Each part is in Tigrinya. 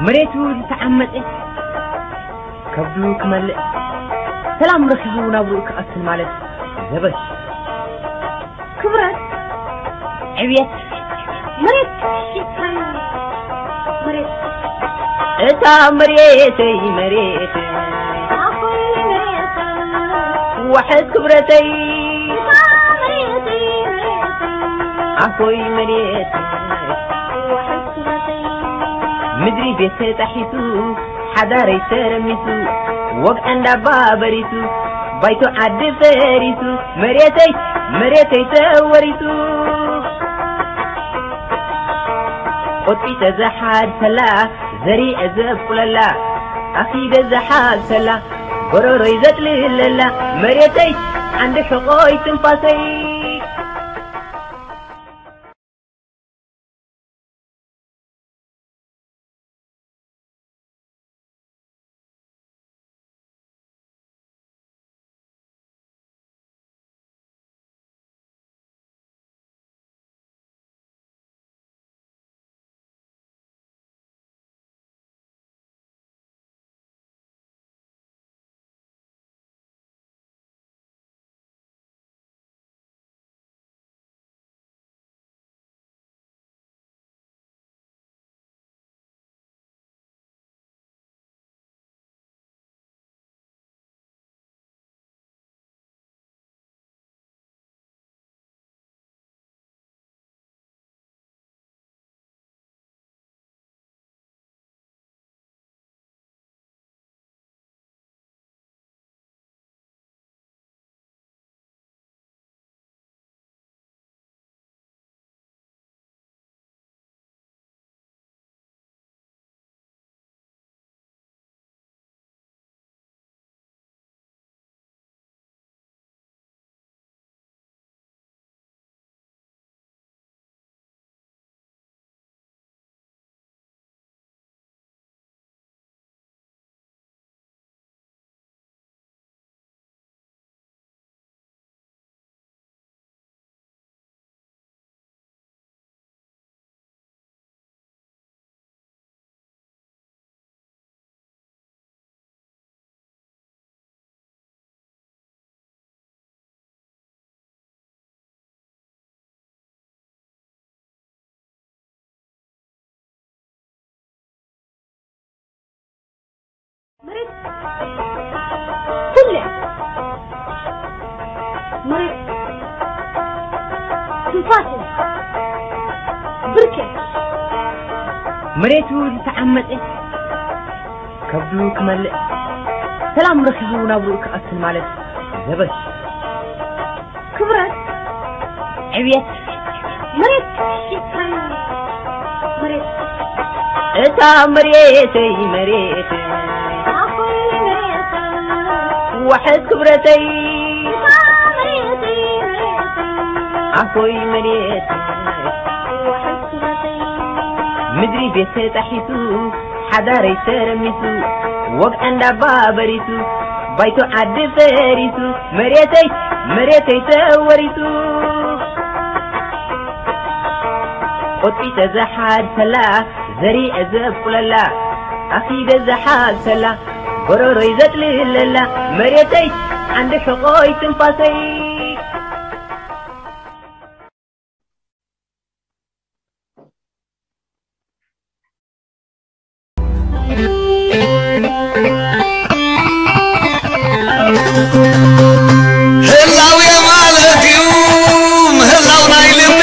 መሬቱ ዝተዓመጸ ከብዱ ክመልእ፣ ሰላም ረኺቡ ናብርኡ ክቐስን ማለት ዘበት። ክብረት፣ ዕብየት፣ መሬት ሽፍራ፣ መሬት፣ እታ መሬተይ መሬት፣ ኣኾይ መሬት፣ ዋሕስ ክብረተይ፣ እታ መሬተይ መሬት፣ ኣኾይ መሬት፣ ዋሕስ ክብረተይ፣ ምድሪ ቤት ተጣሒሱ፣ ሓዳረይ ተረሚሱ፣ ወግዐ እንዳባ በሪሱ፣ ባይቶ ዓዲ ፈሪሱ፣ መሬተይ መሬተይ ተወሪሱ። ቆጢጠ ዝሓድሰላ፣ ዘሪዐ ዘብቁለላ፣ ኣኺደ ዝሓብሰላ፣ ጎረሮይ ዘጥልለላ፣ መሬተይ ዓንዲ ሕቖይ ትንፋሰይ። መሬት ኩለ፣ መሬት ትንፋሰ፣ ብርኬ፣ መሬቱ ዝተዓመጸ ከብዱ ክመልእ፣ ሰላም ረኺቡ ናብርኡ ክቐስን ማለት ዘበት። ክብረት፣ ዕብየት፣ መሬት ሽፍራ፣ መሬት፣ እታ መሬተይ መሬት፣ ኣኾይ መሬት፣ ዋሕስ ክብረተይ፣ እታ መሬተይ መሬት፣ ኣኾይ መሬት፣ ዋሕስ ክብረተይ፣ ምድሪ ቤት ተጣሒሱ፣ ሓዳረይ ተረሚሱ፣ ወግዐ እንዳባ በሪሱ፣ ባይቶ ዓዲ ፈሪሱ፣ መሬተይ መሬተይ ተወሪሱ። ቆጢጠ ዝሓድሰላ፣ ዘሪዐ ዘብቁለላ፣ ኣኺደ ዝሓብሰላ፣ ጎረሮይ ዘጥልለላ፣ መሬተይ ዓንዲ ሕቖይ ትንፋሰይ። ህላውየ ማለት እዩ ምህላው ናይ ልቢ።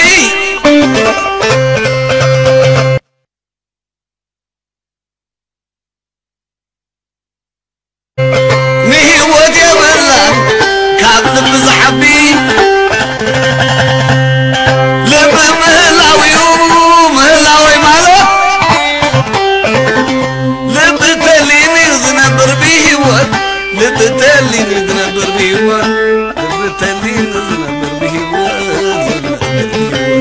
ንህይወት የብላን ካብ ልቢ ዝዓቢ። ልቢ ምህላው እዩ ምህላወይ ማለት። ልቢ ተሊኒ ዝነብር ብህይወት፣ ልቢ ተሊኒ ዝነብር ብህይወት፣ ልቢ ተሊኒ ዝነብር ብህይወት፣ ዝነብር ብህይወት።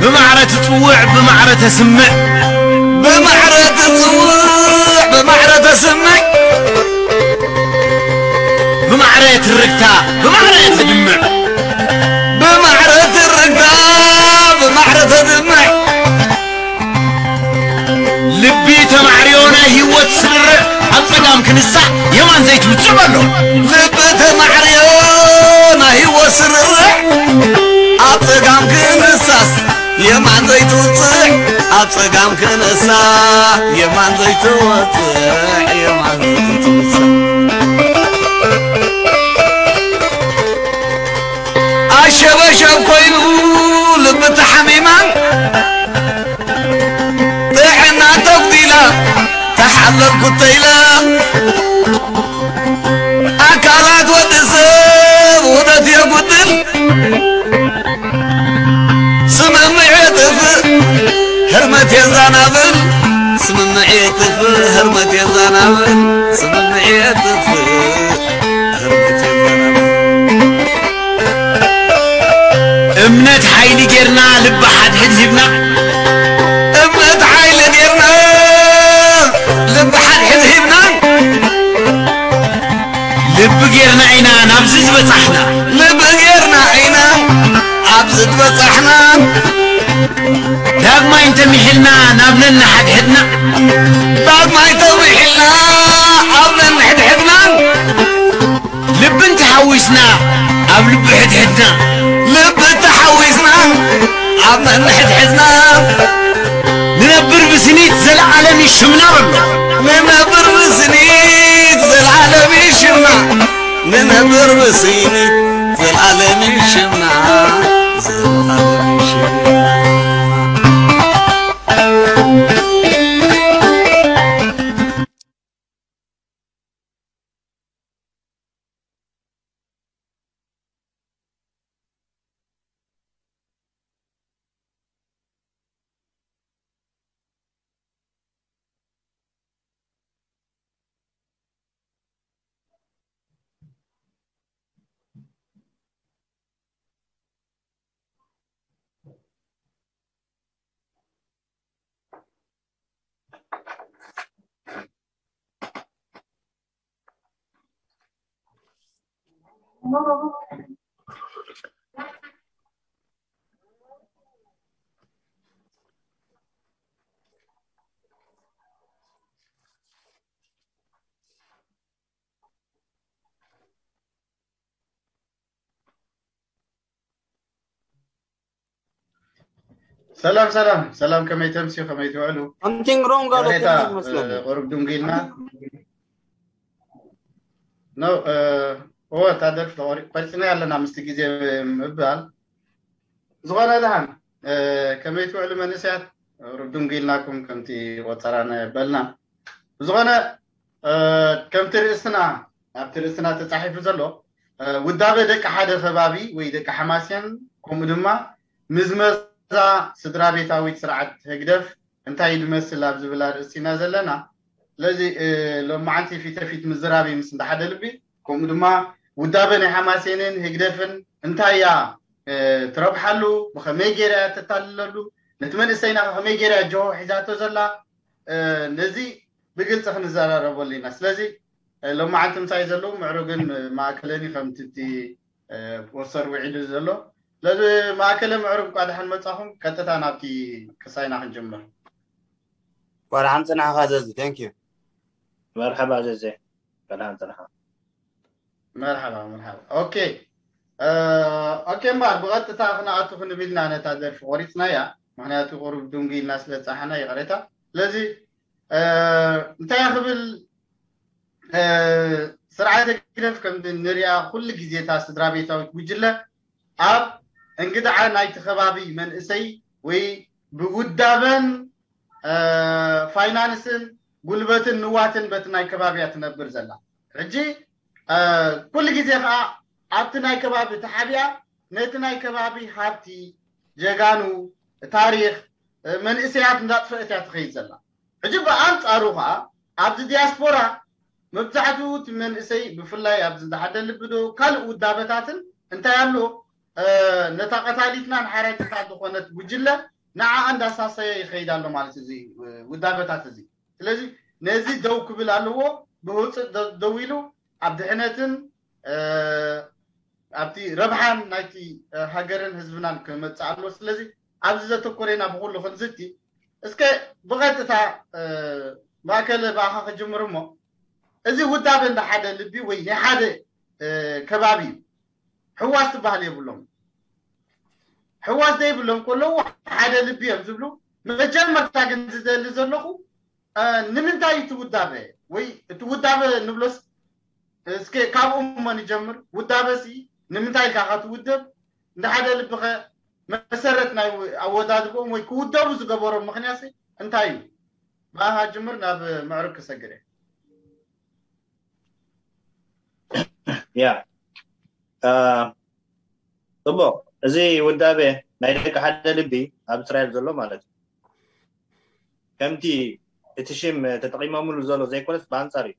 ብማዕረ ትጽውዕ ብማዕረ ተስምዕ። ብማዕረ ትጽውዕ ብማዕረ ተስምዕ። ብማዕረ ትርግታ ብማዕረ ተድምዕ። ብማዕረ ትርግታ ብማዕረ ተድምዕ። ህይወት ስርርዕ ኣብ ጸጋም ክንሳእ የማን ዘይትውጽዕ በሎ። ልቢ ተማዕርዮ ናይ ህይወት ስርርዕ ኣብ ጸጋም ክንሳስ የማን ዘይትውጽዕ ኣብ ጸጋም ክንሳ የማን ዘይትወጽዕ የማን ዘይትውጽዕ ኣሸበሸብ ኮይኑ ልቢ ተሓሚማ ጥዕና ተጉዲላ ተሓለልኩ ተይላ ኣካላት ወዲ ሰብ ውደት የጉድል ስምምዕ የጥፍእ ህርመት የዛናብል ስምምዕ የጥፍእ ህርመት የዛናብል ስምምዕ የጥፍእ ህርመት የዛናብል እምነት ሓይሊ ጌርና ልቢ ሓድሕድ ሂብና እምነት ሓይሊ ጌርና ልቢ ሓድሕድ ሂብና ልቢ ጌርና ኢና ናብዚ ዝበጻሕና ልቢ ጌርና ኢና ኣብዚ ዝበጻሕና ዳግማይ እንተሚሒልና ናብ ነንሓድሕድና ዳግማይ ተሚሒልና ኣብ ነንሕድሕድና ልብን ተሓዊስና ኣብ ልቢ ሕድሕድና ልቢ ተሓዊስና ኣብ ነንሕድሕድና ንነብር ብስኒት ዘለዓለም ይሽምና በሎ ንነብር ብስኒት ዘለዓለም ይሽምና ንነብር ብስኒት ዘለዓለም ይሽምና ዘለዓለም ይሽምና ሰላም ሰላም ሰላም ከመይ ተምስዩ ከመይ ትውዕሉ Something wrong ኣሎ ቅሬታ ይመስለኒ። ቁሩብ ድንጉ ኢልና ኖ እወ እታ ደርፊ ቆሪፅና ኣለና ምስቲ ግዜ ምባል ዝኾነ ደሓን ከመይ ትውዕሉ መንእሰያት ቁሩብ ድንጉ ኢልናኩም ከምቲ ቆፀራና የበልና ብዝኾነ ከምቲ ርእስና ኣብቲ ርእስና ተፃሒፉ ዘሎ ውዳበ ደቂ ሓደ ከባቢ ወይ ደቂ ሓማሴን ከምኡ ድማ ምዝመዛ ስድራ ቤታዊት ስርዓት ህግደፍ እንታይ ድመስል ኣብ ዝብል ኣርእስቲ ኢና ዘለና ስለዚ ሎማዓንቲ ፊተፊት ምዝራብ ምስ እንዳ ሓደ ልቢ ከምኡ ድማ ውዳበ ናይ ሓማሴንን ህግደፍን እንታይ እያ ትረብሓሉ ብኸመይ ገይራ እያ ተታልለሉ ነቲ መንእሰይና ከመይ ገይራ ጆሆ ሒዛቶ ዘላ ነዚ ብግልፂ ክንዘራረበሉ ኢና ስለዚ ሎማዓንቲ ምሳይ ዘለዉ ምዕሩግን ማእከለኒ ከምቲ እቲ ፖስተር ውዒሉ ዘሎ ስለዚ ማእከለ ምዕሩግ እንኳ ደሓን መጻኹም ቀጥታ ናብቲ ክሳይና ክንጅምር እንኳ ደሓን ጽናሕኻ ዘዚ thank you መርሐባ ዘዜ እንኳ ደሓን ጽናሕኻ መርሐባ መርሐባ ኦኬ ኦኬ እምበኣር ብቐጥታ ክነኣቱ ክንብል ኢና ነታ ደርፊ ቆሪፅናያ ምክንያቱ ቁሩብ ድንጉ ኢልና ስለ ዝፀሓና ይቕሬታ ስለዚ እንታይ ክብል ስርዓተ ግደፍ ከም ንሪኣ ኩሉ ግዜ እታ ስድራ ቤታዊት ጉጅለ ኣብ እንግድዓ ናይቲ ከባቢ መንእሰይ ወይ ብውዳበን ፋይናንስን ጉልበትን ንዋትን በቲ ናይ ከባቢ እያ ትነብር ዘላ ሕጂ ኩሉ ግዜ ከዓ ኣብቲ ናይ ከባቢ ተሓቢኣ ነቲ ናይ ከባቢ ሃብቲ ጀጋኑ ታሪክ መንእሰያት እንዳጥፈአት እያ ትኸይድ ዘላ ሕጂ ብኣንፃሩ ከዓ ኣብዚ ዲያስፖራ መብዛሕትኡ እቲ መንእሰይ ብፍላይ ኣብዚ ዝሓደ ልቢ ዶ ካልእ ውዳበታትን እንታይ ኣሎ ነታ ቀታሊትና ንሓራጅታት ዝኾነት ጉጅለ ንዓኣ እንዳሳሰየ ይኸይድ ኣሎ ማለት እዚ ውዳበታት እዚ ስለዚ ነዚ ደው ክብል ኣለዎ ብህውፅእ ደው ኢሉ ኣብ ድሕነትን ኣብቲ ረብሓን ናይቲ ሃገርን ህዝብናን ክመፅእ ኣለዎ ስለዚ ኣብዚ ዘተኮረ ኢና ብኩሉ ክንዝቲ እስከ ብቐጥታ ማእከል ብኣኻ ክጅምር እሞ፣ እዚ ውዳበ እንዳ ሓደ ልቢ ወይ ናይ ሓደ ከባቢ እዩ። ሕዋስ ትበሃል የብሎም። ሕዋስ ዘይብሎም ከለዉ ሓደ ልቢ እዮም ዝብሉ። መጀመርታ ግን ዝደሊ ዘለኹ፣ ንምንታይ እቲ ውዳበ ወይ እቲ ውዳበ ንብሎስ፣ እስከ ካብኡ እሞ ንጀምር። ውዳበሲ ንምንታይ ኢልካ ኢኻ ትውደብ? እንደ ሓደ ልብኸ መሰረት ናይ ኣወዳድብኦም ወይ ክውደቡ ዝገበሮም ምኽንያትሲ እንታይ እዩ? ብኣኻ ጅምር፣ ናብ ምዕሩግ ክሰግር እየ። ያ ጽቡቕ። እዚ ውዳቤ ናይ ደቂ ሓደ ልቢ ኣብ እስራኤል ዘሎ ማለት እዩ። ከምቲ እቲ ሽም ተጠቂሞምሉ ዘሎ ዘይኮነስ ብኣንጻር እዩ።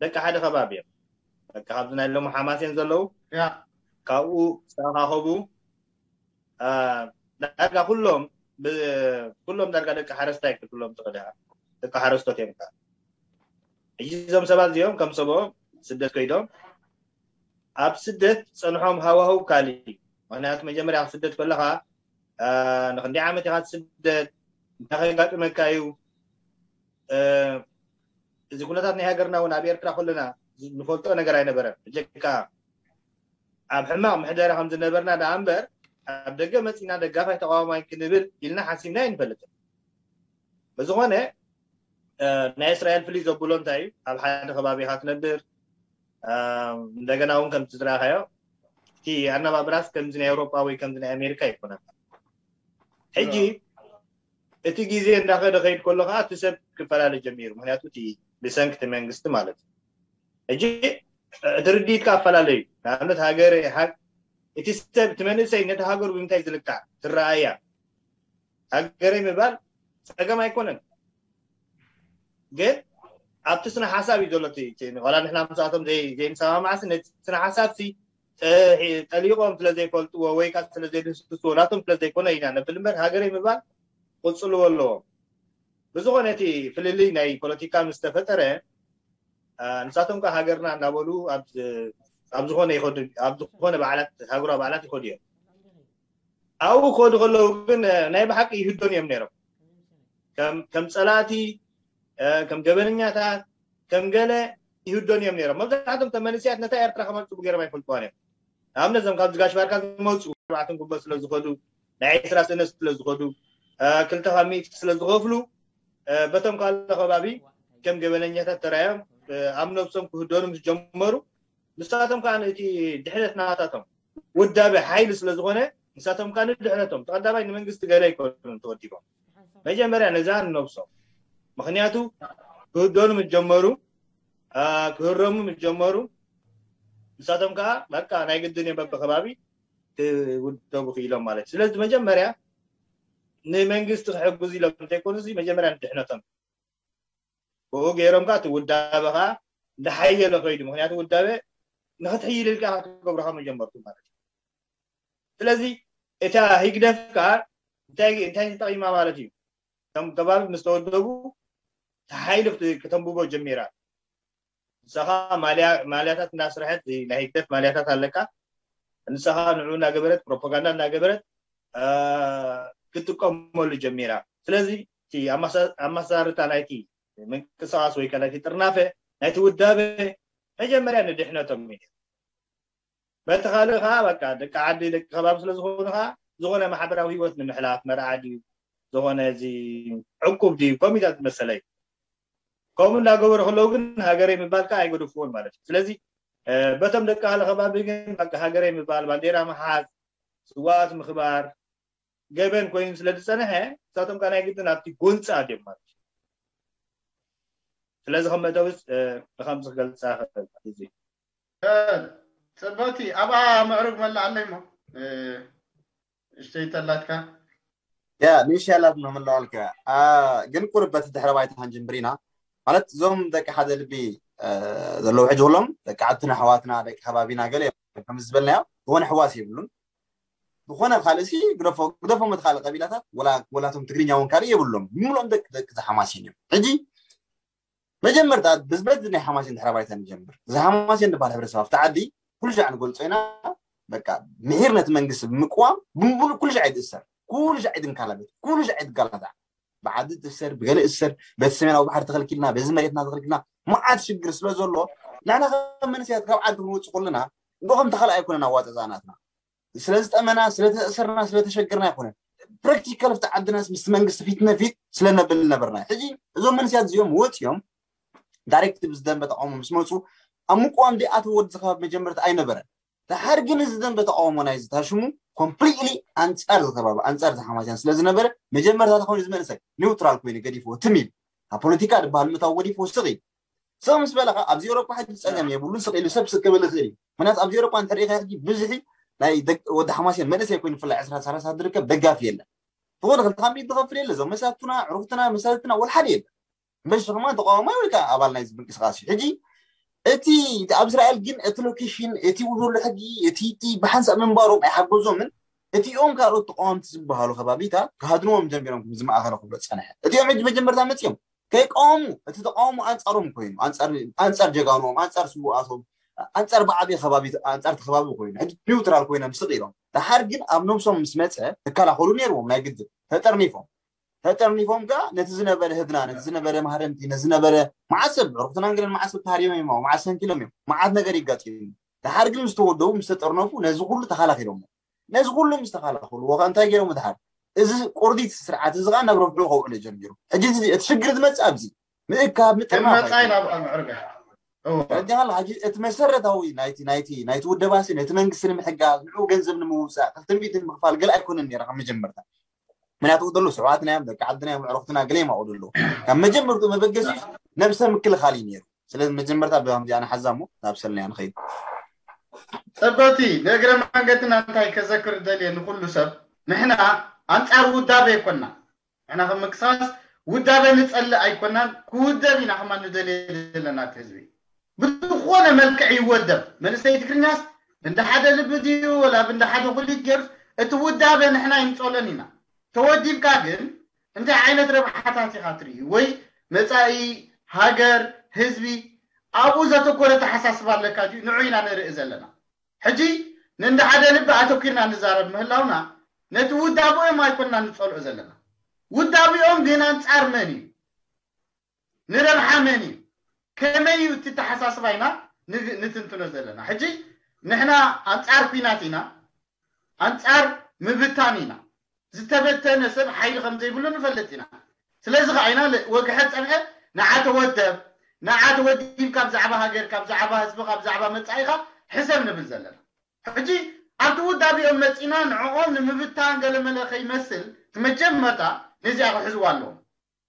ደቂ ሓደ ከባቢ እዮም። ደቂ ካብዚ ናይ ሎሚ ሓማሴን ዘለዉ ካብኡ ዝተኣኻኸቡ ዳርጋ ኩሎም ኩሎም ዳርጋ ደቂ ሓረስታይ ክትብሎም ትኽእል ኢኻ። ደቂ ሓረስቶት እዮም። ሕጂ እዞም ሰባት እዚኦም ከም ሰብኦም ስደት ከይዶም ኣብ ስደት ጸንሖም ሃዋህው ካሊ። ምክንያቱ መጀመርያ ስደት ከለኻ ንክንደይ ዓመት ኢኻ ስደት እንታይ ከጋጥመካ እዩ? እዚ ኩነታት ናይ ሃገርና እውን ኣብ ኤርትራ ከለና ንፈልጦ ነገር ኣይነበረን። ብጀካ ኣብ ሕማቕ ምሕደራ ከም ዝነበርና ደኣ እምበር ኣብ ደገ መጺና ደጋፋይ ተቃዋማይ ክንብል ኢልና ሓሲብና ኣይንፈልጥን። ብዝኾነ ናይ እስራኤል ፍልይ ዘብሎ እንታይ እዩ? ኣብ ሓደ ከባቢ ኢኻ ትነብር። እንደገና እውን ከምቲ ዝረኣኻዮ እቲ ኣነባብራስ ከምዚ ናይ ኤውሮጳ ወይ ከምዚ ናይ ኣሜሪካ ኣይኮነን። ሕጂ እቲ ግዜ እንዳኸደ ከይድ ከሎ ከዓ እቲ ሰብ ክፈላለ ጀሚሩ። ምክንያቱ እቲ ብሰንኪ እቲ መንግስቲ ማለት እዩ። ሕጂ እቲ ርድኢትካ ኣፈላለዩ። ንኣብነት ሃገረ እቲ ሰብ እቲ መንእሰይ ነቲ ሃገሩ ብምንታይ ዝልካዕ ትረኣያ ሃገረይ ምባል ጸገም ኣይኮነን። ግን ኣብቲ ስነ ሓሳብ እዩ ዘሎ። ዋላ ንሕና ምስኣቶም ዘይንሰማማዕሲ ነቲ ስነ ሓሳብ ሲ ጠሊቆም ስለ ዘይፈልጥዎ ወይ ካ ስለ ዘይድህስስዎ ናቶም ስለ ዘይኮነ ኢና ነብል እምበር ሃገረይ ምባል ቅፅልዎ ኣለዎም። ብዝኾነ እቲ ፍልልይ ናይ ፖለቲካ ምስ ተፈጠረ ንሳቶም ከ ሃገርና እናበሉ ኣብ ዝኾነ ይኸዱ ኣብ ዝኾነ በዓላት ሃገራዊ በዓላት ይኸዱ እዮም። ኣብኡ ክኸዱ ከለዉ ግን ናይ ብሓቂ ይህደኑ እዮም ነይሮም። ከም ጸላእቲ፣ ከም ገበነኛታት፣ ከም ገለ ይህደኑ እዮም ነይሮም። መብዛሕቶም ተመንስያት ነታ ኤርትራ ከመልጥቡ ገይሮም ኣይፈልጥዋን እዮም። ንኣብነት እዞም ካብ ዝጋሽ ባርካ ዝመፁ ኣርባዕተን ጉቦ ስለ ዝኸዱ ናይ ዕስራ ሰነ ስለ ዝኸዱ ክልተ ካብ ሚእቲ ስለ ዝኸፍሉ በቶም ካልእ ከባቢ ከም ገበነኛታት ተራዮም ኣብ ነብሶም ክህደኑ ምስ ጀመሩ ንሳቶም ከዓ እቲ ድሕነት ናታቶም ውዳበ ሓይሊ ስለ ዝኾነ ንሳቶም ከዓ ንድሕነቶም ተቐዳማይ ንመንግስቲ ገለ ኣይኮኑን ተወዲቦም መጀመርያ ነዛ ንነብሶም ምክንያቱ ክህደኑ ምስ ጀመሩ ክህረሙ ምስ ጀመሩ ንሳቶም ከዓ በቃ ናይ ግድን እዮም በብከባቢ ክውደቡ ክኢሎም ማለት እዩ። ስለዚ መጀመርያ ንመንግስቲ ክሕግዙ ኢሎም እንተይኮኑ መጀመርያ ንድሕነቶም ብኡ ገይሮም ከዓ እቲ ውዳበ ከዓ እንዳሓየለ ከይዱ ምክንያቱ ውዳበ ንክትሕይል ኢልካ ክትገብሩ ካብ መጀመርቱ ማለት እዩ። ስለዚ እታ ህግደፍ ከዓ እንታይ እንታይ ተጠቂማ ማለት እዩ። እቶም ከባቢ ምስ ተወደቡ ተሓይሉ ክተንብቦ ጀሚራ። ንስኻ ማልያ ማልያታት እንዳስረሐት ናይ ህግደፍ ማልያታት ኣለካ። ንስኻ ንዑ እናገበረት ፕሮፓጋንዳ እናገበረት ክትጥቀመሉ ጀሚራ። ስለዚ እቲ ኣመሳርታ ናይቲ ምንቅስቃስ ወይ ከ ናይቲ ጥርናፈ ናይቲ ውዳበ መጀመርያ ንድሕነቶም እዩ። በቲ ካልእ ከዓ በቃ ደቂ ዓዲ ደቂ ከባቢ ስለዝኾኑ ከዓ ዝኾነ ማሕበራዊ ህይወት ንምሕላፍ መርዓ ድዩ ዝኾነ እዚ ዕቁብ ድዩ ኮሚታት መሰለይ ከምኡ እንዳገበሩ ከለዉ ግን ሃገረይ ምባል ከዓ ኣይገደፍዎን ማለት እዩ። ስለዚ በቶም ደቂ ካልእ ከባቢ ግን በቃ ሃገረይ ምባል ባንዴራ ምሓዝ ስዋኣት ምኽባር ገበን ኮይኑ ስለ ዝፀንሐ ንሳቶም ከዓ ናይ ግድን ኣብቲ ጎንፂ ኣድዮም ማለት እዩ። ስለዚ ከም መእተዊስ ንከምዚ ክገልፃ ክእል እዚ ፅብቅቲ ኣብኣ ምዕሩግ መላእ ኣለይ እሞ እሽተይ ተላትካ ያ ንእሽተይ ኣላት ነው ምለዋልካ ግን ቁርብ በቲ ድሕረ ባይታ ክንጅምር ኢና ማለት እዞም ደቂ ሓደ ልቢ ዘለዉ ሕጂ ኩሎም ደቂ ዓድትና ኣሕዋትና ደቂ ከባቢና ገለ እዮም ከም ዝበልናዮ ዝኾነ ሕዋስ የብሉን ዝኾነ ካልእ ሲ ግደፎ ግደፎም እቲ ካልእ ቀቢላታት ወላ ወላቶም ትግርኛ እውን ካልእ የብሎም ብምልኦም ደቂ ደቂ ዝሓማሴን እዮም ሕጂ መጀመርታ ብዝበዝ ናይ ሓማሴን ድሕረ ባይታ ንጀምር እዚ ሓማሴን ዝበሃል ሕብረተሰብ ኣብቲ ዓዲ ኩሉ ሻዕ ንገልፆ ኢና በቃ ምሒር ነቲ መንግስቲ ብምቅዋም ብምሉእ ኩሉ ሻዕ ይትእሰር ኩሉ ሻዕ ይትንካላበት ኩሉ ሻዕ ይትጋላታዕ ብዓዲ ትእሰር፣ ብገለ እሰር፣ በቲ ሰሜናዊ ባሕሪ ተኸልኪልና፣ በዚ መሬትና ተኸልኪልና፣ መዓት ሽግር ስለ ዘሎ፣ ንሕና ከም መንእሰያት ካብ ዓዲ ክንወፅእ ከለና፣ እንዶ ከም ተኻልኣ ኣይኮነን ኣዋፅኣ ናትና። ስለ ዝጠመና፣ ስለ ተእሰርና፣ ስለ ተሸገርና ኣይኮነን። ፕራክቲካል ኣብቲ ዓድናስ ምስቲ መንግስቲ ፊት ነፊት ስለ ነብል ነበርና። ሕጂ እዞም መንእሰያት እዚኦም ወፂኦም ዳይሬክት ብዝደንበ ተቃውሞ ምስ መፁ ኣብ ምቅዋም ዲኣተው ወዲ ከባቢ መጀመርታ ኣይነበረን። ድሓር ግን እዚ ደንበ ተቃውሞ ናይ ዝታሽሙ ኮምፕሊትሊ ኣንፃር ዝከባቢ ኣንፃር ዝሓማስያን ስለ ዝነበረ መጀመርታ ተኾኑ ዝመንሰይ ኒውትራል ኮይኑ ገዲፍዎ ትም ኢሉ ካብ ፖለቲካ ዝበሃል ምእታው ገዲፍዎ ስቕ ኢሉ ስቕ ምስ በለካ ኣብዚ ኤውሮጳ ሕጂ ፀገም የብሉን ስቕ ኢሉ ሰብ ስቅ ክብል ይኽእል እዩ። ምክንያቱ ኣብዚ ኤውሮጳ እንተ ሪኢኻ ሕጂ ብዙሒ ናይ ደቂ ወዲ ሓማስያን መንእሰይ ኮይኑ ብፍላይ ዕስራ ሰላሳ ዝርከብ ደጋፊ የለን። ዝኾነ ክልተ ካብ ሚእቲ ዝኸፍል የለ እዞም መሳቱና ዕሩፍትና መሳትና ወላ ሓደ የለን። በሽ ከማን ተቃዋማይ ወይ ከዓ ኣባል ናይዚ ምንቅስቃስ እዩ። ሕጂ እቲ እቲ ኣብ እስራኤል ግን እቲ ሎኬሽን እቲ ዘሎ ሕጊ እቲ እቲ ብሓንሳእ ምንባሮም ኣይሓገዞምን። እቲኦም ካልኦት ተቃወምቲ ዝበሃሉ ከባቢታት ክሃድንዎም ጀሚሮም ከም ዝማእኸለ ክብሎ ዝፀንሐ እቲኦም ሕጂ መጀመርታ መፅኦም ከይቃወሙ እቲ ተቃውሞ ኣንፃሮም ኮይኑ ኣንፃር ጀጋኖም ኣንፃር ስውኣቶም ኣንፃር ብዓብየ ከባቢ ኣንፃር እቲ ከባቢ ኮይኑ ሕጂ ኒውትራል ኮይኖም ስቕ ኢሎም። ደሓር ግን ኣብ ነብሶም ምስ መፀ ክከላኸሉ ነይርዎም ናይ ግድን ተጠርኒፎም ተጠርኒፎም ከኣ ነቲ ዝነበረ ህድና ነቲ ዝነበረ ማህረምቲ ነቲ ዝነበረ መዓሰብ ዕሩኽትናን ገለን መዓሰብ ተሃርዮም እዮም መዓስ ሰንኪሎም እዮም መዓት ነገር ይጋጥሙ። ደሓር ግን ምስ ተወደቡ ምስ ተጠርነፉ ነዚ ኩሉ ተኸላኺሎሞ። ነዚ ኩሉ ምስ ተኸላኸልዎ ከ እንታይ ገይሮም ድሓር? እዚ ቁርዲት ስርዓት እዚ ከኣ ናብ ረብሑ ከውዕሎ ጀሚሩ። ሕጂ እቲ ሽግር ዝመጽእ ኣብዚ ምእካብ ምጥርናፍ መጻኢ ናብ ኣምዕርጋ ረዲኻላ ሕጂ እቲ መሰረታዊ ናይቲ ናይቲ ናይቲ ውደባሲ ነቲ መንግስቲ ንምሕጋዝ ንዑ ገንዘብ ንምውፃእ ክልተ ሚእቲ ንምኽፋል ገለ ኣይኮነን ነይረ ካብ መጀመርታ ምክንያቱ ደሎ ስርዓትና እዮም ደቂ ዓድና እዮም ዕረኽትና ገለ ይማቑ ደሎ ካብ መጀመርቱ መበገሲ ነብሰ ምክልኻል እዩ ነይሩ ስለዚ መጀመርታ ብከምዚ ኣነ ሓዛ እሞ ናብ ሰልናያ ንኸይድ ጸበቲ ንእግረ መንገድና እንታይ ከዘክር ደልየ ንኩሉ ሰብ ንሕና ኣንጻር ውዳበ ይኮና ንሕና ከም ምንቅስቃስ ውዳበ ንጸልእ ኣይኮናን ክውደብ ኢና ከማ ንደልየ ዘለና እቲ ህዝቢ ብዝኾነ መልክዕ ይወደብ መንእሰይ ትግርኛስ እንደ ሓደ ልቢ ድዩ ወላ ብእንደ ሓደ ኩሊት ገይሩስ እቲ ውዳበ ንሕና ይንጸሎን ኢና ተወዲብካ ግን እንታይ ዓይነት ረብሓታት ኢኻ ትርኢ ወይ መጻኢ ሃገር ህዝቢ ኣብኡ ዘተኮረ ተሓሳስባ ኣለካ ድዩ ንዑ ኢና ንርኢ ዘለና ሕጂ ንእንደ ሓደ ልቢ ኣተኪርና ንዛረብ ምህላውና ነቲ ውዳብኦም ኣይኮንና ንጸልኦ ዘለና ውዳብኦም ግን ኣንጻር መን እዩ ንረብሓ መን እዩ ከመይ እዩ እቲ ተሓሳስባ ኢና ንትንትኖ ዘለና ሕጂ ንሕና ኣንጻር ኲናት ኢና ኣንጻር ምብታን ኢና ዝተበተነ ሰብ ሓይሊ ከም ዘይብሉ ንፈልጥ ኢና ስለዚ ከዓ ኢና ወግሐ ፀንሐ ንዓ ተወደብ ንዓ ተወዲብካ ብዛዕባ ሃገርካ ብዛዕባ ህዝብካ ብዛዕባ መፃኢካ ሕሰብ ንብል ዘለና ሕጂ ኣብቲ ውዳቢኦም መፂና ንዕኦም ንምብታን ገለመለ ከይመስል እቲ መጀመርታ ነዚኣ ክሕዝዋ ኣለዎም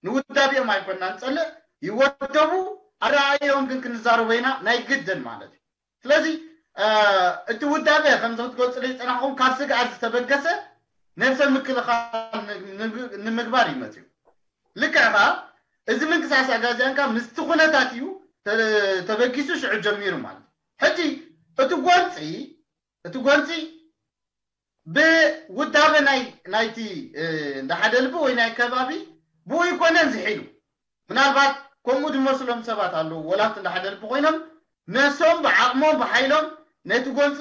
ንውዳቢኦም ኣይኮና ንፀልእ ይወደቡ ኣረኣዮም ግን ክንዛረቦ ኢና ናይ ግድን ማለት እዩ ስለዚ እቲ ውዳበ ከምዚ ክትገልፅሉ ዝፀናሕኩም ካብ ስግኣት ዝተበገሰ ነብሰ ምክልኻል ንምግባር እዩ መፅኡ ልክዕ ከዓ እዚ ምንቅስቃስ ኣጋዚያን ከዓ ምስቲ ኩነታት እዩ ተበጊሱ ሽዑ ጀሚሩ ማለት ሕጂ እቲ ጎንፂ እቲ ጎንፂ ብውዳበ ናይ ናይቲ እንዳ ሓደ ልቢ ወይ ናይ ከባቢ ብኡ ይኮነን ዝሒሉ ምናልባት ከምኡ ዝመስሎም ሰባት ኣለዉ ወላብቲ እንዳ ሓደ ልቢ ኮይኖም ነሶም ብዓቕሞም ብሓይሎም ነቲ ጎንፂ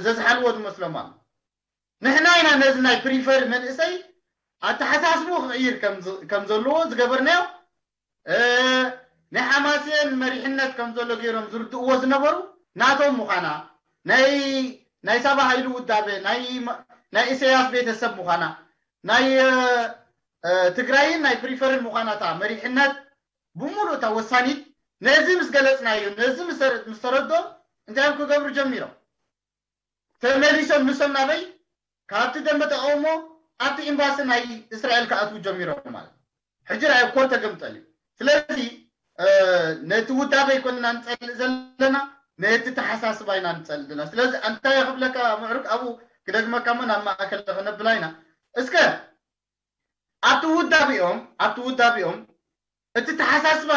ዘዝሓልዎ ዝመስሎም ኣሎ ንሕና ኢና ነዚ ናይ ፕሪፈር መንእሰይ ኣተሓሳስቡ ክቕይር ከም ዘለዎ ዝገበርናዮ ናይ ሓማሴን መሪሕነት ከም ዘሎ ገይሮም ዝርድእዎ ዝነበሩ ናቶም ምዃና ናይ ናይ ሳባ ሃይሉ ውዳበ ናይ ኢሰያስ ቤተሰብ ምዃና ናይ ትግራይን ናይ ፕሪፈርን ምዃና እታ መሪሕነት ብምሉእ እታ ወሳኒት ነዚ ምስ ገለፅናዮ ነዚ ምስ ተረድኦም እንታይ እዮም ክገብሩ ጀሚሮም ተመሊሶም ንሶም ናበይ ካብቲ ደንበ ተቃውሞ ኣብቲ ኤምባሲ ናይ እስራኤል ክኣትዉ ጀሚሮም ማለት ሕጂ ራእይ ኮር ተገምጠል እዩ ስለዚ ነቲ ውዳበ ይኮንና ንፀልእ ዘለና ነቲ ተሓሳስባ ኢና ንፀልእ ዘለና ስለዚ እንታይ ክብለካ ምዕሩግ ኣብኡ ክደግመካ ሞ ናብ ማእከል ክነብላ ኢና እስከ ኣብቲ ውዳቢኦም ኣብቲ ውዳቢኦም እቲ ተሓሳስባ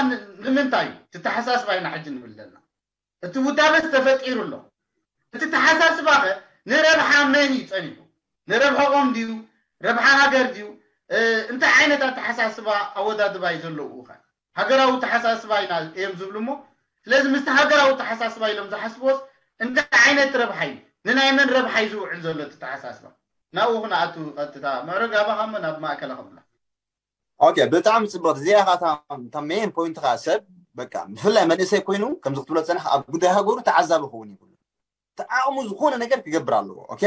ንምንታይ እዩ እቲ ተሓሳስባ ኢና ሕጂ ንብል ዘለና እቲ ውዳበ ተፈጢሩ ኣሎ እቲ ተሓሳስባ ከ ንረብሓ መን እዩ ፀኒሑ ንረብሐኦም ድዩ ረብሓ ሃገር ድዩ እንታይ ዓይነት ኣተሓሳስባ ኣወዳድባ እዩ ዘለዉ ከ ሃገራዊ ተሓሳስባ ኢና እዮም ዝብሉ እሞ ስለዚ ምስቲ ሃገራዊ ተሓሳስባ ኢሎም ዝሓስብዎስ እንታይ ዓይነት ረብሓ እዩ ንናይ መን ረብሓ እዩ ዝውዕል ዘሎ እቲ ተሓሳስባ ናብኡ ክነኣቱ ቀጥታ ምዕረግ ኣባኻ እሞ ናብ ማእከላ ክብላ ኦኬ፣ ብጣዕሚ ጽብቕቲ። እዚኣ ኸዓ እታ፣ እታ ሜን ፖይንት ኸዓ ሰብ፣ በቃ፣ ብፍላይ መንእሰይ ኮይኑ፣ ከምዚ ክትብሎ ዝጸናሕካ፣ ኣብ ጉዳይ ሃገሩ ተዓዛቢ ክኸውን ይብሉ። ተዓቕሙ ዝኾነ ነገር ክገብር ኣለዎ። ኦኬ?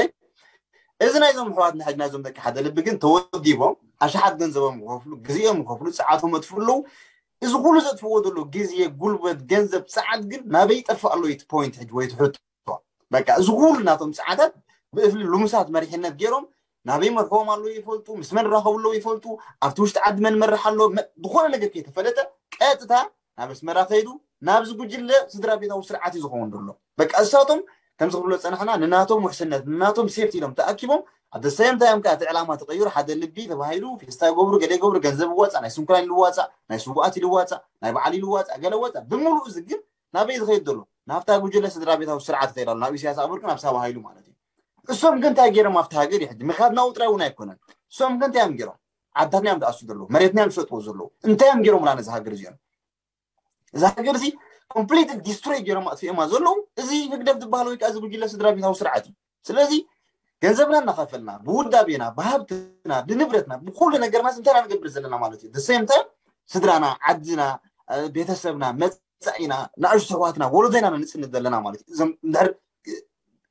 እዚ ናይዞም ኣሕዋትና ሕጂ ናይዞም ደቂ ሓደ ልቢ ግን ተወዲቦም፣ ኣሽሓት ገንዘቦም ክኸፍሉ፣ ግዜኦም ክኸፍሉ፣ ጸዓቶም የጥፍኡ ኣለዉ። እዚ ኩሉ ዘጥፍዎ ዘለዉ ግዜ፣ ጉልበት፣ ገንዘብ፣ ጸዓት ግን ናበይ ይጠፍእ ኣሎ እዩ እቲ ፖይንት ሕጂ ወይ እቲ ሕቶ። በቃ፣ እዚ ኩሉ ናቶም ጸዓታት ብእፍሊ ልሙሳት መሪሕነት ገይሮም ናበይ መርሕዎም ኣለዉ ይፈልጡ፣ ምስ መን ራኸቡ ኣለዉ ይፈልጡ፣ ኣብቲ ውሽጢ ዓዲ መን መርሕ ኣሎ፣ መ-፣ ዝኾነ ነገር ከይተፈለጠ ቀጥታ ናብ ኣስመራ ከይዱ ናብዚ ጉጅለ ስድራ ቤታዊ ስርዓት እዩ ዝኸውን ዘሎ። በቃ፣ እሳቶም ከምዚ ክብሎ ዝጸናሕና ንናቶም ውሕስነት፣ ንናቶም ሴፍቲ ኢሎም ተኣኪቦም፣ ኣብ the same time ከኣ እቲ ዕላማ ተቐይሩ፣ ሓደ ልቢ ተባሂሉ ፌስታ ይገብሩ፣ ገለ ይገብሩ፣ ገንዘብ ይዋጻእ፣ ናይ ስንኩላን ይዋጻእ፣ ናይ ስውኣት ይዋጻእ፣ ናይ በዓል ይዋጻእ፣ ገለ ወጻእ። ብምሉኡ እዚ ግን ናበይ ዝኸይድ ዘሎ? ናብታ ጉጅለ ስድራ ቤታዊ ስርዓት ይኸይድ ኣሎ፣ ናብ ኢሳያስ ኣፈወርቂ፣ ናብ ሳባ ሃይሉ ማለት እዩ። እሶም ግን እንታይ ገይሮም ኣብቲ ሃገር እዩ ሕጂ? ምኽንያት ናብኡ ጥራይ እውን ኣይኮነን። እሶም ግን እንታይ እዮም ገይሮም? ዓድታትና እዮም ዝኣሱ ዘለዉ፣ መሬትና እዮም ዝሸጥዎ ዘለዉ። እንታይ እዮም ገይሮምላ ነዚ ሃገር እዚኦም? እዛ ሃገር እዚ ኮምፕሊት ዲስትሮይ ገይሮም ኣጥፊኦማ ዘለዉ እዚ ህግደፍ ዝበሃል ወይ ከዓ እዚ ጉጅለ ስድራ ቤታዊ ስርዓት እዩ። ስለዚ ገንዘብና እናኸፈልና ብውዳቤና፣ ብሃብትና፣ ብንብረትና፣ ብኩሉ ነገርና እንታይ ኢና ንገብር ዘለና ማለት እዩ? The same time ስድራና፣ ዓድና፣ እ፣ ቤተሰብና፣ መጻኢና፣ ንኣሽቱ ኣሕዋትና፣ ወለዶና ኢና ንጽንት ዘለና ማለት እዩ። እዞም እንድሕር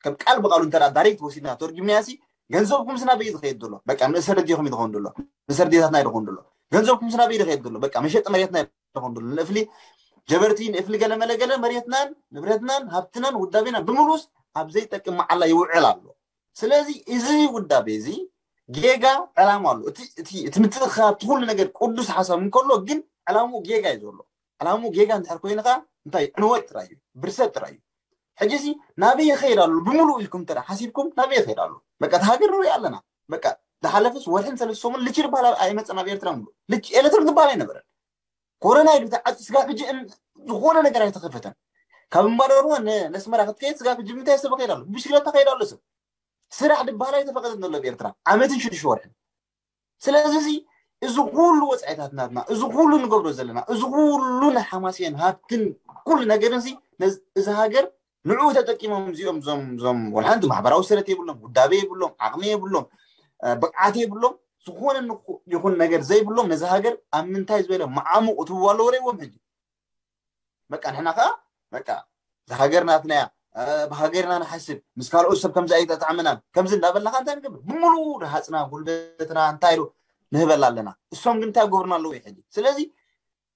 ከም ቃል ብቃሉ እንተ ዳይሬክት ወሲድና ተርጉምናዮ ሲ ገንዘብኩም ስና በይ ዝኸይድ ዘሎ? በቃ ንእሰ ደዴኹም እዩ ዝኸውን ዘሎ፣ ንእሰ ደዴታትና እዩ ዝኸውን ዘሎ። ገንዘብኩም ስና በይ ዝኸይድ ዘሎ? በቃ መሸጢ መሬትና እዩ ዝኸውን ዘሎ። ንእፍሊ ጀበርቲ፣ ንእፍሊ ገለ መለ ገለ መሬትናን ንብረትናን ሃብትናን ውዳቤና ብምሉስ ኣብ ዘይጠቅም መዓላ ይውዕል ኣሎ። ስለዚ እዚ ውዳቤ እዚ ጌጋ ዕላማ ኣሎ። እቲ እቲ እቲ ምትእኽኻብ እቲ ኩሉ ነገር ቅዱስ ሓሳብ እንከሎ ግን ዕላምኡ ጌጋ እዩ ዘሎ። ዕላምኡ ጌጋ እንድሕር ኮይኑ ከኣ እንታይ ዕንወት ጥራይ እዩ፣ ብርሰት ጥራይ እዩ። ሕጂ ሲ ናበይ ይኸይድ ኣሎ ብምሉእ ኢልኩም እንተ ሓሲብኩም ናበይ ይኸይድ ኣሎ? በቃ እቲ ሃገር ንሪኦ ኣለና። በቃ ዝሓለፈስ ወርሕን ሰለስተ ሰሙን ልቺ ዝበሃል ኣይመጸን ኣብ ኤርትራ ምሉእ። ልቺ ኤሌክትሪክ ዝበሃል ኣይነበረን። ኮሮና ኢሉ ተዓጽዩ ስጋብ ሕጂ እን-፣ ዝኾነ ነገር ኣይተኸፈተን። ካብ እምባደርዋ ነ-፣ ነስመራ ክትከይድ ስጋብ ሕጂ ብምንታይ ሰብ ይኸይድ ኣሎ? ብሽክለታ ይኸይድ ኣሎ ሰብ። ስራሕ ዝበሃል ኣይተፈቐደን ዘሎ ኣብ ኤርትራ ዓመትን ሽዱሽተ ወርሕን። ስለዚ እዚ፣ እዚ ኩሉ ወጻኢታት ናትና፣ እዚ ኩሉ ንገብሮ ዘለና፣ እዚ ኩሉ ናይ ሓማሴን ሃብትን ኩሉ ነገርን እዚ፣ ነዚ፣ እዚ ሃገር ንዕኡ ተጠቂሞም እዚኦም፣ እዞም፣ እዞም ወላ ሓንቲ ማሕበራዊ ሰረት የብሎም፣ ውዳቤ የብሎም፣ ዓቕሚ የብሎም፣ እ፣ ብቕዓት የብሎም፣ ዝኾነ ንኹ-፣ ይኹን ነገር ዘይብሎም ነዚ ሃገር ኣብ ምንታይ ዝበለ መዓሙቕ እትብዋ ኣለዎ ርእይዎም ሕጂ። በቃ ንሕና ከኣ በቃ እዛ ሃገር ናትና እያ፣ እ፣ ብሃገርና ንሓስብ፣ ምስ ካልኦት ሰብ ከምዚ ኣይተጣዕመናን፣ ከምዚ እንዳበልና ከ እንታይ ንገብር? ብምሉኡ ረሃጽና፣ ጉልበትና እንታይ ኢሉ ንህበላ ኣለና። እሶም ግን እንታይ ገብሩና ኣለዉ እዩ ሕጂ? ስለዚ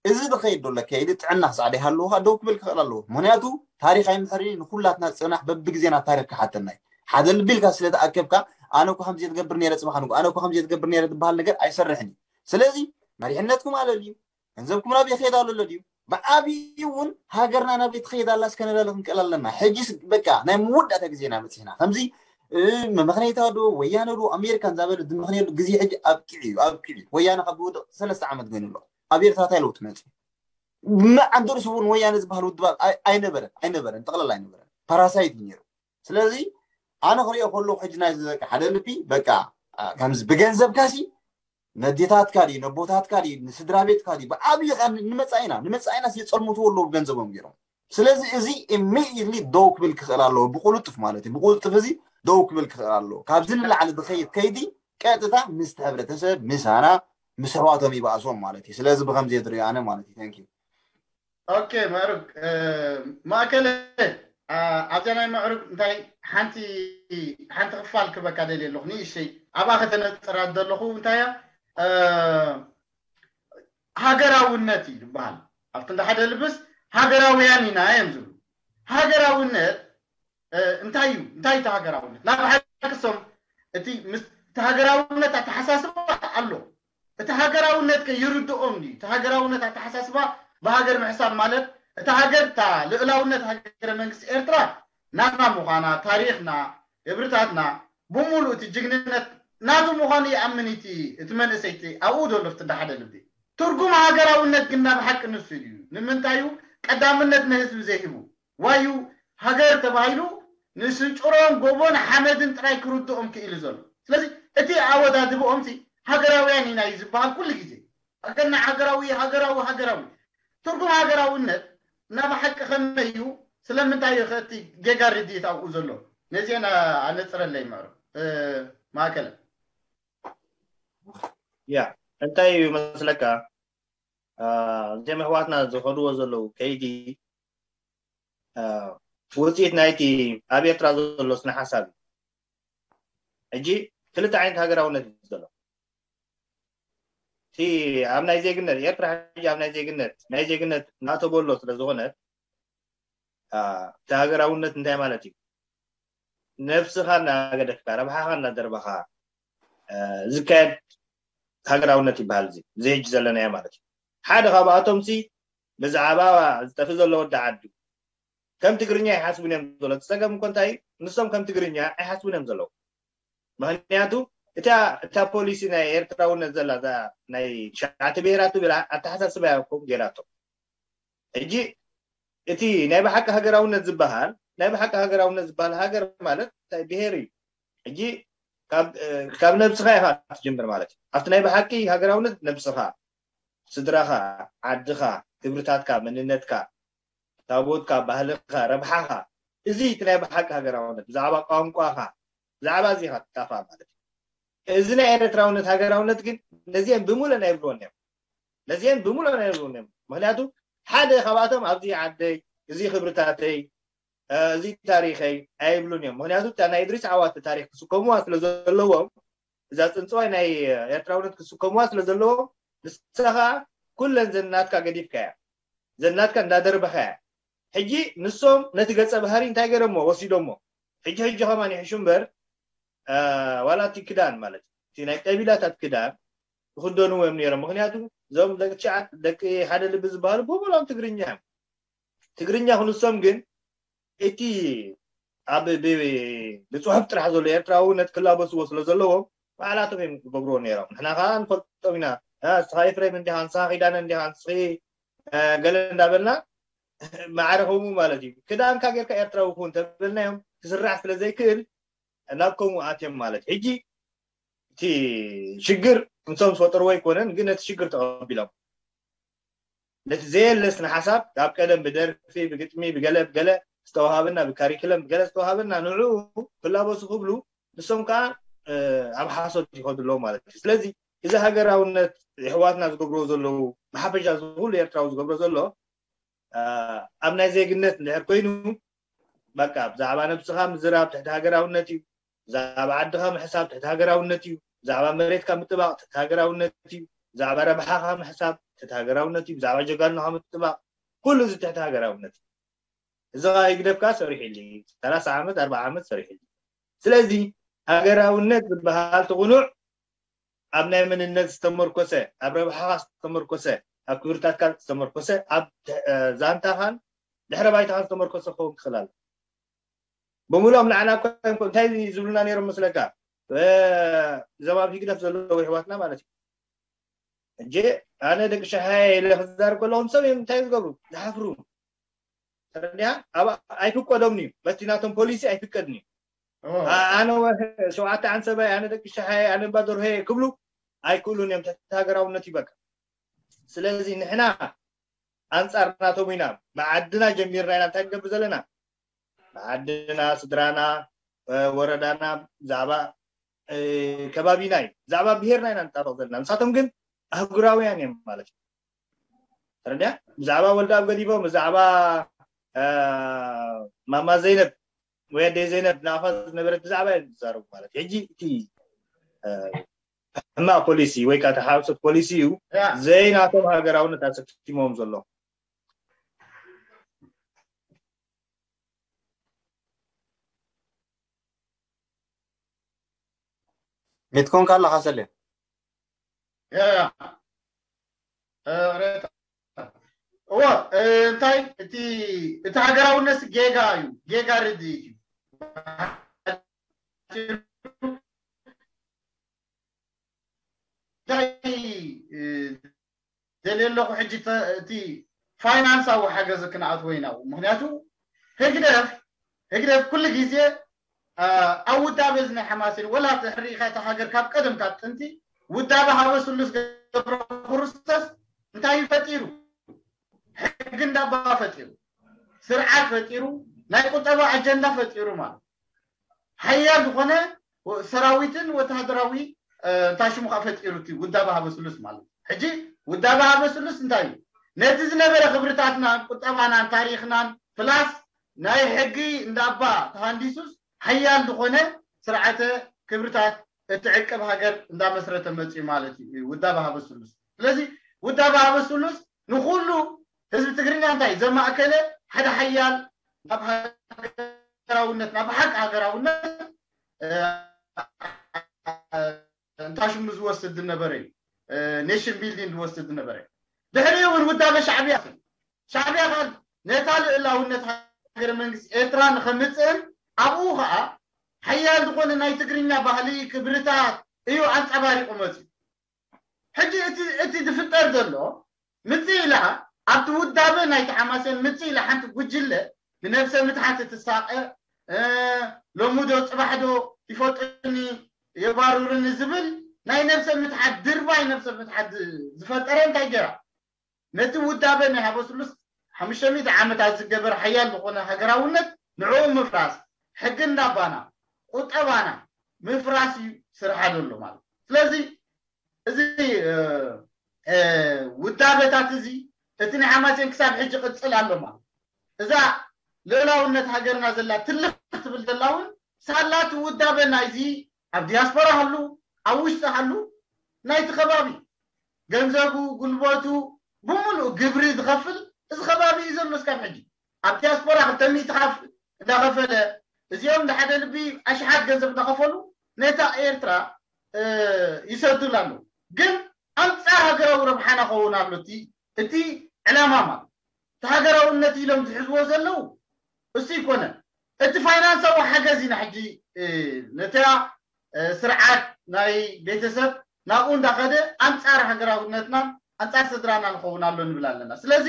እዚ ዝኸይድ ዘሎ ከይዲ ጥዕና ክሳዕ ዘይሃለዎ ከኣ ደው ክብል ክኽእል ኣለዎ። ምኽንያቱ ታሪኽ ኣይምሕርን እዩ፣ ንኹላትና ጽናሕ በብግዜና ታሪኽ ክሓተና እዩ። ሓደ ልቢ ኢልካ ስለ ተኣከብካ፣ ኣነ እኮ ከምዚ እየ ዝገብር ነይረ ጽባሕ ንግሆ፣ ኣነ እኮ ከምዚ እየ ዝገብር ነይረ ዝበሃል ነገር ኣይሰርሕን እዩ። ስለዚ መሪሕነትኩም ኣለልዩ፣ ገንዘብኩም ናበይ ይኸይድ ኣሎ ድዩ? ብዓብዩ እውን ሃገርና ናበይ ትኸይድ ኣላ እስከ ንላለ ክንክእል ኣለና። ሕጂስ በቃ ናይ መወዳእታ ግዜና በጺሕና። ከምዚ፣ እ፣ መመኽነይታ ዶ ወያነ ዶ ኣሜሪካ እንዳበለ ዝመኽነየሉ ግዜ ሕጂ ኣብቂዑ እዩ፣ ኣብቂዑ እዩ። ወያነ ካብ ዝወድቕ ሰለስተ ዓመት ኮይኑ ኣሎ። ኣብ ኤርትራ እንታይ ለውጢ መጺኡ? መዓንደርስ እውን ወያነ ዝበሃል ውድብ ኣይ-፣ ኣይነበረን፣ ኣይነበረን፣ ጠቕላላ ኣይነበረን። ፓራሳይት እዩ ነይሩ። ስለዚ ኣነ ክሪኦ ከለኹ ሕጂ ናይዚ በቃ ሓደ ልቢ በቃ፣ አ፣ ከምዚ ብገንዘብካሲ ነዴታትካ ድዩ ነቦታትካ ድዩ ንስድራ ቤትካ ድዩ ብዓብዪ ኸ ንመጻኢና ንመጻኢና የጸልምትዎ ኣለዉ ብገንዘቦም ገይሮም። ስለዚ እዚ ኢሚድየትሊ ደው ክብል ክኽእል ኣለዎ፣ ብቁልጥፍ ማለት እዩ። ብቁልጥፍ እዚ ደው ክብል ክኽእል ኣለዎ። ካብዚ ንላዕሊ ዝኸይድ ከይዲ ቀጥታ ምስቲ ሕብረተሰብ ምሳና ምስ ኣሕዋቶም ይባእሶም ማለት እዩ። ስለዚ ብኸምዚ እየ ዝሪኦ ኣነ ማለት እዩ። Thank you። ኦኬ፣ ምዕሩግ፣ እ፣ ማእከለ፣ አ፣ ኣብዛ ናይ ምዕሩግ እንታይ ሓንቲ፣ ሓንቲ ክፋል ክበካ ደልየ ኣለኹ። ንእሽተይ ኣብኣ ከተነጽራ ዘለኹ እንታይ እያ፣ እ፣ ሃገራውነት እዩ ዝበሃል። ኣብቲ እንዳ ሓደ ልብስ ሃገራውያን ኢና እዮም ዝብሉ። ሃገራውነት፣ እ፣ እንታይ እዩ? እንታይ እቲ ሃገራውነት? ናብ ሓቂ እሶም እቲ ምስ-፣ እቲ ሃገራውነት ኣተሓሳስባ ኣሎ። እቲ ሃገራውነት ከ ይርድኦም ድዩ? እቲ ሃገራውነት ኣተሓሳስባ ብሃገር ምሕሳብ ማለት እታ ሃገር፣ እታ ልእላውነት ሃገረ መንግስቲ ኤርትራ ናትና ምዃና፣ ታሪኽና፣ ክብርታትና፣ ብምሉእ እቲ ጅግንነት ናቱ ምዃኑ ይኣምን እቲ፣ እቲ መንእሰይ እቲ ኣብኡ ዘሎ እቲ እንዳ ሓደ ልቢ። ትርጉም ሃገራውነት ግን ናብ ሓቂ ንሱ ድዩ? ንምንታይ እዩ ቀዳምነት ንህዝቢ ዘይህቡ? ዋዩ ሃገር ተባሂሉ ንስንጭሮን ጎቦን ሓመድን ጥራይ ክርድኦም ክኢሉ ዘሎ። ስለዚ እቲ ኣወዳድብኦም ሲ ሃገራውያን ኢና እዩ ዝበሃል ኩሉ ግዜ። ሃገርና ሃገራዊ፣ ሃገራዊ፣ ሃገራዊ። ትርጉም ሃገራውነት ናብ ሓቂ ከመይ እዩ? ስለምንታይ እዩ ከ እቲ ጌጋ ርድኢት ኣብኡ ዘሎ? ነዚአን ኣነጽረለይ ምዕሩ፣ እ፣ ማእከለ። ያ፣ እንታይ እዩ መስለካ? እዚም ኣሕዋትና ዝኸድዎ ዘለዉ ከይዲ ውፅኢት ናይቲ ኣብ ኤርትራ ዘሎ ስነ ሓሳብ እዩ። ሕጂ ክልተ ዓይነት ሃገራውነት እዩ ዘሎ። እቲ ኣብ ናይ ዜግነት ኤርትራ ሕጂ ኣብ ናይ ዜግነት ናይ ዜግነት እናተበሎ ስለ ዝኾነ እቲ ሃገራውነት እንታይ ማለት እዩ? ነብስኻ እናገደፍካ ረብሓኻ እናደርበኻ ዝካየድ ሃገራውነት ይበሃል። እዚ እዚ ሕጂ ዘለናዮ ማለት እዩ። ሓደ ካብኣቶም ሲ ብዛዕባ ዝጠፍእ ዘሎ ወዲ ዓዱ ከም ትግርኛ ይሓስቡን እዮም ዘሎ። እቲ ጸገም እኮ እንታይ እዩ? ንሶም ከም ትግርኛ ኣይሓስቡን እዮም ዘለዉ። ምክንያቱ እታ እታ ፖሊሲ ናይ ኤርትራውነት ዘላ እዛ ናይ ትሽዓተ ብሄራት ትብል ኣተሓሳስባ እያ ከምኡ ገይራቶ። ሕጂ እቲ ናይ ብሓቂ ሃገራውነት ዝበሃል ናይ ብሓቂ ሃገራውነት ዝበሃል ሃገር ማለት እንታይ ብሄር እዩ። ሕጂ ካብ ነብስኻ ኢኻ ትጅምር ማለት እዩ። ኣብቲ ናይ ብሓቂ ሃገራውነት ነብስኻ፣ ስድራኻ፣ ዓድኻ፣ ክብርታትካ፣ መንነትካ፣ ታቦትካ፣ ባህልኻ፣ ረብሓኻ፣ እዚ እቲ ናይ ብሓቂ ሃገራውነት ብዛዕባ ቋንቋኻ ብዛዕባ እዚ ኢኻ ትጣፋእ ማለት እዩ። እዚ ናይ ኤርትራውነት ሃገራውነት ግን ነዚአን ብምሉእ ናይ ብልወን እዮም ነዚአን ብምሉእ ናይ ብልወን እዮም ምክንያቱ ሓደ ካብኣቶም ኣብዚ ዓደይ እዚ ክብርታተይ እዚ ታሪኸይ ኣይብሉን እዮም ምክንያቱ እታ ናይ እድሪስ ዓዋተ ታሪክ ክስከሙዋ ስለ ዘለዎም እዛ ፅንፅዋይ ናይ ኤርትራውነት ክስከሙዋ ስለ ዘለዎም ንስኻ ኩለን ዘናትካ ገዲፍካ እያ ዘናትካ እንዳደርበኻ እያ ሕጂ ንሶም ነቲ ገፀ ባህሪ እንታይ ገይሮሞ ወሲዶሞ ሕጂ ሕጂ ከማን ይሕሹ እምበር ዋላ እቲ ክዳን ማለት እቲ ናይ ቀቢላታት ክዳን ይኽደንዎ እዮም ነይሮም ምክንያቱ እዞም ደቂ ትሽዓት ደቂ ሓደ ልቢ ዝበሃሉ ብሙሎም ትግርኛ እዮም ትግርኛ ክንሶም ግን እቲ ኣብ ብፅሑፍ ጥራሕ ዘሎ ኤርትራዊ ነቲ ክላበስዎ ስለ ዘለዎም ባዕላቶም እዮም ክገብርዎ ነይሮም ንሕና ከዓ ንፈልጦም ኢና እስኻ ኤፍሬም እንዲኻ ንስኻ ኪዳነ እንዲኻ ንስኺ ገለ እንዳበልና ማዕረ ከምኡ ማለት እዩ ክዳንካ ጌርካ ኤርትራዊ ክውን ተበልናዮም ክስራሕ ስለ ዘይክእል ናብ ከምኡ ኣትዮም ማለት ሕጂ እቲ ሽግር እንሶም ዝፈጠርዎ ኣይኮነን ግን ነቲ ሽግር ተቐቢሎም ነቲ ዘየለስ ንሓሳብ ካብ ቀደም ብደርፊ ብግጥሚ ብገለ ብገለ ዝተዋሃበና ብካሪክለም ብገለ ዝተዋሃበና ንዑ ክላበሱ ክብሉ ንሶም ከዓ ኣብ ሓሶት ይኸዱ ኣለዉ ማለት እዩ ስለዚ እዚ ሃገራውነት የሕዋትና ዝገብርዎ ዘለዉ ብሓፈሻ ዝኩሉ ኤርትራዊ ዝገብሮ ዘሎ ኣብ ናይ ዜግነት እንድሕር ኮይኑ በቃ ብዛዕባ ነብስኻ ምዝራብ ትሕቲ ሃገራውነት እዩ ብዛዕባ ዓድኻ ምሕሳብ ትሕቲ ሃገራውነት እዩ ብዛዕባ መሬትካ ምጥባቕ ትሕቲ ሃገራውነት እዩ ብዛዕባ ረብሓኻ ምሕሳብ ትሕቲ ሃገራውነት እዩ ብዛዕባ ጀጋኑኻ ምጥባቕ ኩሉ እዚ ትሕቲ ሃገራውነት እዩ እዚ ኸዓ ህግደፍ ከዓ ሰሪሕሉ እዩ ሰላሳ ዓመት ኣርባዓ ዓመት ሰሪሕሉ እዩ ስለዚ ሃገራውነት ዝበሃል ትቕኑዕ ኣብ ናይ መንነት ዝተመርኮሰ ኣብ ረብሓኻ ዝተመርኮሰ ኣብ ክብርታትካ ዝተመርኮሰ ኣብ ዛንታኻን ድሕረ ባይታኻን ዝተመርኮሰ ክኸውን ክኽእል ኣሎ ብምሎም ንዓና እኮ እንታይ ዝብሉና ነይሮም መስለካ እዞም ኣብ ህግደፍ ዘለዉ ይሕዋትና ማለት እዩ እጂ ኣነ ደቂ ሸሓየ ኢለ ክዛርብ ከለኹም ሰብ እዮም እንታይ ዝገብሩ ዝሓፍሩ ተረዲያ ኣብ ኣይፍቀዶምን እዩ በቲ ናቶም ፖሊሲ ኣይፍቀድን እዩ ኣነ ሸውዓተ ዓንሰባይ ኣነ ደቂ ሸሓየ ኣነ ባደርሆየ ክብሉ ኣይክእሉን እዮም ትሕቲ ሃገራውነት ይበቃ ስለዚ ንሕና ኣንፃር ናቶም ኢና ብዓድና ጀሚርና ኢና እንታይ ንገብር ዘለና ብዓድና ስድራና ወረዳና ብዛዕባ ከባቢና እዩ ብዛዕባ ብሄርና ኢና ንጣበቕ ዘለና ንሳቶም ግን ኣህጉራውያን እዮም ማለት እዩ ተረድያ ብዛዕባ ወልዳብ ገዲፎም ብዛዕባ ማማ ዘይነብ ወይ ኣደይ ዘይነብ ናፋ ዝነበረት ብዛዕባ እዮም ዝዛረቡ ማለት ሕጂ እቲ ሕማቅ ፖሊሲ ወይ ከዓ ተሓውሰት ፖሊሲ እዩ ዘይናቶም ሃገራውነት ኣሰኪሞም ዘሎ ሚትኮንካ ኣለካ ሰሌ እዎ እንታይ እቲ እቲ ሃገራውነት ጌጋ እዩ ጌጋ ርድ እዩ እንታይ ደልየ ኣለኹ ሕጂ እቲ ፋይናንሳዊ ሓገዝ ክንኣትዎ ኢና ምክንያቱ ህግደፍ ህግደፍ ኩሉ ግዜ ኣብ ውዳበ እዚ ናይ ሓማሴን ወላ ርኢኻ እታ ሃገር ካብ ቀደም ካብ ጥንቲ ውዳበ ሃበ ስሉስ ገብረ ክርስቶስ እንታይ እዩ ፈጢሩ ሕጊ እንዳባ ፈጢሩ ስርዓት ፈጢሩ ናይ ቁጠባ ኣጀንዳ ፈጢሩ ማለት ሓያል ዝኾነ ሰራዊትን ወታደራዊ እንታይ ሽሙ ከዓ ፈጢሩ እቲ ውዳበ ሃበ ስሉስ ማለት እዩ። ሕጂ ውዳበ ሃበ ስሉስ እንታይ እዩ? ነቲ ዝነበረ ክብርታትናን ቁጠባናን ታሪኽናን ፕላስ ናይ ሕጊ እንዳባ ተሃንዲሱስ ሓያል ዝኾነ ስርዓተ ክብርታት እትዕቅብ ሃገር እንዳመስረተ መፅኡ ማለት እዩ ውዳበ ሃበ ስሉስ። ስለዚ ውዳበ ሃበ ስሉስ ንኩሉ ህዝቢ ትግርኛ እንታይ ዘማእከለ ሓደ ሓያል ናብ ሃገራውነት ናብ ሓቂ ሃገራውነት እንታይ ሽሙ ዝወስድ ዝነበረ እዩ። ኔሽን ቢልዲንግ ዝወስድ ዝነበረ እዩ። ድሕሪኡ እውን ውዳበ ሻዕብያ ሻዕብያ ከዓ ነታ ልእላውነት ሃገረ መንግስቲ ኤርትራ ንኸምፅእን ኣብኡ ከዓ ሓያል ዝኾነ ናይ ትግርኛ ባህሊ ክብርታት እዩ ኣንፀባሪቑ መፅዩ። ሕጂ እቲ ዝፍጠር ዘሎ ምፅእ ኢላ ኣብቲ ውዳበ ናይቲ ሓማሴን ምፅእ ኢላ ሓንቲ ጉጅለ ብነብሰ ምትሓት እትሳቐ ሎሚ ዶ ፅባሕ ዶ ይፈጡኒ የባሩርኒ ዝብል ናይ ነብሰ ምትሓት ድርባይ ነብሰ ምትሓት ዝፈጠረ እንታይ ገይራ ነቲ ውዳበ ናይ ሃበስሉስ ሓሙሽተ ሚእቲ ዓመታት ዝገበር ሓያል ዝኾነ ሃገራውነት ንዕኡ ምፍራስ ሕጊ እንዳባና ቁጠባና ምፍራስ እዩ ስርሓ ዘሎ ማለት ስለዚ እዚ ውዳበታት እዚ እቲ ናይ ሓማሴን ክሳብ ሕጂ ቅፅል ኣሎ ማለት እዛ ልእላውነት ሃገርና ዘላ ትልኽ ትብል ዘላ እውን ሳላ እቲ ውዳበ ናይዚ ኣብ ዲያስፖራ ሃሉ ኣብ ውሽጢ ሃሉ ናይቲ ከባቢ ገንዘቡ ጉልበቱ ብምሉእ ግብሪ ዝኸፍል እዚ ከባቢ እዩ ዘሎ እስካብ ሕጂ ኣብ ዲያስፖራ ክልተ ሚእቲ ካፍ እንዳኸፈለ እዚኦም ንሓደ ልቢ ኣሽሓት ገንዘብ እንዳኸፈሉ ነታ ኤርትራ ይሰዱላ ኣለዉ ግን ኣንፃር ሃገራዊ ረብሓና ከውን ኣሎ እቲ ዕላማ ማለት እቲ ሃገራውነት ኢሎም ዝሕዝዎ ዘለዉ እሱ ይኮነ እቲ ፋይናንሳዊ ሓገዝ ኢና ሕጂ ነታ ስርዓት ናይ ቤተሰብ ናብኡ እንዳኸደ ኣንፃር ሃገራውነትና ኣንፃር ስድራና ንኸውን ኣሎ ንብል ኣለና ስለዚ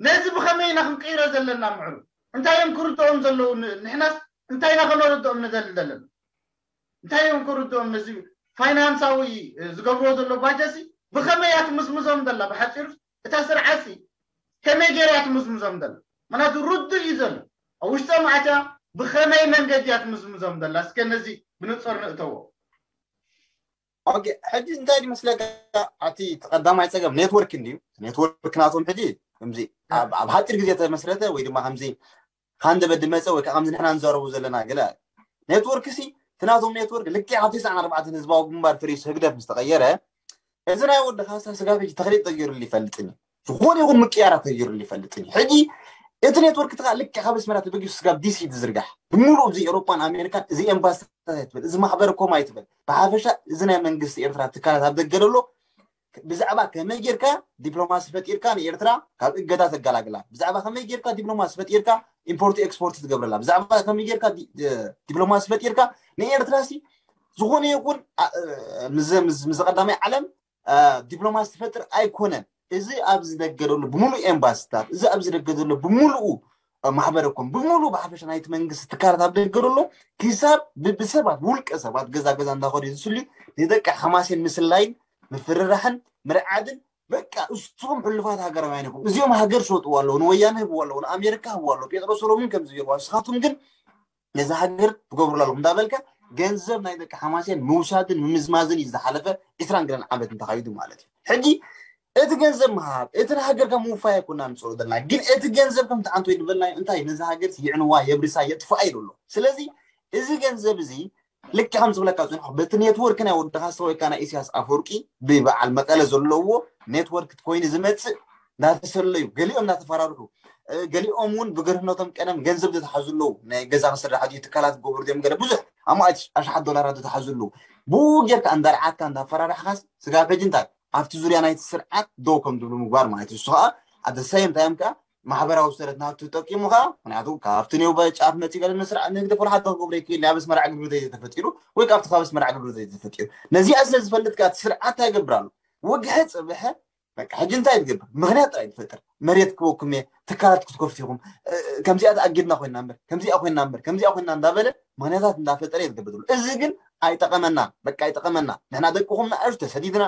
ነዚ ብኸመይ ኢና ክንቅይሮ ዘለና ምዕሩ እንታይ እዮም ክርድኦም ዘለዉ ንሕናስ እንታይ ኢና ከነርድኦም ንደሊ ዘለና እንታይ እዮም ክርድኦም ነዚ ፋይናንሳዊ ዝገብርዎ ዘሎ ባጀሲ ብኸመይ እያ ትምዝምዞም ዘላ ብሓፂሩ እታ ስርዓትሲ ከመይ ገይራ እያ ትምዝምዞም ዘላ ምክንያቱ ርዱእ እዩ ዘሎ ኣብ ውሽጦም ኣትያ ብኸመይ መንገዲ እያ ትምዝምዞም ዘላ እስከ ነዚ ብንፅር ንእተዎ ኦኬ ሕጂ እንታይ ይመስለካ ኣቲ ቀዳማይ ፀገም ኔትወርክ እንድዩ ኔትወርክ ናቶም ሕጂ ከምዚ ኣብ ሓፂር ግዜ ተመስረተ ወይ ድማ ከምዚ ሃንደበት ድመፀ ወይ ከዓ ከምዚ ንሕና ንዛረቡ ዘለና ገለ ኔትወርክ ሲ ትናቶም ኔትወርክ ልክዕ ካብ ተስዓን ኣርባዕተን ህዝባዊ ግንባር ፍሪስ ህግደፍ ምስ ተቐየረ እዚ ናይ ወዲ ካሳ ስጋብ ሕጂ ተኽሊል ተገይሩሉ ይፈልጥን እዩ ዝኾነ ይኹን ምቅያራት ተገይሩሉ ይፈልጥን እዩ ሕጂ እቲ ኔትወርክ ትካ ልክዕ ካብ ኣስመራ ተበጊሱ ስጋብ ዲሲ ዝዝርጋሕ ብምሉእ እዚ ኤሮፓን ኣሜሪካን እዚ ኤምባስታት ኣይትበል እዚ ማሕበር ኮም ኣይትበል ብሓፈሻ እዚ ናይ መንግስቲ ኤርትራ ትካላት ኣብ ደገ ዘሎ ብዛዕባ ከመይ ጌርካ ዲፕሎማሲ ፈጢርካ ንኤርትራ ካብ እገዳ ተገላግላ ብዛዕባ ከመይ ጌርካ ዲፕሎማሲ ፈጢርካ ኢምፖርት ኤክስፖርት ትገብረላ ብዛዕባ ከመይ ጌርካ ዲፕሎማሲ ፈጢርካ ንኤርትራ ሲ ዝኾነ ይኹን ምስ ቀዳማይ ዓለም ዲፕሎማሲ ትፈጥር ኣይኮነን እዚ ኣብ ዝደገደሉ ብምሉእ ኤምባስታት እዚ ኣብ ዝደገደሉ ብምሉኡ ማሕበረ ኮም ብምሉእ ብሓፈሻ ናይቲ መንግስቲ ትካላት ኣብ ደገ ዘሎ ክሳብ ብሰባት ውልቀ ሰባት ገዛ ገዛ እንዳኸዱ ዝስልዩ ንደቂ ሓማሴን ምስላይን ምፍርራሕን ምርዓድን በቃ እስኹም ሕሉፋት ሃገራውያን ኢኹም እዚኦም ሃገር ሸጥዋ ኣለዉ ንወያነ ህብዋ ኣለዉ ንኣሜሪካ ህብዋ ኣለዉ ጴጥሮስ ሰሎሙን ከም ዝገርዋ ንስኻትኩም ግን ነዚ ሃገር ትገብሩላ ኣለኹም እንዳበልካ ገንዘብ ናይ ደቂ ሓማሴን ምውሳድን ምምዝማዝን እዩ ዝሓለፈ ዕስራን ገለን ዓመት እንተኻይዱ ማለት እዩ ሕጂ እቲ ገንዘብ ምሃብ እቲ ንሃገርካ ምውፋይ ኣይኮና ንፅሮ ዘለና ግን እቲ ገንዘብ ከምቲ ዓንቶ ይድበልና እንታይ ነዚ ሃገር ይዕንዋ የብርሳ የጥፍኣ ኢሉ ኣሎ ስለዚ እዚ ገንዘብ እዚ ልክዕ ከም ዝብለካ ዝንሖ በቲ ኔትወርክ ናይ ወዲ ካስትሮ ወይ ከዓ ናይ ኢሳያስ ኣፈወርቂ ብበዓል መቐለ ዘለዎ ኔትወርክ ኮይኑ ዝመፅእ እናተሰለዩ ገሊኦም እናተፈራርሑ ገሊኦም እውን ብግርህነቶም ቀደም ገንዘብ ዝተሓዙ ኣለዉ ናይ ገዛ ክስራሕ ድዩ ትካላት ክገብሩ ድዮም ገለ ብዙሕ ኣማእት ኣሽሓት ዶላራት ዝተሓዙ ኣለዉ ብኡ ጌርካ እንዳርዓካ እንዳፈራርሕካስ ስጋብ ሕጂ እንታይ ኣብቲ ዙርያ ናይቲ ስርዓት ደው ከም ዝብሉ ምግባር ማለት እዩ እሱ ከዓ ኣደ ሰይም ታይም ከዓ ማሕበራዊ ሰረት ናቱ ጠቂሙ ከዓ ምክንያቱ ካብቲ ኔው ጫፍ መፂ ገለ ንስርዓት ንግደፍ ወላ ሓንቲ ክገብሮ ይክእል ኣብ ኣስመራ ዕግርግር ዘይተፈጢሩ ወይ ካብቲ ካብ ኣስመራ ዕግርግር ዘይተፈጢሩ ነዚኣ ስለ ዝፈልጥ ከዓ እቲ ስርዓት እንታይ ይገብር ኣሎ ወግሐ ፅብሐ በቃ ሕጂ እንታይ ትገብር ምክንያት ጥራይ ትፈጥር መሬት ክበኩም እየ ትካላት ክትከፍቱ ኢኹም ከምዚኣ ተኣጊድና ኮይና እምበር ከምዚኣ ኮይና እምበር ከምዚኣ ኮይና እንዳበለ ምክንያታት እንዳፈጠረ እየ ዝገብር ዘሎ እዚ ግን ኣይጠቐመና በቃ ኣይጠቐመና ንሕና ደቅኹም ንኣሽቱ ተሰዲድና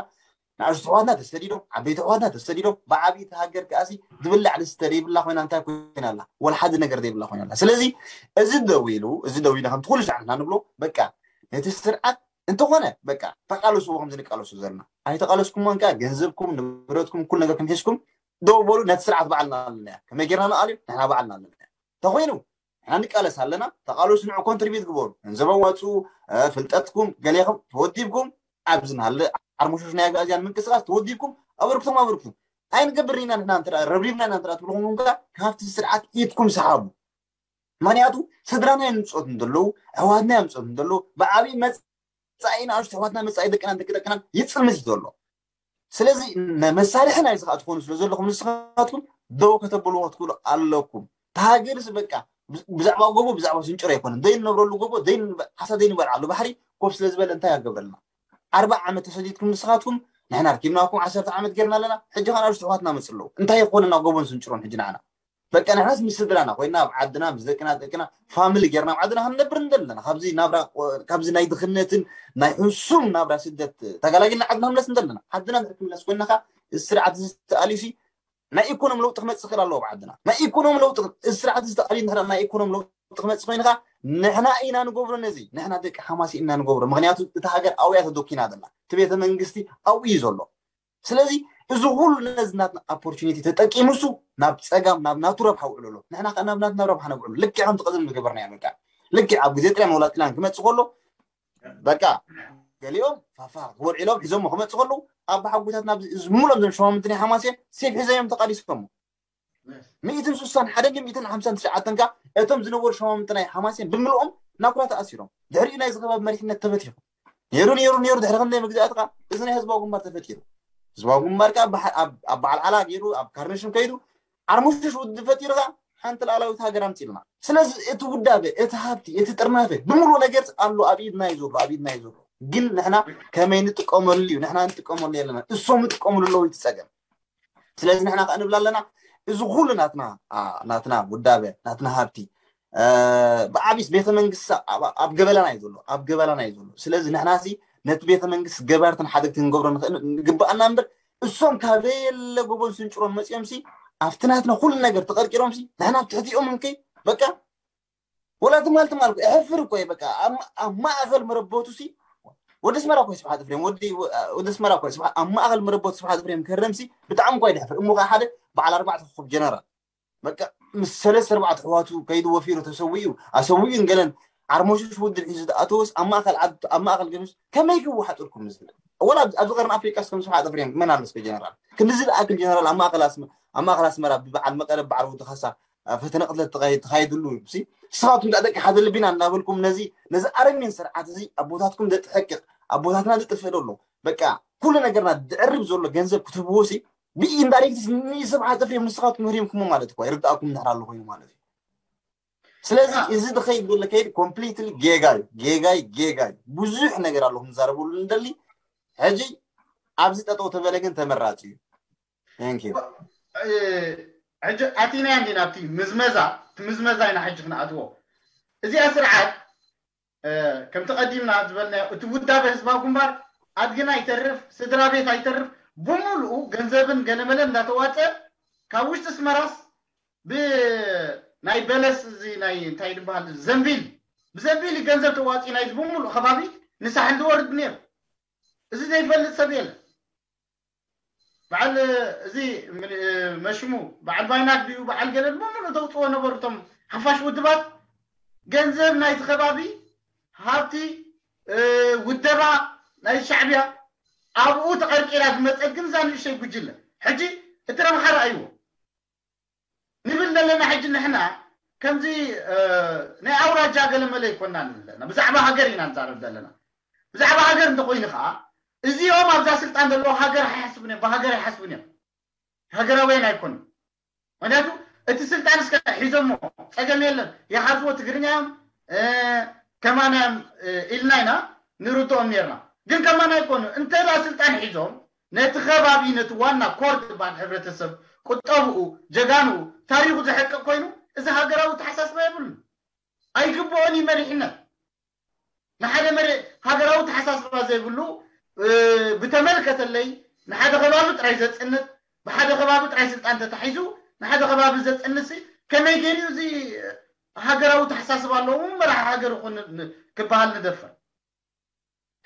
ንኣሽቱ ኣሕዋትና ተሰዲዶም ዓበይቲ ኣሕዋትና ተሰዲዶም ብዓብይቲ ሃገር ከኣሲ ዝብላዕ ዝስተ ዘይብላ ኮይና እንታይ ኮይና ኣላ ወላ ሓደ ነገር ዘይብላ ኮይና ኣላ ስለዚ እዚ ደው ኢሉ እዚ ደው ኢሉ ከምቲ ኩሉ ሻዕ ንሕና ንብሎ በቃ ነቲ ስርዓት እንተኾነ በቃ ተቃለስዎ ከምዚ ንቃለሱ ዘለና ኣይተቃለስኩሞን ከኣ ገንዘብኩም ንብረትኩም ኩሉ ነገርኩም ሒዝኩም ደው በሉ። ነቲ ስርዓት ባዕልና ኣለና እያ ከመይ ጌርና ንኣልዩ ንሕና ባዕልና ኣለና እያ እንተኾይኑ ንሕና ንቃለስ ኣለና። ተቃለሱ ንዑ ኮንትሪቢት ግበሩ። ገንዘብ ኣዋፅኡ፣ ፍልጠትኩም ገሌኹም ተወዲብኩም ኣብዚ ናለ ዓርሞሾሽ ናይ ኣጋእዝያን ምንቅስቃስ ተወዲብኩም ኣበርክቶም ኣበርክቱ። ኣይንገብር ኢና ንሕና እንተ ረብሪብና ኢና እንተ ትብልኹም ከ ካብቲ ስርዓት ኢድኩም ሰሓቡ። ምክንያቱ ስድራና እዮም ዝምፅኦት እንተለዉ ኣሕዋትና እዮም ዝምፅኦት እንተለዉ ብዓብዪ መፃኢ ንኣሽቱ ኣሕዋትና መፃኢ ደቅናን ደቂ ደቅናን ይፅልምት እዩ ዘሎ። ስለዚ መሳርሒ ናይ ዝኸኣ ትኾኑ ስለ ዘለኹም ንስኻትኩም ደው ከተብልዎ ክትክእሉ ኣለኩም። ተሃገርስ በቃ ብዛዕባ ጎቦ ብዛዕባ ስንጭሮ ኣይኮነን ዘይንነብረሉ ጎቦ ሓሳ ዘይንበልዓሉ ባሕሪ ኮፍ ስለ ዝበለ እንታይ ኣገብረልና ኣርባ ዓመት ተሰዲድኩም ንስኻትኩም ንሕና ርኪብናኩም ዓሰርተ ዓመት ጌርና ኣለና ሕጂ ኸ ንኣሽቱ ኣሕዋትና መፅእ ኣለዉ እንታይ ይኾነና ጎቦን ስንጭሮን ሕጂ ንዓና በቃ ንሕናስ ምስ ስድራና ኮይና ኣብ ዓድና ምስ ደቅና ደቅና ፋሚሊ ጌርና ኣብ ዓድና ክንነብር እንደለና ካብዚ ናብራ ካብዚ ናይ ድኽነትን ናይ ሕሱም ናብራ ስደት ተጋላጊልና ዓድና ክንምለስ እንደለና ዓድና ድሕር ክንምለስ ኮይና ከዓ እዚ ስርዓት እዚ ተኣልዩሲ ናይ ኢኮኖሚ ለውጢ ክመፅእ ክእል ኣለዎ ኣብ ዓድና ናይ ኢኮኖሚ ለውጢ እዚ ስርዓት እዚ ተኣልዩ እንድሕር ናይ ኢኮኖሚ ለውጢ ክመፅእ ኮይኑ ከዓ ንሕና ኢና ንገብሮ ነዚ ንሕና ደቂ ሓማሲ ኢና ንገብሮ ምክንያቱ እቲ ሃገር ኣብያ ተደኪና ዘላ እቲ ቤተ መንግስቲ ኣብኡ እዩ ዘሎ ስለዚ እዚ ኩሉ ነዚ ናትና ኦፖርቹኒቲ ተጠቂሙ እሱ ናብ ፀጋም ናብ ናቱ ረብሓ ውዕሉ ኣሎ ንሕና ከዓ ናብ ናትና ረብሓ ነብዕሉ ልክዕ ከምቲ ቀደም ዝገበርናዮ በቃ ልክዕ ኣብ ግዜ ጥልያን ወላ ጥልያን ክመፅእ ከሎ በቃ ገሊኦም ፋፋ ክወልዒሎም ሒዞሞ ክመፅእ ከለዉ ኣብ ሓጎታት ናብ ሙሉኦም ዘም ሸማምንቲ ናይ ሓማስ እዮም ሴፍ ሒዘዮም ተቃሊሶሞ ሚእትን ስሳን ሓደን ድዩ ሚእትን ሓምሳን ትሽዓተን ከ እቶም ዝነበሩ ሸማምንቲ ናይ ሓማሴን ብምልኦም ናኩራ ተኣሲሮም ድሕሪኡ ናይ ዝኸባብ መሪሕነት ተበቲኹ ነይሩ ነይሩ ነይሩ ድሕሪ ክንደይ መግዛእቲ ከ እዚ ናይ ህዝባዊ ግንባር ተፈጢሩ ህዝባዊ ግንባር ከ ኣብ በዓል ዓላ ገይሩ ኣብ ካርነሽም ከይዱ ዓርሙሽሽ ውድብ ፈጢሩ ከ ሓንቲ ላዕላዊት ሃገር ኣምፂልና ስለዚ እቲ ውዳበ እቲ ሃብቲ እቲ ጥርናፈ ብምሉ ነገር ኣሎ ኣብ ኢድና እዩ ዘሎ ኣብ ኢድና እዩ ዘሎ ግን ንሕና ከመይ ንጥቀመሉ እዩ ንሕና ንጥቀመሉ የለና እሶም ይጥቀምሉ ኣለዉ እቲ ፀገም ስለዚ ንሕና ከዓ ንብል ኣለና እዚ ኩሉ ናትና ናትና ውዳበ ናትና ሃብቲ ብዓቢስ ቤተ መንግስቲ ኣብ ገበላና እዩ ዘሎ ኣብ ገበላና እዩ ዘሎ ስለዚ ንሕና ሲ ነቲ ቤተ መንግስቲ ገባርትን ሓደግቲ ክንገብሮ ንግብኣና እምበር እሶም ካበየለ ጎቦን ስንጭሮን መፂኦም ሲ ኣብቲ ናትና ኩሉ ነገር ተቀርቂሮም ሲ ንሕና ኣብ ትሕቲኦም እንከይ በቃ ወላ ትማል ትማል እኮ እሕፍር እኮ እየ በቃ ኣብ ማእኸል መረበቱ ሲ ወዲ ስመራ እኮ ስብሓት ፍሬም ወዲ ወዲ ስመራ እኮ ስብሓት ኣብ ማእኸል መረበቱ ስብሓት ፍሬም ክህረም ሲ ብጣዕሚ እኮ ይድሕፍር እሞ ከዓ ሓደ በዓል ኣርባዕተ ኮኾብ ጀነራል በቃ ምስ ሰለስተ ኣርባዕተ ኣሕዋቱ ከይዱ ወፊሩ ተሰዊኡ ኣሰዊኡ ገለን ዓርሞሽሽ ውድብ ሒዙ ተኣተወስ ኣብ ማእኸል ዓዲ ኣብ ማእኸል ገሉስ ከመይ ክወሓጥልኩም ዝብል ወላ ኣብዚ ቀርኒ ኣፍሪቃ ስከም ስብሓት ፍሬም መን ኣሎ እስከ ጀነራል ክንድዚ ዝኣክል ጀነራል ኣብ ማእኸል ኣስመ ኣብ ማእኸል ኣስመራ ብበዓል መቐለ በዓል ወዲ ካሳ ፈተነ ቅትለት ተኻይድሉ ሲ ንስኻትኩም ደኣ ደቂ ሓደ ልቢና እናበልኩም ነዚ ነዚ ኣረሚን ስርዓት እዚ ኣቦታትኩም ዘጥሕቅቕ ኣቦታትና ዝጥፍእ ዘሎ በቃ ኩሉ ነገርና ዝዕርብ ዘሎ ገንዘብ ክትህብዎ ሲ ብኢንዳይሬክት ንስብሓት ኤፍሬም ንስኻትኩም ህሪምኩሞ ማለት እኳ ይርድኣኩም እንድሕር ኣሎ ኮይኑ ማለት እዩ ስለዚ እዚ ዝኸይድ ዘሎ ከይድ ኮምፕሊትሊ ጌጋ እዩ ጌጋ እዩ ጌጋ እዩ ብዙሕ ነገር ኣሎ ክንዛረበሉ ንደሊ ሕጂ ኣብዚ ጠጠው ተበለ ግን ተመራፂ እዩ Thank you. ሕጂ ኣቲናያ እንዲና ኣብቲ ምዝመዛ እቲ ምዝመዛ ኢና ሕጂ ክንኣትዎ እዚኣ ስርዓት ከምቲ ቀዲምና ዝበልናዮ እቲ ውዳበ ህዝባዊ ግንባር ኣድግና ይተርፍ ስድራ ቤት ኣይተርፍ ብምሉኡ ገንዘብን ገለመለን እንዳተዋፀ ካብ ውሽጢ ስመራስ ብናይ በለስ እዚ ናይ እንታይ ዝበሃል ዘንቢል ብዘንቢል ገንዘብ ተዋፂ ናይ ብምሉእ ከባቢ ንሳሕል ዝወርድ ነይሩ እዚ ዘይፈልጥ ሰብ የለን በዓል እዚ መሽሙ በዓል ባይናክ ድዩ በዓል ገለ ብምሉእ ተውፅዎ ነበሩ እቶም ሓፋሽ ውድባት ገንዘብ ናይቲ ከባቢ ሃብቲ ውደባ ናይ ሻዕብያ ኣብኡ ተቐርቂራ ዝመፀት ግን እዛ ንእሽተይ ጉጅለ ሕጂ እቲ ረብሓ ረኣይዎ ንብል ዘለና ሕጂ ንሕና ከምዚ ናይ ኣውራጃ ገለመለ ይኮና ንብል ዘለና ብዛዕባ ሃገር ኢና ንዛረብ ዘለና ብዛዕባ ሃገር እንተኮይኑ ከዓ እዚኦም ኣብዛ ስልጣን ዘለዉ ሃገር ኣይሓስቡን እዮም ብሃገር ኣይሓስቡን እዮም ሃገራውያን ኣይኮኑን ምክንያቱ እቲ ስልጣን እስከ ሒዞሞ ፀገም የለን ይሓዝዎ ትግርኛ እዮም ከማና እዮም ኢልና ኢና ንርድኦም ነርና ግን ከማና ኣይኮኑ እንተዳ ስልጣን ሒዞም ነቲ ከባቢ ነቲ ዋና ኮር ዝበሃል ሕብረተሰብ ቁጠብኡ ጀጋንኡ ታሪኹ ዘሕቅቕ ኮይኑ እዚ ሃገራዊ ተሓሳስባ የብሉን ኣይግብኦን እዩ መሪሕነት ንሓደ መሪ ሃገራዊ ተሓሳስባ ዘይብሉ ብተመልከተለይ ንሓደ ከባቢ ጥራይ ዘፅንት ብሓደ ከባቢ ጥራይ ስልጣን ተታሒዙ ንሓደ ከባቢ ዘፅንት ከመይ ገይሩ እዚ ሃገራዊ ተሓሳስባ ኣለዎ መራሒ ሃገር ይኹን ክበሃል ንደፍር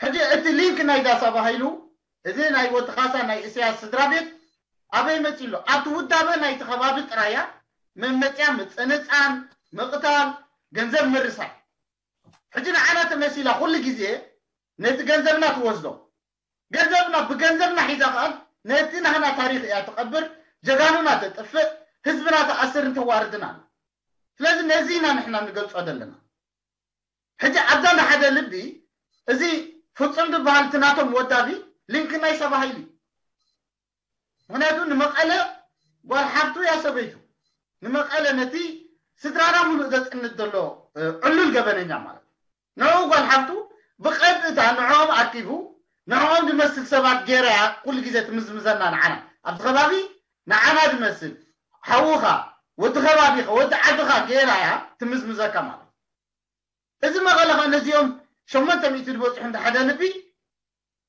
ሕጂ እቲ ሊንክ ናይ ዳሳ ባሃይሉ፣ እዚ ናይ ወዲ ካሳ ናይ እስያስ ስድራ ቤት ኣበይ መጺ ኣሎ? ኣብቲ ውዳበ ናይቲ ከባቢ ጥራያ መመጽያ ምጽንጻን፣ ምቕታል፣ ገንዘብ ምርሳይ። ሕጂ ንዓና ተመሲላ ኩሉ ግዜ ነቲ ገንዘብና ትወስዶ። ገንዘብና ብገንዘብና ሒዛ ከኣ ነቲ ናህና ታሪኽ እያ ትቐብር፣ ጀጋኑና ተጥፍእ፣ ህዝብና ተኣስርን ተዋርድን ኣላ። ስለዚ ነዚ ኢና ንሕና ንገልጾ ዘለና። ሕጂ ኣብዛ ንሓደ ልቢ እዚ ፍጹም ዝበሃል እቲ ናቶም ወዳቢ ሊንክ ናይ ሰባ ሃይሊ። ምክንያቱ ንመቐለ ጓል ሓፍቱ እያ ሰበይቱ። ንመቐለ ነቲ ስድራና ሙሉእ ዘጽንት ዘሎ ዕሉል ገበነኛ ማለት እዩ። ንዕኡ ጓል ሓፍቱ ብቐጥታ ንዕኦም ኣኪቡ ንዕኦም ዝመስል ሰባት ገይራ እያ ኩሉ ግዜ ትምዝምዘና ንዓና። ኣብዚ ከባቢ ንዓና ዝመስል ሓውኻ ወዲ ከባቢኻ ወዲ ዓድኻ ገይራ እያ ትምዝምዘካ ማለት እዩ። እዚ መቐለ ኸ ነዚኦም ሸሞንተ ሚእቲ ዝበፅሑ እንተ ሓደ ልቢ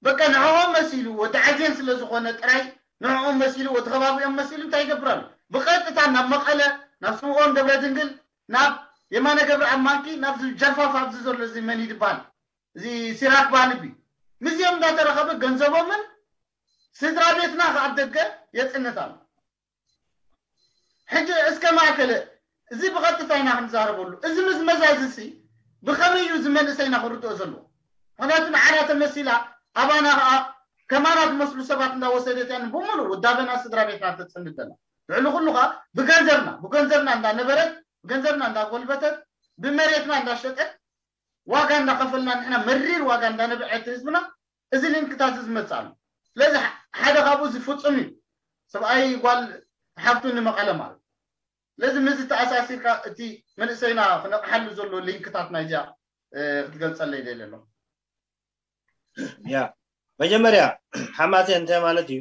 በቃ ንዕኦም መሲሉ ወዲ ዓዜን ስለ ዝኾነ ጥራይ ንዕኦም መሲሉ ወዲ ከባቢኦም መሲሉ እንታይ ይገብር ኣሎ? ብቐጥታ ናብ መቐለ ናብ ስምኦን ገብረ ድንግል ናብ የማነ ገብረ ኣብ ማንኪ ናብዚ ጀርፋፍ ኣብዚ ዘሎ እዚ መን እዩ ዝበሃል እዚ ሲራክ በሃል ልቢ ምስዚኦም እንዳተረኸበ ገንዘቦምን ስድራ ቤትና ከ ኣብ ደገ የፅንት ኣሎ። ሕጂ እስከ ማእከለ እዚ ብቐጥታ ኢና ክንዛረበሉ። እዚ ምዝመዛ እዚ ሲ ብኸመይ እዩ እዚ መንእሰይና ክርድኦ ዘለዎ? ምክንያቱ ንዓና ተመሲላ ኣባና ከዓ ከማና ዝመስሉ ሰባት እንዳወሰደት እያ ንብሙሉ ውዳበና ስድራ ቤትና ተፅንት ዘላ። ልዕሊ ኩሉ ከዓ ብገንዘብና ብገንዘብና እንዳነበረት ብገንዘብና እንዳጎልበተት ብመሬትና እንዳሸጠት ዋጋ እንዳኸፈልና ንሕና መሪር ዋጋ እንዳነብዐት ህዝብና እዚ ሊንክታት እዚ ዝመፅእ ኣሎ። ስለዚ ሓደ ካብኡ እዚ ፍፁም እዩ። ሰብኣይ ጓል ሓፍቱ ንመቐለ ማለት ስለዚ ምዚ ተኣሳሲርካ እቲ መንእሰይና ክነቕሓሉ ዘሎ ሊንክታት ናይዚኣ ክትገልፀለይ ደለ ኣሎ። ያ መጀመርያ ሓማሴን እንታይ ማለት እዩ?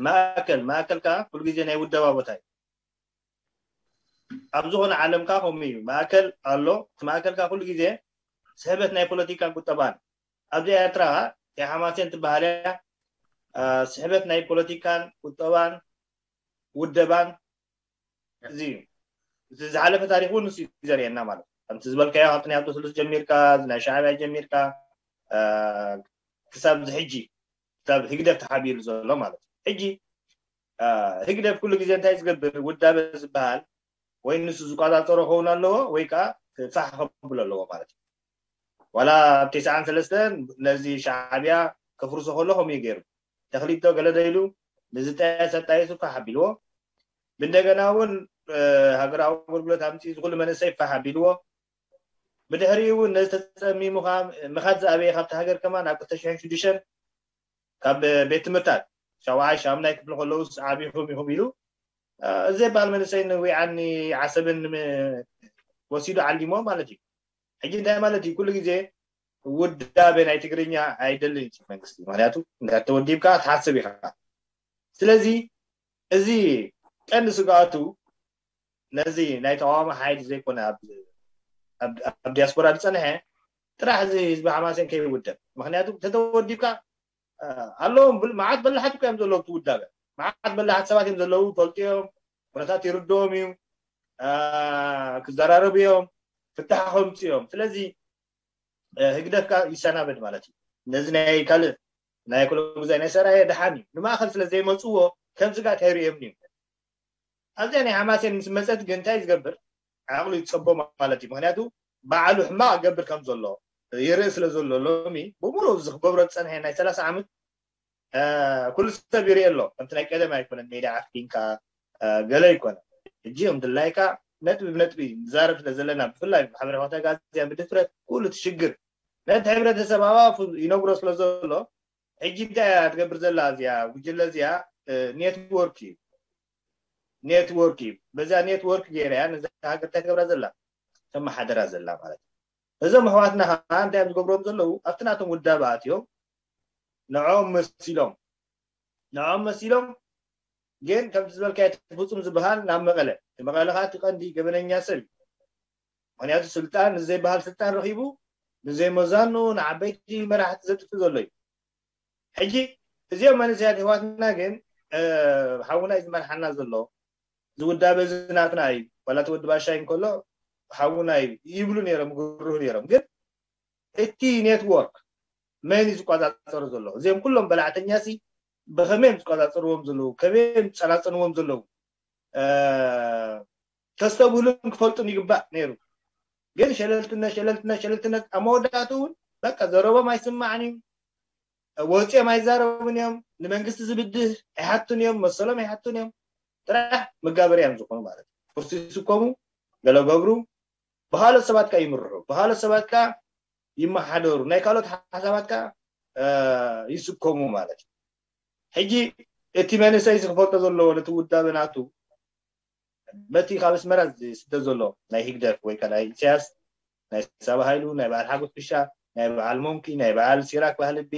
ማእከል ማእከል ከዓ ኩሉ ግዜ ናይ ውደባ ቦታ እዩ። ኣብ ዝኾነ ዓለም ከዓ ከምኡ እዩ። ማእከል ኣሎ። እቲ ማእከል ከዓ ኩሉ ግዜ ስሕበት ናይ ፖለቲካን ቁጠባን። ኣብዚ ኤርትራ ከዓ ሓማሴን ትበሃል እያ። ስሕበት ናይ ፖለቲካን ቁጠባን ውደባን እዚ እዩ። እቲ ዝሓለፈ ታሪክ እውን ንሱ እዩ ዘርእየና ማለት እዩ። ከምቲ ዝበልካዮ ካብቲ ናይ ኣብቶ ስሉስ ጀሚርካ እዚ ናይ ሻዕብያ ጀሚርካ ክሳብ እዚ ሕጂ ክሳብ ህግደፍ ተሓቢሩ ዘሎ ማለት እዩ። ሕጂ ህግደፍ ኩሉ ግዜ እንታይ ዝገብር ውዳበ ዝበሃል ወይ ንሱ ዝቆፃፀሮ ክኸውን ኣለዎ ወይ ከዓ ፋሕ ከብሎ ኣለዎ ማለት እዩ። ዋላ ኣብ ተስዓን ሰለስተን ነዚ ሻዕብያ ከፍርሶ ከሎ ከምኡ እዩ ገይሩ። ተኽሊቶ ገለ ዶ ኢሉ ንዝጠየሰ ኣጣይሱ ፋሕ ኣቢልዎ። ብእንደገና እውን ሃገራዊ ኣገልግሎት ኣምፅኡ ዝኩሉ መንእሰይ ፋሕ ኣቢልዎ። ብድሕሪኡ እውን ነዚ ተፀሚሙ ከዓ ምኻድ ዝኣበየ ካብቲ ሃገር ከማን ኣብ ክልተ ሽሕን ሽዱሽተን ካብ ቤት ትምህርታት ሻውዓይ ሻምናይ ክፍሊ ከለውስ ዓቢኹም ኢኹም ኢሉ እዚ በሃል መንእሰይ ንዊዓኒ ዓሰብን ወሲዱ ዓሊሞ ማለት እዩ። ሕጂ እንታይ ማለት እዩ? ኩሉ ግዜ ውዳቤ ናይ ትግርኛ ኣይደልን እዩ መንግስቲ። ምክንያቱ እንዳተወዲብካ ትሓስብ ኢኻ። ስለዚ እዚ ቀንዲ ስግኣቱ ነዚ ናይ ተቃዋሚ ሓይሊ ዘይኮነ ኣብ ዲያስፖራ ዝፀንሐ ጥራሕ እዚ ህዝቢ ሓማሴን ከይውደብ። ምክንያቱ ተተወዲብካ ኣለዎም መዓት በላሓት እኮ እዮም ዘለዉ ትውዳበ መዓት በላሓት ሰባት እዮም ዘለዉ ፈልጡ እዮም ኩነታት ይርድኦም እዩ ክዘራረቡ እዮም ፍታሕ ከምፅ እዮም ስለዚ ህግደፍካ ይሰናበድ ማለት እዩ ነዚ ናይ ካልእ ናይ ኩሎ ግዛይ ናይ ሰራየ ደሓን እዩ ንማእኸል ስለ ዘይመፅዎ ከምዚ ጋር ተይርእዮም እዩ ኣብዚኣ ናይ ሓማሴን ምስ መፀት ግን እንታይ ዝገብር ዓቕሉ ይፀቦ ማለት እዩ ምክንያቱ ባዕሉ ሕማቕ ገብር ከም ዘሎ ይርኢ ስለ ዘሎ ሎሚ ብምሉእ እዚ ክገብሮ ዝፀንሐ ናይ ሰላሳ ዓመት ኩሉ ሰብ ይርኢ ኣሎ ከምቲ ናይ ቀደም ኣይኮነን ሜዳ ዓፍኪንካ ገለ ኣይኮነ ሕጂ ከም ድላይካ ነጥቢ ብነጥቢ ንዛረብ ስለ ዘለና ብፍላይ ማሕበራዊ ተጋዝያ ብድፍረት ኩሉ ትሽግር ነቲ ሕብረተሰብ ኣባፉ ይነግሮ ስለ ዘሎ ሕጂ እንታይ እያ ትገብር ዘላ እዚኣ ጉጅለ እዚኣ ኔትወርክ እዩ ኔትወርክ እዩ በዛ ኔትወርክ ገይራ እያ ነዛ ሃገር እንታይ ትገብራ ዘላ ተመሓደራ ዘላ ማለት እዩ እዞም ኣሕዋትና ከዓ እንታይ እዮም ዝገብሮም ዘለዉ ኣብቲ ናቶም ውዳበ ኣትዮም ንዕኦም መሲሎም ንዕኦም መሲሎም ግን ከምቲ ዝበልካዮ እቲ ፍፁም ዝበሃል ናብ መቐለ እቲ መቐለ ከዓ እቲ ቀንዲ ገበነኛ ሰብ እዩ ምክንያቱ ስልጣን ንዘይበሃል ስልጣን ረኪቡ ንዘይመዛኑ ንዓበይቲ መራሕቲ ዘጥፍእ ዘሎ እዩ ሕጂ እዚኦም መንእሰያት ኣሕዋትና ግን ሓውና እዩ ዝመርሓና ዘሎ ዝውዳበ እዚ ናትና እዩ ዋላ እቲ ወዲ ባሻይ እንከሎ ሓውና እዩ ይብሉ ነይሮም ይግርሁ ነይሮም ግን እቲ ኔትወርክ መን እዩ ዝቆፃፀሩ ዘሎ? እዚኦም ኩሎም በላዕተኛ ሲ ብኸመይ እዮም ዝቆፃፀርዎም ዘለዉ? ከመይ እዮም ዝፀናፀንዎም ዘለዉ? ተስተብህሉን ክፈልጡን ይግባእ ነይሩ። ግን ሸለልትነት ሸለልትነት ሸለልትነት ኣብ መወዳእቱ እውን በቃ ዘረቦም ኣይስማዕን እዩ። ወፂኦም ኣይዛረቡን እዮም። ንመንግስቲ ዝብድህ ኣይሓቱን እዮም፣ መሰሎም ኣይሓቱን እዮም። ጥራሕ መጋበርያ እዮም ዝኾኑ ማለት እዩ። ቁርሲ ይስከሙ፣ ገለ ገብሩ፣ ብካልኦት ሰባት ከኣ ይምርሑ፣ ብካልኦት ሰባት ከኣ ይመሓደሩ፣ ናይ ካልኦት ሓሳባት ከኣ ይስከሙ ማለት እዩ። ሕጂ እቲ መንእሰይ እዚ ክፈልጦ ዘለዎ ነቲ ውዳበ ናቱ በቲ ካብ ኣስመራ ዝስደድ ዘሎ ናይ ህግደፍ ወይ ከኣ ናይ ኢሳያስ ናይ ሳባ ሃይሉ ናይ በዓል ሓጎስ ክሻ ናይ በዓል ሞንኪ ናይ በዓል ሲራክ ባህልቢ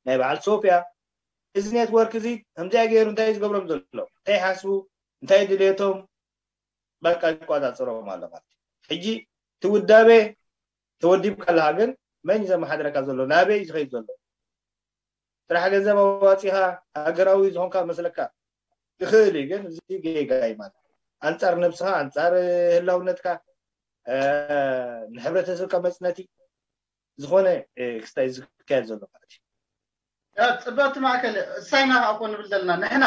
ናይ በዓል ሶፍያ እዚ ኔትወርክ እዚ ከምዚኣ ገይሩ እንታይ ዝገብሮም ዘሎ እንታይ ይሓስቡ እንታይ ድልየቶም በቃ ይቆፃፀሮም ኣሎ ማለት እዩ። ሕጂ እቲ ውዳቤ ተወዲብካ ኣለካ ግን መን እዩ ዘመሓድረካ ዘሎ ናበይ እዩ ዝኸይድ ዘሎ ጥራሕ ገንዘብ ኣዋፂኻ ሃገራዊ ዝኾንካ መስለካ ይኽእል እዩ ግን እዚ ጌጋ እዩ ማለት ኣንፃር ነብስኻ ኣንፃር ህላውነትካ ንሕብረተሰብካ መፅነቲ ዝኾነ ክስታይ ዝካየድ ዘሎ ማለት እዩ ፅበቲ ማእከል እሳይና ከዓ ኮ ንብል ዘለና ንሕና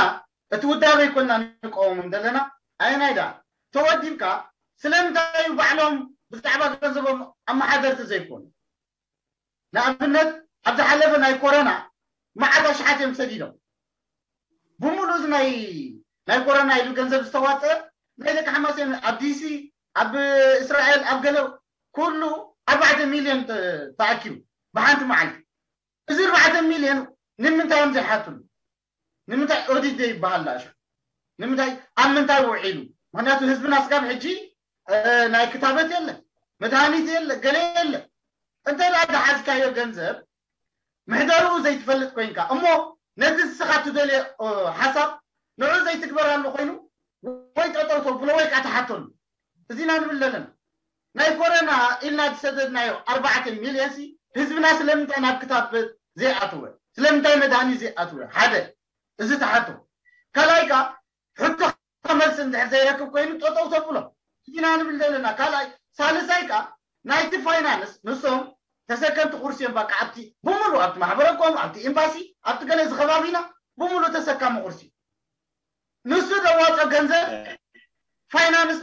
እቲ ውዳበ ይኮንና ንቀወሞም ዘለና ኣየናይ ደኣ ተወዲብካ ስለምንታይ እዩ ባዕሎም ብዛዕባ ገንዘቦም ኣመሓደርቲ ዘይኮኑ ንኣብነት ኣብ ዝሓለፈ ናይ ኮረና መዓት ኣሽሓት እዮም ሰዲዶም ብምሉእ ናይ ናይ ኮረና ኢሉ ገንዘብ ዝተዋፀ ናይ ደቂ ሓማሴን ኣብ ዲሲ ኣብ እስራኤል ኣብ ገለ ኩሉ ኣርባዕተ ሚልዮን ተኣኪቡ ብሓንቲ መዓልቲ እዚ ኣርባዕተ ሚልዮን ንምንታይ እዮም ዘይሓትሉ ንምንታይ ኦዲት ዘይበሃል ዳእሾ ንምንታይ ኣብ ምንታይ ውዒሉ ምክንያቱ ህዝብና ስጋብ ሕጂ ናይ ክታበት የለ መድሃኒት የለ ገለ የለ እንተ ደኣ ዝሓዝካዮ ገንዘብ ምሕደርኡ ዘይትፈልጥ ኮይንካ እሞ ነቲ ንስኻ ትደልዮ ሓሳብ ንዑ ዘይትግበራሉ ኮይኑ ወይ ጠጠው ተብሎ ወይ ከዓ ትሓተሉ እዚና ንብል ዘለና ናይ ኮረና ኢልና ዝሰደድናዮ ኣርባዕተ ሚልዮን ሲ ህዝብና ስለምንታይ ናብ ክታበት ዘይኣተወ ስለምንታይ መድሃኒት ዘይኣተወ ሓደ እዚ ተሓቶ ካልኣይ ከዓ ሕቶ መልሲ እንድሕር ዘይረክብ ኮይኑ ጠጠው ተብሎ እዚና ንብል ዘለና ካልኣይ ሳልሳይ ከዓ ናይቲ ፋይናንስ ንሶም ተሰከምቲ ቁርሲ እዮም በቃ ኣብቲ ብምሉ ኣብቲ ማሕበረኮም ኣብቲ ኤምባሲ ኣብቲ ገለ ዝከባቢና ብምሉ ተሰካሚ ቁርሲ ንሱ ዘዋፀ ገንዘብ ፋይናንስ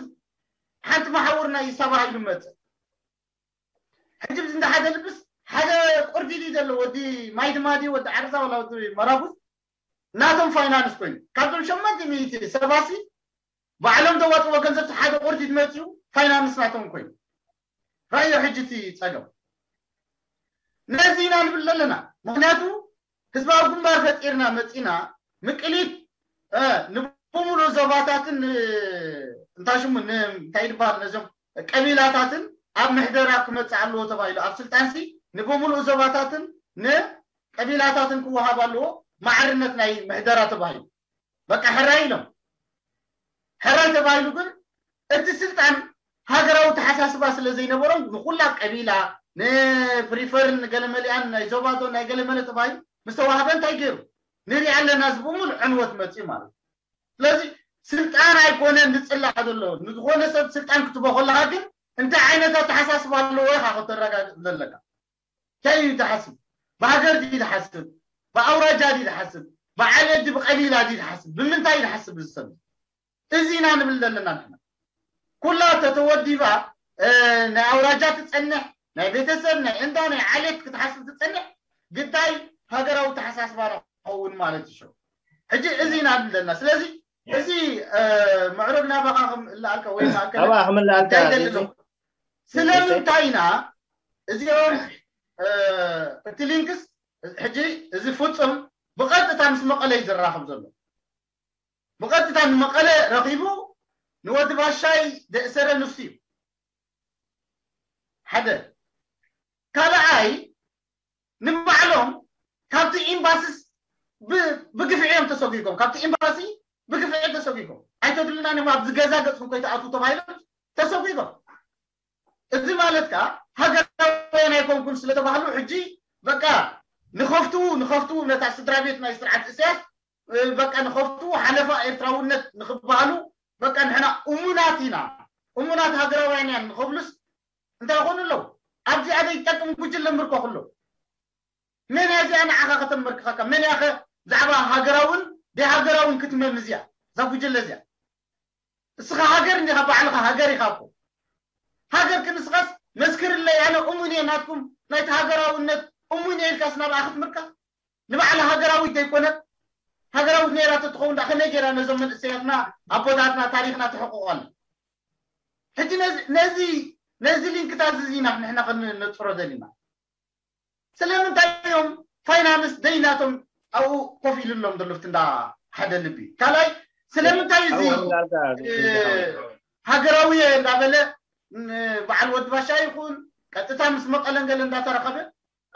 ሓንቲ መሓውር ናይ ሰባ ኢሉ መፅእ ሕጂ ብዚ እንዳ ሓደ ልብስ ሓደ ቁርዲ ድዩ ዘሎ ወዲ ማይ ድማ ድዩ ወዲ ዓርሳ ወላ ወዲ መራጉዝ ናቶም ፋይናንስ ኮይኑ ካብቶም ሸሞንተ ሚእቲ ሰባሲ ባዕሎም ዘዋፅዎ ገንዘብ ሓደ ቁርዲ ዝመፅኡ ፋይናንስ ናቶም ኮይኑ ራእዮ ሕጂ እቲ ፀገም ነዚ ኢና ንብል ዘለና ምክንያቱ ህዝባዊ ግንባር ፈጢርና መፂና ምቅሊት ንብምሉእ ዞባታትን እንታይ ሽሙ እንታይ ይበሃል ነዚኦም ቀቢላታትን ኣብ ምሕደራ ክመፅእ ኣለዎ ተባሂሉ ኣብ ስልጣንሲ ንብምሉእ ዞባታትን ንቀቢላታትን ክወሃብ ኣለዎ ማዕርነት ናይ ምሕደራ ተባሂሉ በቃ ሕራይ ኢሎም ሕራይ ተባሂሉ ግን እቲ ስልጣን ሃገራዊ ተሓሳስባ ስለ ዘይነበሮም ንኩላ ቀቢላ ንፕሪፈርን ንገለመሊኣን ናይ ዞባዶ ናይ ገለመለ ተባሂሉ ምስተዋህበ እንታይ ገይሩ ንሪኣ ኣለና እዚ ብምሉእ ዕንወት መፅኡ ማለት እዩ ስለዚ ስልጣን ኣይኮነን ዝፅላእ ዘሎ ንዝኾነ ሰብ ስልጣን ክትቦ ከለካ ግን እንታይ ዓይነት ኣተሓሳስባ ኣለዎ ኢካ ከተረጋግፅ ዘለካ እንታይ እዩ ዝሓስብ ብሃገር ድዩ ዝሓስብ ብኣውራጃ ድዩ ዝሓስብ ብዓሌት ድዩ ብቀቢላ ድዩ ዝሓስብ ብምንታይ እዩ ዝሓስብ እዚ ሰብ እዚ ኢና ንብል ዘለና ንሕና ኩላ ተተወዲባ ናይ ኣውራጃ ትፀንሕ ናይ ቤተሰብ ናይ እንዳ ናይ ዓሌት ክትሓስብ ትፀንሕ ግዳይ ሃገራዊ ተሓሳስባ ንኸውን ማለት እዩ ሕጂ እዚ ኢና ንብል ዘለና ስለዚ እዚ ምዕሩግ ናባኻ ክምእላኣልካ ወይ ማእከል ናባኻ ክምእላኣልካ እንታይ ደሊ እዚ ነው? ስለምንታይ ኢና እዚኦም እቲ ሊንክስ ሕጂ እዚ ፍጹም ብቐጥታ ምስ መቐለ እዩ ዝራኸብ ዘሎ ብቐጥታ ንመቐለ ረኺቡ ንወዲ ባሻይ ደእሰረ ንሱ እዩ ሓደ ካልኣይ ንባዕሎም ካብቲ ኤምባስስ ብግፍዒ እዮም ተሰጒጎም ካብቲ ኤምባሲ ብግፍዒ ተሰጒጎም ኣይተድሉና ኒም ኣብዚ ገዛ ገፅኩም ከይተኣትዉ ተባሂሎም ተሰጒጎም እዚ ማለት ከዓ ሃገራውያን ኣይኮንኩም ስለተባህሉ ሕጂ በቃ ንኸፍትዉ ንኸፍትዉ ነታ ስድራ ቤት ናይ ስርዓት እስያስ በቃ ንኸፍትዉ ሓለፋ ኤርትራውነት ንኽበሃሉ በቃ ንሕና እሙናት ኢና እሙናት ሃገራውያን ኢና ንኸብሉስ እንታይ ይኾኑ ኣለዉ ኣብዚኣ ዘይጠቅም ጉጅለ ምርከኹ ኣለዉ መን እያ እዚኣ ንዓኻ ከተመርክኸካ? መን እያ ኸ ብዛዕባ ሃገራውን ደይሃገራውን ክትመም እዚኣ? እዛ ጉጅለ እዚኣ። እስኻ ሃገር እንዲኻ፣ ባዕልኻ ሃገር ኢኻ እኮ። ሃገር ክንስኻስ መስክርለይ፣ ኣነ እሙን እየ ናትኩም ናይቲ ሃገራውነት እሙን እየ ኢልካስ ናብኣ ክትምርካ? ንባዕላ ሃገራዊት ዘይኮነት? ሃገራዊት ነይራ ተትኸውን ደኣ ከመይ ገይራ ነዞም መንእሰያትና ኣቦታትና ታሪኽና ተሕቁቐሉ? ሕጂ ነዚ ነዚ ነዚ ሊንክታት እዚ ኢና ንሕና ከነጽሮ ደሊና። ስለምንታይ እዮም ፋይናንስ ደይናቶም ኣብኡ ኮፍ ኢሉሎም ዘሎ ፍቲ እንዳ ሓደ ልቢ? ካልኣይ ስለምንታይ እዚ ሃገራዊ እየ እንዳበለ በዓል ወዲ ባሻ ይኹን ቀጥታ ምስ መቐለን ገለ እንዳተረኸበ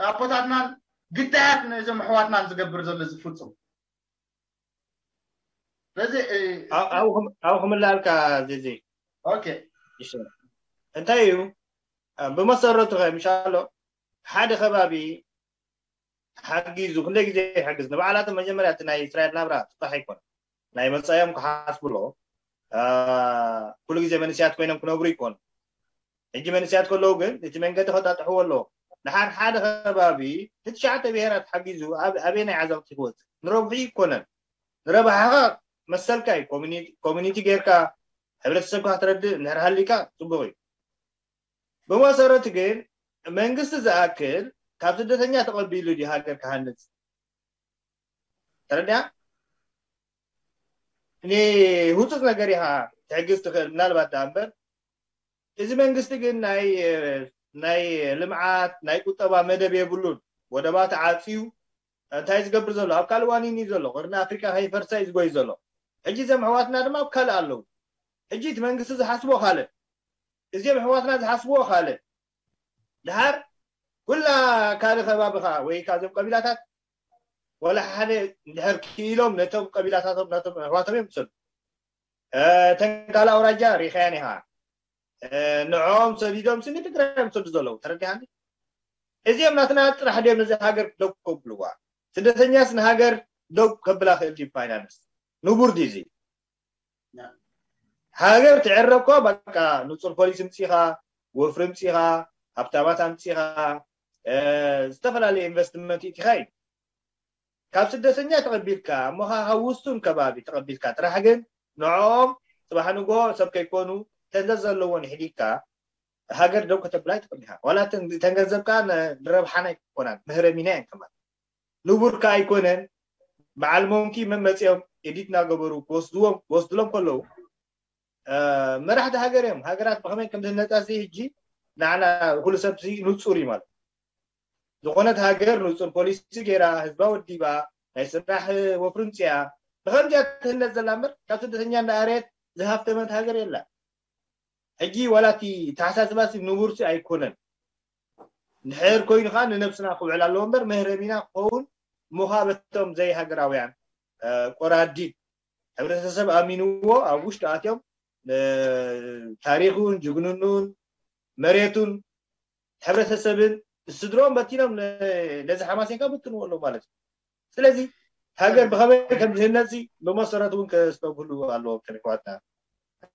ኣቦታትናን ግዳያት ነዞም ኣሕዋትናን ዝገብር ዘሎ እዚ ፍጹም ስለዚ ኣብኡ ክምላለካ ዜዜ ኦኬ እንታይ እዩ ብመሰረቱ ከ ምሻሎ ሓደ ከባቢ ሓጊዙ ክንደይ ግዜ ይሕግዝ ንባዕላቶም መጀመርያ እቲ ናይ እስራኤል ናብራ ፅባሕ ኣይኮነ ናይ መፃዮም ክሓስብሎ ኩሉ ግዜ መንስያት ኮይኖም ክነብሩ ይኮኑ ሕጂ መንስያት ከለዉ ግን እቲ መንገዲ ከጣጥሕዎ ኣለዎ ንሓድ ሓደ ከባቢ ንትሽዓተ ብሄራት ሓጊዙ ኣበየናይ ዓዘቕቲ ክወፅእ ንረብሑ ይኮነን ንረብሓኻ መሰልካ እዩ ኮሚኒቲ ጌርካ ሕብረተሰብካ ክትረድእ እንድሕር ሃሊካ ፅቡቅ እዩ ብመሰረቱ ግን መንግስቲ ዝኣክል ካብ ስደተኛ ተቐቢሉ ድዩ ሃገር ክሃንፅ ተረድያ ንህፁፅ ነገር ኢኻ ትሕግዝ ትኽእል ምናልባት ደኣ እምበር እዚ መንግስቲ ግን ናይ ናይ ልምዓት ናይ ቁጠባ መደብ የብሉን ወደባት ዓፅዩ እንታይ ዝገብር ዘሎ ኣብ ካልእ ዋኒን እዩ ዘሎ ቅርኒ ኣፍሪካ ከይፈርሳ እዩ ዝጎይ ዘሎ ሕጂ እዞም ኣሕዋትና ድማ ኣብ ካልእ ኣለዉ ሕጂ እቲ መንግስቲ ዝሓስቦ ካልእ እዚኦም ኣሕዋትና ዝሓስብዎ ካልእ ድሓር ኩላ ካልእ ከባቢኻ ወይ ካብዞም ቀቢላታት ወላ ሓደ እንድሕር ክኢሎም ነቶም ቀቢላታቶም ናቶም ኣሕዋቶም እዮም ዝሰዱ እተን ካልእ ኣውራጃ ሪኻያን ኢኻ ንዕኦም ሰዲዶም ስኒ ትግራይ እዮም ዝሰዱ ዘለዉ ተረዲኻኒ እዚኦም ናትና ጥራሕ ድዮም ነዚ ሃገር ደው ከብልዋ ስደተኛስ ንሃገር ደው ከብላ ክእል ድዩ ፋይናንስ ንቡር ድዩ እዚ ሃገር ትዕረ እኮ በቃ ንፁር ፖሊስ ምፂኻ ወፍሪ ምፂኻ ሃብታማት ኣምፂኻ ዝተፈላለዩ ኢንቨስትመንት ይእቲኻ እዩ ካብ ስደተኛ ተቐቢልካ እሞ ካብ ውሱን ከባቢ ተቐቢልካ ጥራሕ ግን ንዕኦም ፅባሕ ንግሆ ሰብ ከይኮኑ ተንዘዝ ዘለዎን ይሕዲግካ ሃገር ደው ከተብላ ይትኽእል ኢኻ ዋላ ተን ገንዘብካ ንረብሓና ኣይኮናን ምህረሚና እየን ከማን ንቡርካ ኣይኮነን በዓል ሞንኪ መመፅኦም ኤዲት እናገበሩ ክወስድዎም ክወስድሎም ከለዉ መራሕቲ ሃገር እዮም ሃገራት ብኸመይ ከም ዝህነፃ ሲ ህጂ ንዓና ኩሉ ሰብ ንፁር እዩ ማለት ዝኾነት ሃገር ንፁር ፖሊሲ ገይራ ህዝባ ወዲባ ናይ ስራሕ ወፍሪ ምፅያ ብኸምዚያ ትህነፅ ዘላ እምበር ካብ ስደተኛ እንዳኣርየት ዝሃፍተመት ሃገር የላ ሕጂ ዋላ እቲ ተሓሳስባ ሲ ንቡር ሲ ኣይኮነን እንድሕር ኮይኑ ከዓ ንነብስና ክውዕል ኣለዎ እምበር መህረሚና ክኸውን ምዃ በቶም ዘይሃገራውያን ቆራዲድ ሕብረተሰብ ኣሚንዎ ኣብ ውሽጢ ኣትዮም ታሪኹን ጅግንኑን መሬቱን ሕብረተሰብን ስድሮም በቲኖም ነዚ ሓማሴንካ ብትንዎ ኣለዉ ማለት እዩ ስለዚ ሃገር ብኸመይ ከም ዝህነፂ ብመሰረቱ እውን ከስተብህሉ ኣለዎም ተሪክዋትና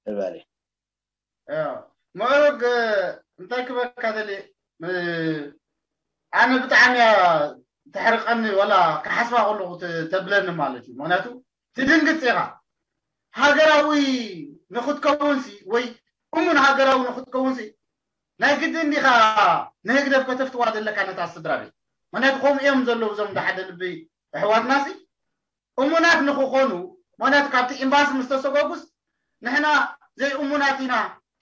ንባል ምዕሩግ እንታይ ክበካ ደሊ ኣነ ብጣዕሚ እያ ተሕርቀኒ ወላ ክሓስባ ከለኹ ተብለኒ ማለት እዩ ምክንያቱ ትድንግፅ ኢኻ ሃገራዊ ንክትከውንሲ ወይ እሙን ሃገራዊ ንክትከውንሲ ናይ ግዲ እንዲኻ ንህግደፍ ከተፍትዋ ዘለካ ነታ ስድራ ቤት ምክንያቱ ከምኡ እዮም ዘለዉ እዞም ሓደ ልቢ ኣሕዋትናሲ እሙናት ንክኾኑ ምክንያቱ ካብቲ ኤምባሲ ምስ ተሰጎጉስ ንሕና ዘይእሙናት ኢና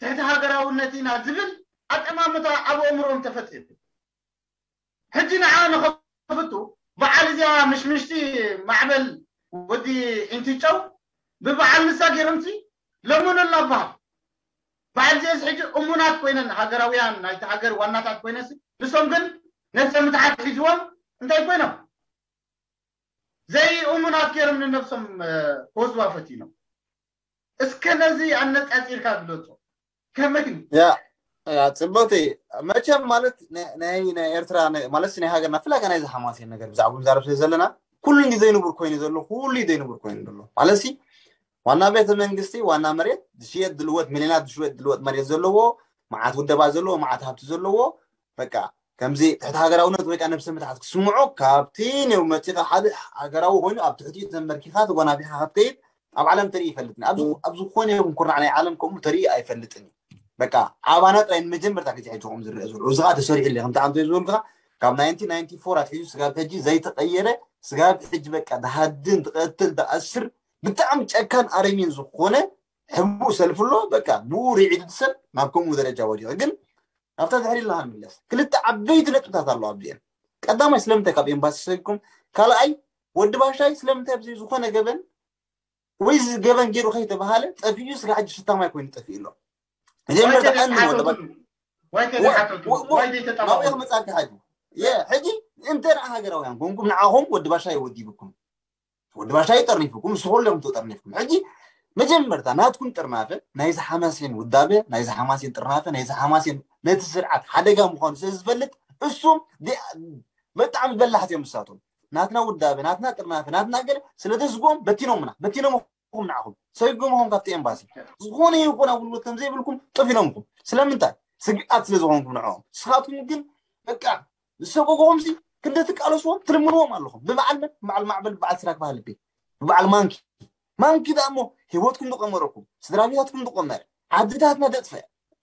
ትሕቲ ሃገራውነት ኢና ዝብል ኣጠማምታ ኣብ ኣእምሮኦም ተፈጢሩ ሕጂ ንዓ ንኸፍቱ በዓል እዚኣ ምሽምሽቲ ማዕበል ወዲ ኢንትጨው ብበዓል ንሳ ገይሮምሲ ለምኑላ በሃል በዓል እዚአስ ሕጂ እሙናት ኮይነን ሃገራውያን ናይቲ ሃገር ዋናታት ኮይነስ ንሶም ግን ነብሰ ምትሓት ሒዝዎም እንታይ ኮይኖም ዘይእሙናት ገይሮም ንነብሶም ክወስዋ ፈቲኖም እስከ ነዚ ኣነፃፂርካ ግለፆ ከመይ ያ ያ ፅብቅቲ መቸም ማለት ናይ ናይ ኤርትራ ማለት ናይ ሃገርና ፍላይ ከ ናይዚ ሓማሴን ነገር ብዛዕባ ንዛረብ ስለ ዘለና ኩሉ እንዲ ዘይንቡር ኮይኑ ዘሎ ኩሉ ዘይንቡር ኮይኑ ዘሎ ማለት ሲ ዋና ቤተ መንግስቲ ዋና መሬት ዝሽየጥ ድልወት ሚሊዮናት ዝሽየጥ ድልወት መሬት ዘለዎ መዓት ውደባ ዘለዎ መዓት ሃብቲ ዘለዎ በቃ ከምዚ ትሕቲ ሃገራውነት ወይ ከዓ ነብሰ ምትሓት ክስምዖ ካብቲ ኔው መፂኻ ሓደ ሃገራዊ ኮይኑ ኣብ ትሕቲኡ ተመርኪኻ ተጎናፊኻ ክትከይድ ኣብ ዓለም ተርኢ ይፈልጥኒ። ኣብ ዝኾነ ይኹን ኩርናዕ ናይ ዓለም ከምኡ ተርኢ ኣይፈልጥን። በቃ ዓባና ጥራይ ንመጀመርታ ግዜ ሕጂ ከምኡ ዝረአ ዘሎ እዚ ከዓ ተሰሪሑ ኣሎ ከምቲ ዓንቶ ዝበልካ ካብ ናይንቲን ናይንቲ ፎር ኣትሒዙ ስጋብ ሕጂ ዘይተቀየረ ስጋብ ሕጂ በቃ ድሃድን ትቀትል ትኣስር ብጣዕሚ ጨካን ኣረሚን ዝኾነ ሕቡእ ሰልፊ ኣሎ። በቃ ብኡ ርዒዱ ሰብ ናብ ከምኡ ደረጃ ወዲቐ ግን ኣብታ ድሕሪ ኢልና ክንምለስ ክልተ ዓበይቲ ነጥብታት ኣለዋ ኣብዚአን። ቀዳማይ ስለምንታይ ካብ ኤምባሲ ሰጊኩም፣ ካልኣይ ወዲ ባሻይ ስለምንታይ ብዘይ ዝኾነ ገበን ወይ እዚ ገበን ገይሩ ከይተባሃለ ጠፊኡ ስጋ ሕጂ ሽታማይ ኮይኑ ጠፊኡ ኣሎ። መጀመርታ ቀንዲ ወዲ ባሻይ ናብኡ ክመፃካ ሕጂ የ ሕጂ እንተ ደኣ ሃገራውያን ኮንኩም ንዓኹም ወዲ ባሻይ ወዲብኩም ወዲ ባሻይ ጠርኒፍኩም ንስኹም ኢኹም ተጠርኒፍኩም። ሕጂ መጀመርታ ናትኩም ጥርናፈ ናይዚ ሓማሴን ውዳበ ናይዚ ሓማሴን ጥርናፈ ናይዚ ሓማሴን ነቲ ስርዓት ሓደጋ ምዃኑ ስለ ዝፈልጥ እሱም ብጣዕሚ በላሕቲ እዮም ንሳቶም። ናትና ውዳበ ናትና ጥርናፈ ናትና ገለ ስለ ተስግኦም በቲኖምና በቲኖምኹም ንዓኹም ሰጉምኹም ካብቲ ኤምባሲ ዝኾነ ይኹን ኣገልግሎት ከም ዘይብልኩም ጠፊኖምኹም። ስለምንታይ? ስግኣት ስለ ዝኾንኩም ንዕኦም። ንስኻትኩም ግን በቃ ዝሰጎግኹም ሲ ክንደ ትቃለስዎም ትልምንዎም ኣለኹም። ብበዓል መን? በዓል ማዕበል በዓል ስራክ ባህል ቤት ብበዓል ማንኪ ማንኪ ደኣ እሞ ህይወትኩም ዝቐመረኩም ስድራ ቤታትኩም ዝቐመረ ዓድታትና ዘጥፈ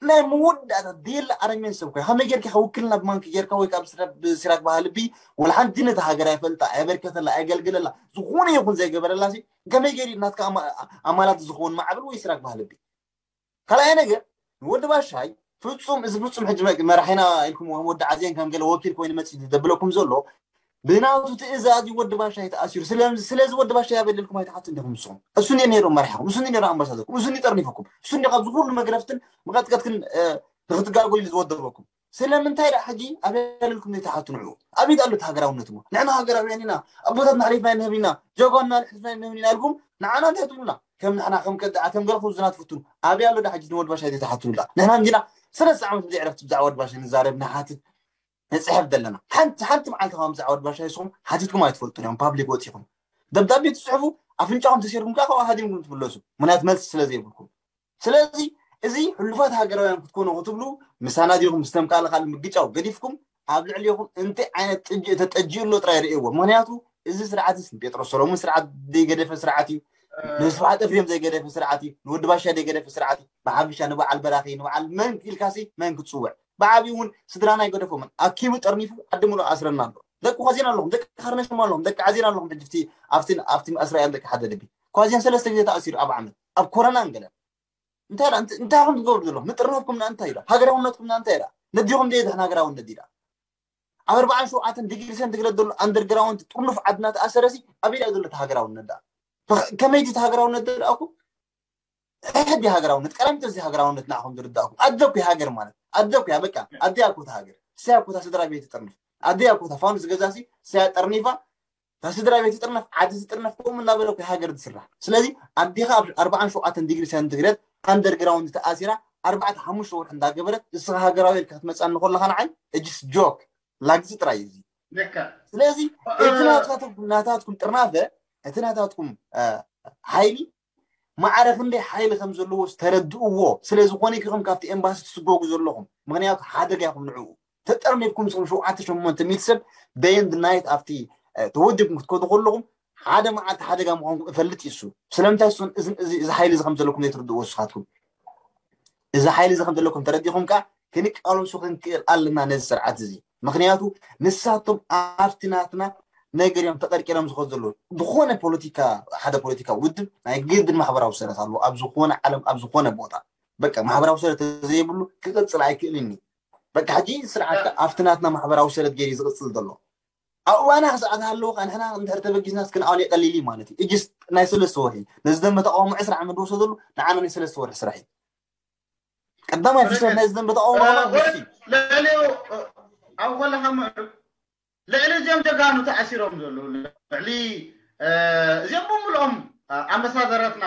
ናይ መወዳእታ ደየለ ኣረሜን ሰብ ኮይ ከመይ ጌርካ ውክልና ብማንኪ ጌርካ ወይ ካብ ስራክ ባህልቢ ወላ ሓንቲ ነቲ ሃገር ኣይፈልጣ ኣየበርከተላ ኣየገልግለላ ዝኾነ ይኹን ዘይገበረላ ሲ ከመይ ገይሩ ናትካ ኣማላት ዝኸውን ማዕበል ወይ ስራክ ባህልቢ ካልኣይ ነገር ንወዲ ባሻይ ፍጹም እዚ ፍጹም ሕጂ መራሒና ኢልኩም ወዲ ዓዜን ከም ገለ ወኪል ኮይኑ መጽ ዘብለኩም ዘሎ ብናቱ ትእዛዝ ወዲ ባሻይ ተኣሲሩ ስለዚ ወዲ ባሻይ ኣበለልኩም ኣይትሓቱ እንዲኹም ንስኹም እሱ እንዲ ነይሩ መራሒኹም እሱ እንዲ ነይሩ ኣምባሳደርኩም እሱ እንዲ ጠርኒፈኩም እሱ እንዲ ካብዚ ኩሉ መግረፍትን መቐጥቀጥክን ንክትጋጎሉ ዝወደበኩም ስለምንታይ ደኣ ሕጂ ኣበለልኩም ዘይትሓቱ ንዑ ኣበይ ኣሎ ሃገራውነት እሞ ንሕና ሃገራውያን ኢና ኣቦታትና ኣሕሊፍና ይንህብ ኢና ጀጓና ኣሕሊፍና ይንህብ ኢና ኢልኩም ንዓና እንታይ ትብሉና ከም ንሕና ከም ከዳዓ ከም ገለ ክውዝና ትፍትኑ ኣበይ ኣሎ ደኣ ሕጂ ንወዲ ባሻይ ዘይትሓቱ ንብላ ንሕና እንዲና ሰለስተ ዓመት ብዘይ ዕረፍቲ ብዛዕባ ወዲ ባሻይ ንዛረብ ንሓትት ንፅሕፍ ዘለና ሓንቲ ሓንቲ መዓልቲ ካብ ብዛዕባ ወዲ ባሻይ ንስኹም ሓቲትኩም ኣይትፈልጡን እዮም ፓብሊክ ወፂኹም ደብዳቤ ትፅሕፉ ኣፍንጫኹም ተሲርኩም ከዓ ካብኡ ሃዲምኩም ትምለሱ ምክንያት መልሲ ስለ ዘይብልኩም ስለዚ እዚ ሕሉፋት ሃገራውያን ክትኮኑ ክትብሉ ምሳና ዲኹም ዝተምቃለ ካልእ ምግጫው ገዲፍኩም ኣብ ልዕሊኹም እንታይ ዓይነት ጥጅእ ተጠጅኡ ኣሎ ጥራይ ርእይዎ ምክንያቱ እዚ ስርዓት ስ ንጴጥሮስ ሰሎሙን ስርዓት ዘይገደፈ ስርዓት እዩ ንስብሓት ኤፍሬም ዘይገደፈ ስርዓት እዩ ንወዲ ባሻ ዘይገደፈ ስርዓት እዩ ብሓፈሻ ንበዓል በራኺ ንበዓል መን ኢልካሲ መን ክትፅውዕ ብዓብዩ እውን ስድራና ኣይገደፎምን ኣኪቡ ጠርኒፉ ዓዲ ሙሉእ ኣስረና ኣሎ ደቂ ኳዜና ኣለኹም ደቂ ካርነሽም ኣለኹም ደቂ ዓዜና ኣለኹም ሕጅፍቲ ኣብቲ ኣብቲ እስራኤል ደቂ ሓደ ልቢ ኳዜን ሰለስተ ግዜ ተኣሲሩ ኣብ ዓመት ኣብ ኮረና እንገለን እንታይ እንታይ ከም ትገብሩ ዘለኹም ምጥርናፍኩም ና እንታይ ኢዳ ሃገራውነትኩም ና እንታይ ኢዳ ነዲኹም ደየ ድሕን ሃገራውነት ኢዳ ኣብ ኣርባዓን ሸውዓተን ዲግሪ ሰንቲግረድ ዘሎ ኣንደርግራውንድ ጥርኑፍ ዓድና ተኣሰረሲ ኣበይ ዳ ዘሎ ሃገራውነት ዳ ከመይቲ ሃገራውነት ደኣኩ ሕዲ ሃገራውነት ቀዳሚት እዚ ሃገራውነት ንዓኹም ዝርዳእኩም ኣደኩ ሃገር ማለት ኣደኩ ያ በቃ ኣደያ ኮታ ሃገር ሰያ ኮታ ስድራ ቤት ጥርንፍ ኣደያ ኮታ ፋኑስ ገዛሲ ሰያ ጠርኒፋ እታ ስድራ ቤት ትጥርነፍ ዓዲ ትጥርነፍ ከምኡ እናበለ እኮ ሃገር ትስራሕ ስለዚ ኣዴኻ ኣብ ኣርባዓን ሸውዓተን ዲግሪ ሰንቲግሬድ ኣንደርግራውንድ ተኣሲራ ኣርባዕተ ሓሙሽተ ወርሒ እንዳገበረት እስኻ ሃገራዊ ኢልካ ክትመፅኣኒ ከለኻ ንዓይ እጅስ ጆክ ላግፂ ጥራይ እዩ ስለዚ እቲ ናታትኩም ጥርናፈ እቲ ናታትኩም ሓይሊ ማዕረ ክንደይ ሓይሊ ከም ዘለዎ ዝተረድእዎ ስለ ዝኾነ ኢኹም ካብቲ ኤምባሲ ትስጎጉ ዘለኹም ምክንያቱ ሓደጋ ኢኹም ንዕኡ ተጠርኒፍኩም ስኹም ሸውዓተ ሸሞንተ ሚእቲ ሰብ day and night ኣብቲ ተወዲብኩም ክትከዱ ከለኹም ሓደ መዓልቲ ሓደጋ ምዃንኩም እፈልጥ ይሱ ስለምንታይ እሱን እዚ ሓይሊ እዚ ከም ዘለኩም ዘይትርድእዎ ንስኻትኩም እዚ ሓይሊ እዚ ከም ዘለኩም ተረዲኹም ከዓ ክንቃለሱ ክንክእል ኣለና ነዚ ስርዓት እዚ ምክንያቱ ንሳቶም ኣብቲ ናትና ነገር እዮም ተቀርቂሮም ዝኸዱ ዘለዉ ዝኾነ ፖለቲካ ሓደ ፖለቲካ ውድብ ናይ ግድን ማሕበራዊ ሰረት ኣለዎ ኣብ ዝኾነ ዓለም ኣብ ዝኾነ ቦታ በቃ ማሕበራዊ ሰረት ዘይብሉ ክቅፅል ኣይክእልን እዩ በቃ ሕጂ ስርዓት ኣብቲ ናትና ማሕበራዊ ሰረት ገይሩ ዝቅፅል ዘሎ ኣብ እዋና ክሰዓት ኣለዎ ንሕና እንድሕር ተበጊስናስ ክንኣሉ ይቀሊል እዩ ማለት እዩ እጅስ ናይ ሰለስተ ወርሒ ነዚ ደንበ ተቃውሞ ዕስራ ዓመት ዝወሰደሉ ንዓና ናይ ሰለስተ ወርሒ ስራሕ እዩ ቀዳማይ ፍሰት ናይ ዝደንበ ተቃውሞ ልዕሊኡ ኣብ ኮለኻ ምዕሩብ ልዕሊ እዚኦም ጀጋኑ ተኣሲሮም ዘለዉ ልዕሊ እዚኦም ብምልኦም ኣመሳደረትና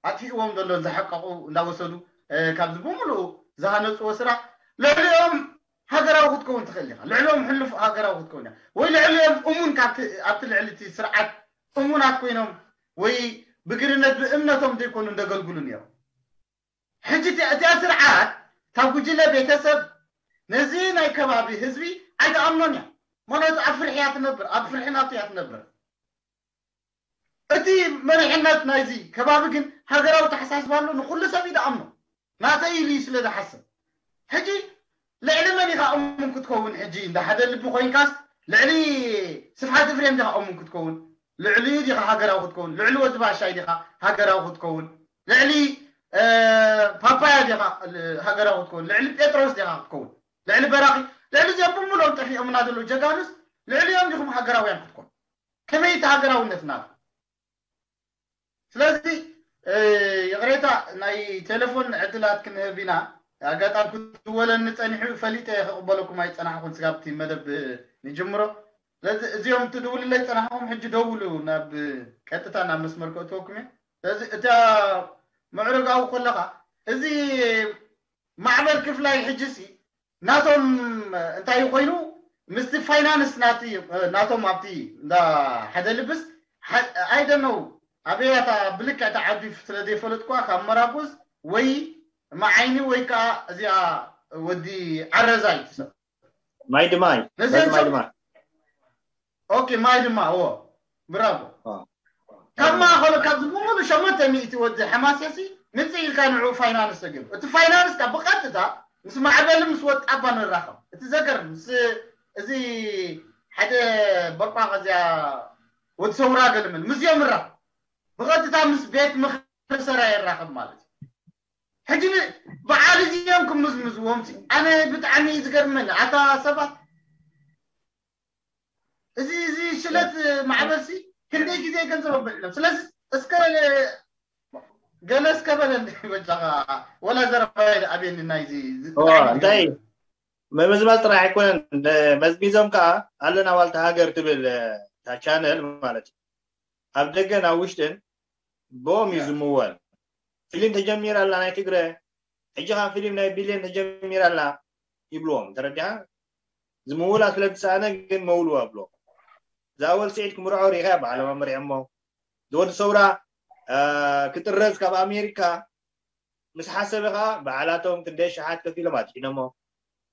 ኣጥፊእዎም ዘሎ ዝሓቀቁ እንዳወሰዱ ካብዚ ብምልኡ ዝሃነፅዎ ስራሕ ልዕሊኦም ሃገራዊ ክትከውን ትኽእል ኢኻ ልዕሊኦም ሕሉፍ ሃገራዊ ክትከውን ወይ ልዕሊኦም እሙን ኣብቲ ልዕሊ እቲ ስርዓት እሙናት ኮይኖም ወይ ብግርነት ብእምነቶም ዘይኮኑ እንደገልግሉ ነይሮም ሕጂ እቲኣ ስርዓት ካብ ጉጅለ ቤተሰብ ነዚ ናይ ከባቢ ህዝቢ ኣይትኣምኖን እያ። ማለት ኣብ ፍርሒ እያ ትነብር፣ ኣብ ፍርሒ ናቱ እያ ትነብር። እቲ መሪሕነት ናይዚ ከባቢ ግን ሃገራዊ ተሓሳስባ ኣሎ፣ ንኹሉ ሰብ እዩ ዝኣምኖ። ናተይ ኢሉ እዩ ስለ ዝሓስብ። ሕጂ ልዕሊ መን ኢኻ እሙን ክትከውን? ሕጂ እንዳ ሓደ ልቢ ኮይንካስ ልዕሊ ስብሓት እፍሬም ዲኻ እሙን ክትከውን? ልዕሊኡ ዲኻ ሃገራዊ ክትከውን? ልዕሊ ወዲ ባሻይ ዲኻ ሃገራዊ ክትከውን? ልዕሊ እ፣ ፓፓያ ዲኻ ል- ሃገራዊ ክትከውን? ልዕሊ ጴጥሮስ ዲኻ ክትከውን? ልዕሊ በራኺ? ልዕሊ እዚኦም ብምሎም ጠፊኦምና ዘለዉ ጀጋኑስ ልዕሊኦም ዲኹም ሃገራውያን ክትኮኑ? ከመይ እቲ ሃገራውነት ናቱ? ስለዚ እ፣ ይቕሬታ ናይ ቴሌፎን ዕድላት ክንህብ ኢና። ኣጋጣሚ ክትወለኒ ጸኒሑ ፈሊጠ ክቕበለኩም ኣይጸናሕኩን ስጋብቲ መደብ ንጅምሮ። ስለዚ እዚኦም ትድውልለይ ጸናሕኩም ሕጂ ደውሉ ናብ ቀጥታ ናብ መስመር ከእትወኩም እየ። ስለዚ እታ ምዕረጋዊ ከለኻ እዚ ማዕበል ክፍላይ ሕጂ ሲ ናቶም እንታይ ኮይኑ ምስቲ ፋይናንስ ናቲ ናቶም ኣብቲ እንዳ ሓደ ልብስ ኣይደነው ኣበያታ ብልክዕ ተዓዲ ስለ ዘይፈለጥኳ ካብ መራኩዝ ወይ መዓይኒ ወይ ከዓ እዚኣ ወዲ ዓረዛይ ትሰብ ማይ ድማይ ነዚኦም ማይ ሰብ- ድማይ ኦኬ ማይ ድማ ዎ ብራቮ አ። ካብ ማእኸሉ ካብዚ ብምሉ ሸሞንተ ሚእቲ ወዲ ሓማሴሲ ምፅእ ኢልካ ንዑ ፋይናንስ ተገይሩ እቲ ፋይናንስ ካብ ብቐጥታ ምስ ማዕበል ምስ ወጣባ ንራኸብ እቲ ዘገር ምስ እዚ ሓደ በቋቕ እዚኣ ወዲ ሰውራ ገልምል ምስዚኦም ራኸብ ብቐጥታ ምስ ቤት ምኽሪ ሰራ ይራኸብ ማለት እዩ ሕጂ ን- በዓል እዚኦም ክምዝምዝዎም ሲ ኣነ ብጣዕሚ እዩ ዝገርመኒ ኣታ ሰባት እዚ እዚ ሽለት ማዕበል ሲ ክንደይ ግዜ ገንዘብ ኣብዕሎም ስለዚ እስከ ገለ እስከ በለኒ በጃኻ ወላ ዘረባ ኣቤኒ ናይዚ እዋ፣ እንታይ ምምዝማዝ ጥራሕ ኣይኮነን መዝሚዞም ከዓ ኣለና ዋልታ ሃገር ትብል እታ ቻነል ማለት እዩ ኣብ ደገን ኣብ ውሽጥን ብኦም እዩ ዝምወል ፊልም ተጀሚራ ኣላ ናይ ትግረ ሕጂ ከዓ ፊልም ናይ ቢልዮን ተጀሚራ ኣላ ይብልዎም ተረዲኻ ዝምውላ ስለ ዝሰኣነ ግን መውልዋ ብሎ ዝኣወል ስዒድ ክምርዖ ሪኢኻ በዓሎም ኣመሪዖሞ ዝወዲ ሰውራ ክጥረዝ ካብ ኣሜሪካ ምስ ሓሰበ ከዓ በዓላቶም ክንደይ ሸሓት ከፊሎም ኣድሒኖሞ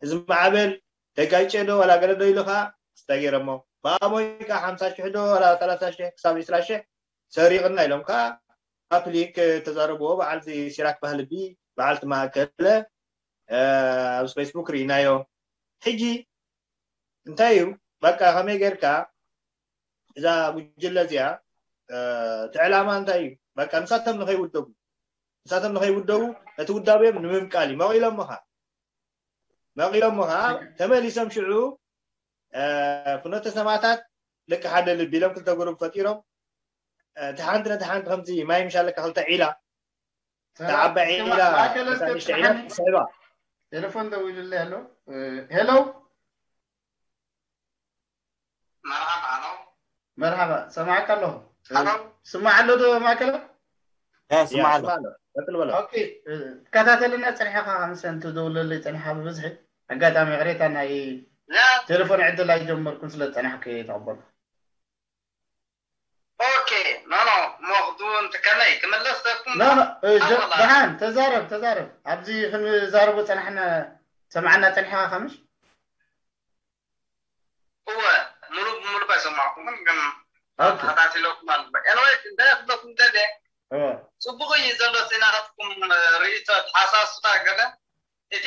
እዚ ማዕበል ተጋጨ ዶ ዋላ ገለ ዶ ኢሉ ከዓ ስታ ገይሮሞ ብኣሞይ ከዓ ሓምሳ ሽሕ ዶ ዋላ ሰላሳ ሽሕ ክሳብ ዒስራ ሽሕ ሰሪቕና ኢሎም ከዓ ፓብሊክ ተዛረብዎ በዓል እዚ ሲራክ ባህልቢ በዓልቲ ማእከለ ኣብዚ ፌስቡክ ርኢናዮ ሕጂ እንታይ እዩ በቃ ከመይ ጌርካ እዛ ጉጅለ እዚኣ እቲ ዕላማ እንታይ እዩ በቃ ንሳቶም ንኸይውደቡ ንሳቶም ንኸይውደቡ ነቲ ውዳቤም ንምብቃል እዩ መቒሎሞ ኸዓ መቒሎሞ ኸዓ ተመሊሶም ሽዑ ፍኖተ ሰማታት ደቂ ሓደ ልቢ ኢሎም ክልተ ጉሩብ ፈጢሮም እቲ ሓንቲ ነቲ ሓንቲ ከምዚ ማይ ምሻለካ ክልተ ዒላ ተዓባይ ዒላ ማእከለ እስከ ንእሽተ ዒላ ትስማዓኒ? ትስዕባ ቴሌፎን ደዊሉለይ ኣሎ ሄሎ መርሓባ ኣሎ መርሓባ ሰማዕካ ኣለኹ ኣሎ ስማዕ ኣሎ ዶ ማእከለ ያ ስማዕ ኣሎ ስማዕ ኣሎ ቀጥል በሎ ኦኬ ትከታተልና ፀኒሐካ ከምሰ እንትደውለለይ ፀኒሓ ብብዝሒ ኣጋጣሚ ቅሬታ ናይ ያ ቴሌፎን ዕድል ኣይጀመርኩን ስለ ዝፀናሕኩ እየ ተቐበልኩ ኦኬ ኖ ኖ ሞኽዱ እንትከመይ ክምለስ ዘኩም ኖ ኖ እ፣ ጀ- ኣወላ። ደሓን ተዛረብ ተዛረብ ኣብዚ ክንዛረቦ ፀናሕና ሰማዕና ፀኒሕካ ከምሽ እወ ሙሉ ብሙሉ ኣይሰማዕኩምን ግን ኦኬ ተኸታቲለኩም ኣለኹ ኤንወይ እንታይ ክብለኩም ደልየ እወ ፅቡቅ እዩ ዘሎ እቲ ናትኩም ርእይቶ ተሓሳስባ ገለ እቲ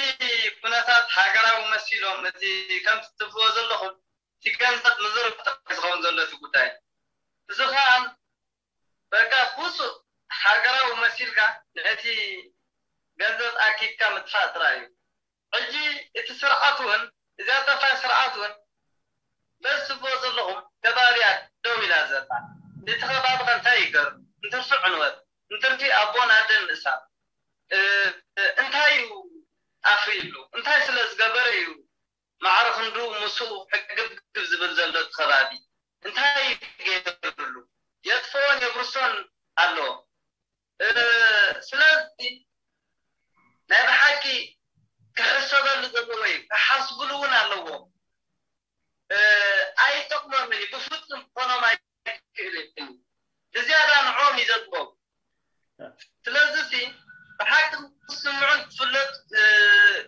ኩነታት ሃገራዊ መሲሎም እቲ ከምቲ ትብልዎ ዘለኹም እቲ ገንዘብ ምዝርፍ ጥራሕ ዝኸውን ዘሎ እቲ ጉዳይ እዚ ከዓ በቃ ውፁእ ሃገራዊ መሲልካ ነቲ ገንዘብ ኣኪብካ ምጥፋእ ጥራይ እዩ ሕጂ እቲ ስርዓት እውን እዚኣ ጠፋይ ስርዓት እውን በዚ ትብሎ ዘለኹም ከባቢያ ደው ኢላ ዘላ እቲ ከባቢ ከ እንታይ ይገርም እንትርፊ ዕንወት እንትርፊ ኣቦን ኣደን ምእሳር እ፣ እንታይ እዩ ኣፍርዩሉ እንታይ ስለ ዝገበረ እዩ ማዕረ ክንዱ ምስኡ ሕግብግብ ዝብል ዘሎ እቲ ከባቢ እንታይ ገይሩሉ የጥፍኦን የብርሶን ኣሎ ስለዚ ናይ ብሓቂ ክሕሰበሉ ዘለዎ እዩ ክሓስብሉ እውን ኣለዎ ኣይጠቅሞምን እዩ ብፍፁም ክኾኖም ኣይክእልን እዩ ብዝያዳ ንዖም እዩ ዘጥቦም ስለዚ ሲ ብሓቂ ክስምዑን ትፍለጥ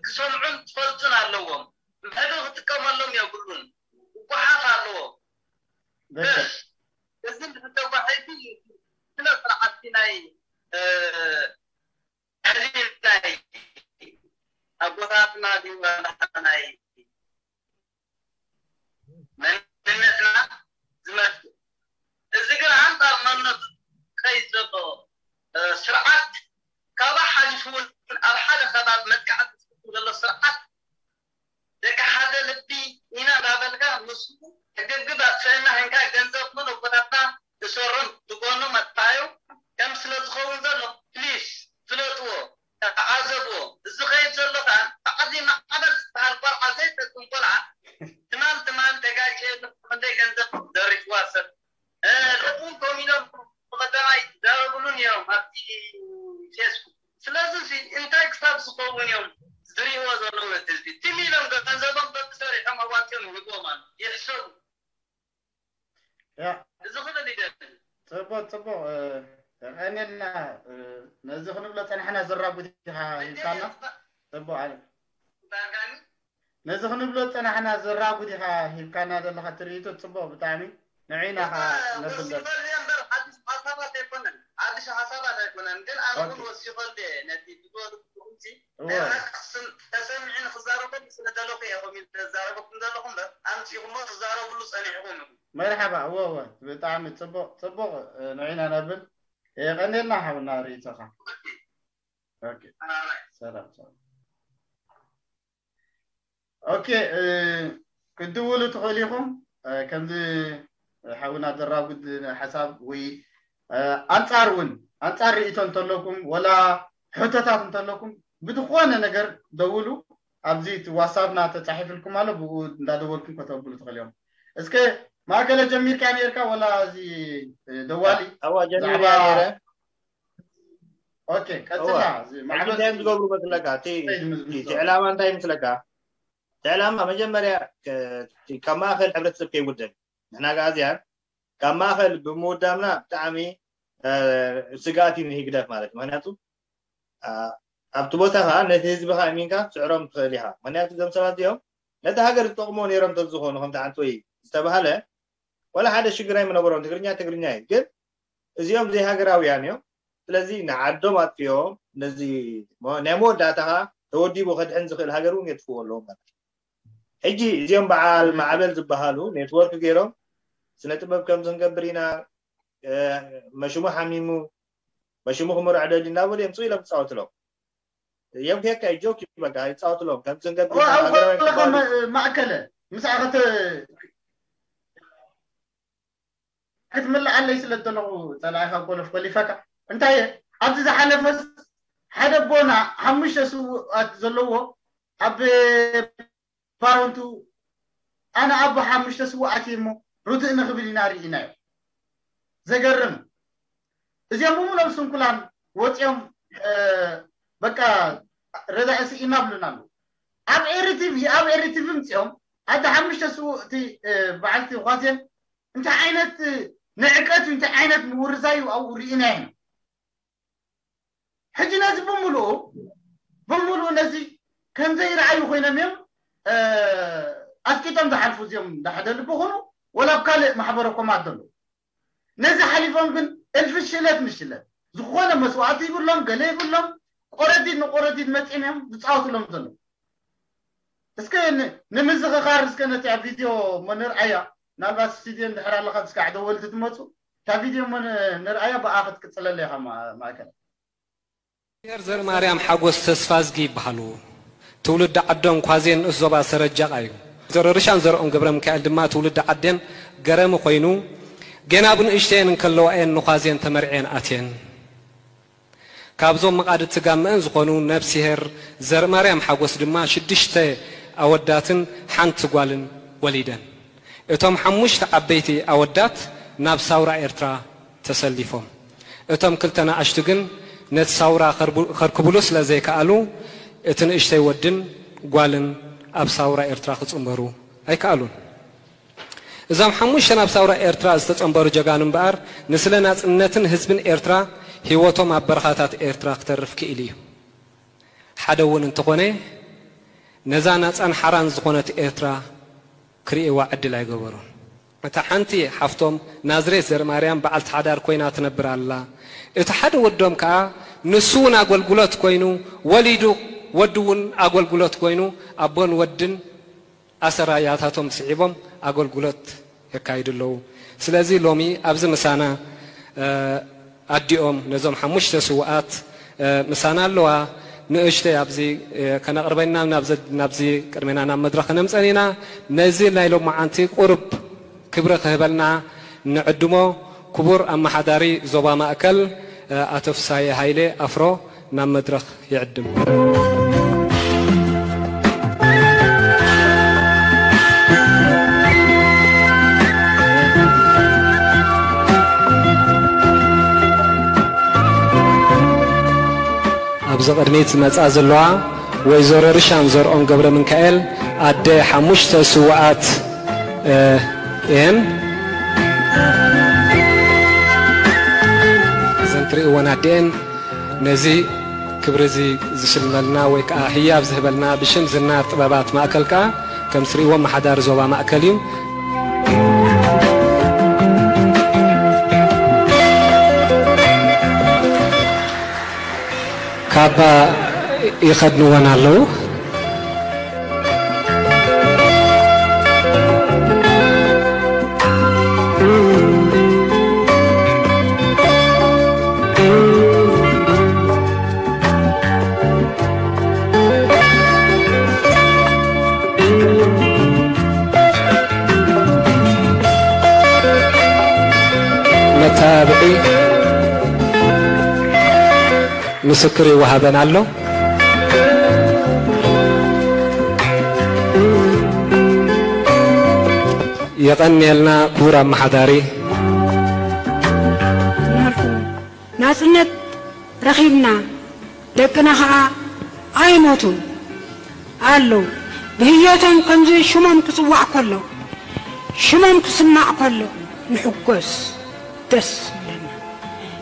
ክሰምዑን ትፈልጡን ኣለዎም ምሕዱ ክጥቀመሎም የብሉ ኣካልና ድዩ ዋላ ናይ መንነትና ዝመልክት? እዚ ግን ኣንጻር መንነቱ ዝኸይድ ዘሎ ስርዓት፣ ካባኻ ሓሊፉ እውን ኣብ ሓደ ከባቢ መጥቃዕቲ ዝፍጽም ዘሎ ስርዓት፣ ደቂ ሓደ ልቢ ኢና እንዳበልካ፣ ምስኡ ሕግግብ ኣጥፍእና፣ ህንካ ገንዘብ ምን ኣቦታትና እሰሮም ብጎኖም ኣጥፋዮም ከም ስለ ዝኸውን ዘሎ፣ ፕሊስ ፍለጥዎ፣ ተዓዘብዎ። እዚ ኸይድ ዘሎ ከዓ ታዕዚ ማዕበል ዝበሃል ቆልዓ ዘይጠቅም ቆልዓ፣ ትማል ትማል ተጋጭ ክንደይ ገንዘብ ዘሪፍዋ ሰብ፣ እ፣ ሎሚ እውን ኮም ኢሎም ብቐዳማይ ይዛረብሉ ነይሮም ኣብቲ ፌስቡክ። ስለዚ ሲ እንታይ ክሳብ ዝኸውን እዮም ዝርእይዎ ዘለዉ ህዝቢ? ትም ኢሎም ገንዘቦም በብሰሪሖም ኣዋፂኦም ይህብዎም ኣሎ። ይሕሰቡ። ያ እዚ ክብል ይደሊ። ጽቡቅ ጽቡቅ እ፣ የቀንየልና እ፣ ነዚ ክንብሎ ጸናሕና ዘራጉድ ኢኻ ሂብካና። ጽቡቅ ኣለ ዳርጋኒ ነዚ ክንብሎ ጸናሕና ዘራጉድ ኢኻ ሂብካና ዘለኻ ትርኢቶ ጽቡቅ ብጣዕሚ ንዒና ኻ ነብል ወሲኸልየ እምበር ሓድሽ ሓሳባት ኣይኮነን። ሓድሽ ሓሳባት ኣይኮነን፣ ግን ኣነ እውን ወሲኸልየ ነቲ ትገብሩ ትኹምቲ እወ ናይ ሓቂ ክስም-፣ ተሰሚዑ ንክዛረበሉ ስለ ደለኹ እየ ከምኡ ኢለ ዘዛረበኩም ዘለኹ እምበር፣ ኣምጺኹሞ ትዛረብሉ ጸኒሕኩም ኢኹም። መርሓባ እወ እወ ብጣዕሚ ጽቡቅ ጽቡቅ እ፣ ንዒና ነብል የቀንየልና ሓውና ርእይቶኻ። ኦኬ ሰላም ሰላም። ኦኬ እ፣ ክትድውሉ ትኽእሉ ኢኹም እ፣ ከምዚ ሓውና ዘራጉድ ሓሳብ ወይ እ፣ ኣንጻር እውን ኣንጻር ርእይቶ እንተለኩም ወላ ሕቶታት እንተለኩም ብዝኾነ ነገር ደውሉ። ኣብዚ እቲ ዋትሳፕና ተጻሒፍልኩም ኣሎ፣ ብኡ እንዳደወልኩም ከተብሉ ትኽእሉ እዮም። እስከ ማእከለ ጀሚርካ ነርካ ወላ እዚ እ፣ ደዋሊ ኣዋ ጀሚረ ብዛዕባ ነይረ ኦኬ ቀጽላ እዋ እዚ ሕጂ ማዕበል እንታይ እዮም ዝገብሩ መስለካ እቲ እንታይ እዩ ዝምዝምዞ? እቲ ዕላማ እንታይ ምስለካ እቲ ዕላማ መጀመርያ ከ- እቲ ካብ ማእከል ሕብረተሰብ ከይውደብ ንሕና ጋኣዝያን ካብ ማእከል ብምውዳምና ብጣዕሚ እ፣ ስግኣት እዩ ንህግደፍ ማለት እዩ ምክንያቱ እ፣ ኣብቲ ቦታ ከዓ ነቲ ህዝቢ ከዓ እሚንካ ትስዕሮም ትኽእል ኢኻ ምክንያቱ እዞም ሰባት እዚኦም ነቲ ሃገር ዝጠቕሞ ነይሮም ተዝኾኑ ከምቲ ሓንቲ ወይ ዝተባሃለ ወላ ሓደ ሽግር ኣይምነበሮም ትግርኛ ትግርኛ እዩ ግን እዚኦም ዘይሃገራውያን እዮም ስለዚ ንዓዶም ኣጥፊኦም ነዚ ናይ መወዳእታ ከዓ ተወዲቡ ከድሕን ዝኽእል ሃገር እውን የጥፍዎ ኣለዎም ማለት እዩ ሕጂ እዚኦም በዓል ማዕበል ዝበሃሉ ኔትወርክ ገይሮም ስነ ጥበብ ከምዚ ክንገብር ኢና እ፣ መሽሙ ሓሚሙ መሽሙ ክምርዖ ደሊ እናበሉ እዮም ፅው ኢሎም ክፃወትሎም እዮም ኬካ ጆክ በቃ ይፃወትሎም ከምዚ ክንገብር ኢና ሃገራዊ ክባሉ ማእከለ ምስኣ ክትምልኣለይ ስለ ዘለኹ ፀላኢኻ ኮለፍ ኮሊፈካ እንታይ እየ ኣብዚ ዝሓለፈስ ሓደ ኣቦና ሓሙሽተ ስውኣት ዘለዎ ኣብ ባረንቱ ኣነ ኣቦ ሓሙሽተ ስውኣት እየ እሞ ርትእ ንኽብል ኢና ርኢናዮ ዘገርም እዚኦም ብምሎም ስንኩላን ወፂኦም በቃ ረዳኢ ስኢና ብሉና ኣለዉ ኣብ ኤሪቲቪ ኣብ ኤሪቲቪ ምፅኦም ኣደ ሓሙሽተ ስውእቲ በዓልቲ ኳሴን እንታይ ዓይነት ንዕቀት እዩ እንታይ ዓይነት ምውርዛይ እዩ ኣብኡ ርኢና ኢና ሕጂ ነዚ ብምሉኡ ብምሉኡ ነዚ ከምዘይረኣዩ ኮይኖም እዮም ኣስቂጦም ዝሓልፉ እዚኦም ዳሕደ ልቢ ኹኑ ወላ ኣብ ካልእ ማሕበረ ኮማት ዘለዉ ነዚ ሓሊፎም ግን እልፊ ሽለት ንሽለት ዝኾነ መስዋእቲ ይብሎም ገለ ይብሎም ቆረዲድ ንቆረዲድ መፂኦም እዮም ዝፃወትሎም ዘለዉ እስከ ንምዝኽኻር እስከ ነቲ ኣብ ቪድዮ እሞ ንርኣያ ምናልባት ስቱድዮ እንድሕር ኣለኻ እስከ ዓደወልቲ ትመፁ እታ ቪድዮ እሞ ንርኣያ ብኣ ክትቅፅለለ ኢኻ ማእከል ር ዘርማርያም ሓጎስ ተስፋዝጊ ይበሃሉ። ትውልዲ ዓዶም ኳዜን ንኡስ ዞባ ሰረጃቕ እዩ። ዘረርሻን ዘርኦም ገብረሚካኤል ድማ ትውልዲ ዓዴን ገረሚ ኮይኑ፣ ጌና ብንእሽተየን እንከለዋ እየን ንኳዜን ተመርዕየን ኣትየን። ካብዞም መቓድቲ ጋመአን ዝኾኑ ነብስሄር ዘርማርያም ሓጎስ ድማ ሽዱሽተ ኣወዳትን ሓንቲ ጓልን ወሊደን። እቶም ሓሙሽተ ዓበይቲ ኣወዳት ናብ ሳውራ ኤርትራ ተሰሊፎም። እቶም ክልተ ንኣሽቱ ግን ነቲ ሳውራ ከርክብሉ ስለ ዘይከኣሉ፣ እቲ ንእሽተይ ወድን ጓልን ኣብ ሳውራ ኤርትራ ክጽንበሩ ኣይከኣሉን። እዞም ሓሙሽተ ናብ ሳውራ ኤርትራ ዝተጸንበሩ ጀጋኑ እምበኣር፣ ንስለ ናጽነትን ህዝብን ኤርትራ ህይወቶም ኣብ በረኻታት ኤርትራ ክተርፍ ክኢሉ እዩ። ሓደ እውን እንተኾነ፣ ነዛ ናጻን ሓራን ዝኾነት ኤርትራ ክርእይዋ ዕድል ኣይገበሩን። እታ ሓንቲ ሓፍቶም ናዝሬት ዘርማርያም በዓልቲ ሓዳር ኮይና ትነብር ኣላ። እቲ ሓደ ወዶም ከኣ ንሱ እውን ኣገልግሎት ኮይኑ ወሊዱ ወዲ እውን ኣገልግሎት ኮይኑ ኣቦን ወድን ኣሰራያታቶም ስዒቦም ኣገልግሎት የካይዱ ኣለዉ። ስለዚ ሎሚ ኣብዚ ምሳና ኣዲኦም ነዞም ሓሙሽተ ስውኣት ምሳና ኣለዋ። ንእሽተይ ኣብዚ ከነቕርበና ናብዚ ቅድሜና ናብ መድረኽ ከነምፀን ኢና። ነዚ ናይ ሎማዓንቲ ቁሩብ ክብሪ ክህበልና ንዕድሞ ክቡር ኣመሓዳሪ ዞባ ማእከል ኣቶ ፍሳየ ሃይለ ኣፍሮ ናብ መድረኽ ይዕድም። ኣብዚ ቅድሚት ዝመጻ ዘለዋ ወይዘሮ ርሻን ዘርኦም ገብረ ምንካኤል ኣደ ሓሙሽተ ስውኣት እየን። እዘን ትርእይወን ኣዲኤን ነዚ ክብሪ እዚ ዝሽልመልና ወይ ከዓ ህያብ ዝህበልና ብሽም ዝና ጥበባት ማእከል ከዓ ከም ትርእይዎ ኣመሓዳሪ ዞባ ማእከል እዩ። ካባ ይኸድንወን ኣለዉ። መተባብዒ ምስክር ይወሃበን ኣሎ። የቐንየልና ክቡር ኣመሓዳሪ። ናጽነት ረኺብና፣ ደቅና ኸኣ ኣይሞቱን ኣለዉ። ብህይወቶም ከምዚ ሽሞም ክጽዋዕ ከሎ፣ ሽሞም ክስማዕ ከሎ ንሕጎስ፣ ደስ ይብለና።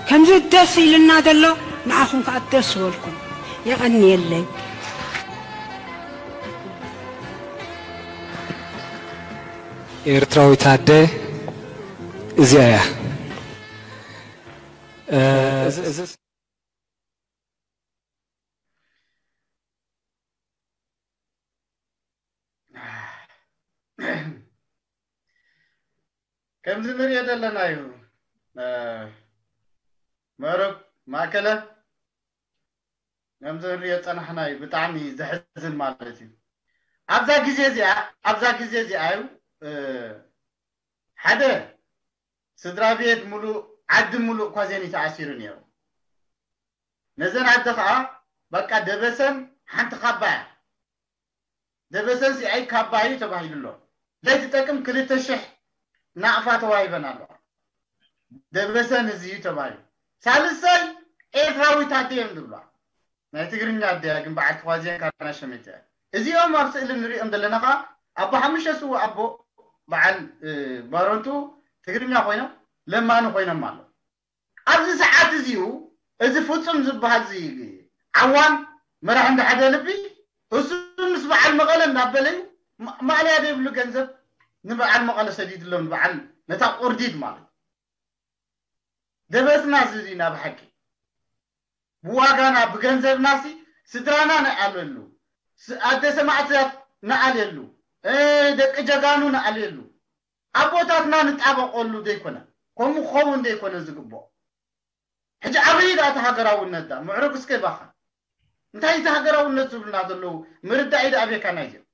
ከምዚ ደስ ኢልና ዘሎ ንዓኹም ከኣ ደስ ይበልኩም። የቐንየለይ። ኤርትራዊት ኣደ እዚኣ እያ። እ፣ እዚ፣ እዚ ከምዚ ንሪኦ ዘለና እዩ። እ፣ መረብ ማእከለ ከምዚ ንሪኦ ዝጸናሕና እዩ። ብጣዕሚ ዘሕዝን ማለት እዩ። ኣብዛ ግዜ እዚኣ፣ ኣብዛ ግዜ እዚኣ እዩ፣ እ፣ ሓደ ስድራ ቤት ሙሉእ፣ ዓዲ ሙሉእ እኳ ዜን ተኣሲሩ ነይሩ። ነዘን ኣደ ኸኣ በቃ ደበሰን ሓንቲ ካባ እያ። ደበሰን ሲኣይ ካባ እዩ ተባሂሉ ኣሎ። ዘይትጠቅም ክልተ ሽሕ ናቕፋ ተዋሂበን ኣለዋ። ደበሰን እዚ እዩ ተባሂሉ። ሳልሳይ ኤርትራዊት ኣደ እዮም ዝብሏ። ናይ ትግርኛ ኣደ እያ፣ ግን በዓል ተዋዚያን ካና ሸመይታ እያ። እዚኦም ኣብ ስእሊ ንሪኦም ዘለና ኸኣ ኣቦ ሓሙሽተ ስውእ ኣቦ በዓል፣ እ፣ ባረንቱ ትግርኛ ኮይኖም ለማኒ ኮይኖም ኣለዉ። ኣብዚ ሰዓት እዚኡ እዚ ፍጹም ዝበሃል እዚ ዓዋን መራሒ እንዳ ሓደ ልቢ እሱ ምስ በዓል መቐለ እንዳበለ እዩ ማ-፣ ማእለያ ዘይብሉ ገንዘብ ንበዓል መቐለ ሰዲድሎም፣ ንበዓል ነታ ቁርዲድ ማለት ደበስና እዚ እዚ ኢና ብሓቂ ብዋጋና ብገንዘብናሲ ስድራና ንኣልየሉ፣ ስ-፣ ኣደ ሰማእታት ንኣልየሉ፣ እ፣ ደቂ ጀጋኑ ንኣልየሉ፣ ኣቦታትና ንጣበቐሉ ዘይኮነ፣ ከምኡ ክኸውን ዘይኮነ ዝግብኦ። ሕጂ ኣበይ ደኣ እቲ ሃገራውነት ደኣ? ምዕሩግ እስከ ባኻ። እንታይ እቲ ሃገራውነት ዝብሉና ዘለዉ? ምርዳእ እዩ ደኣ ቤካ ናይዚኦም።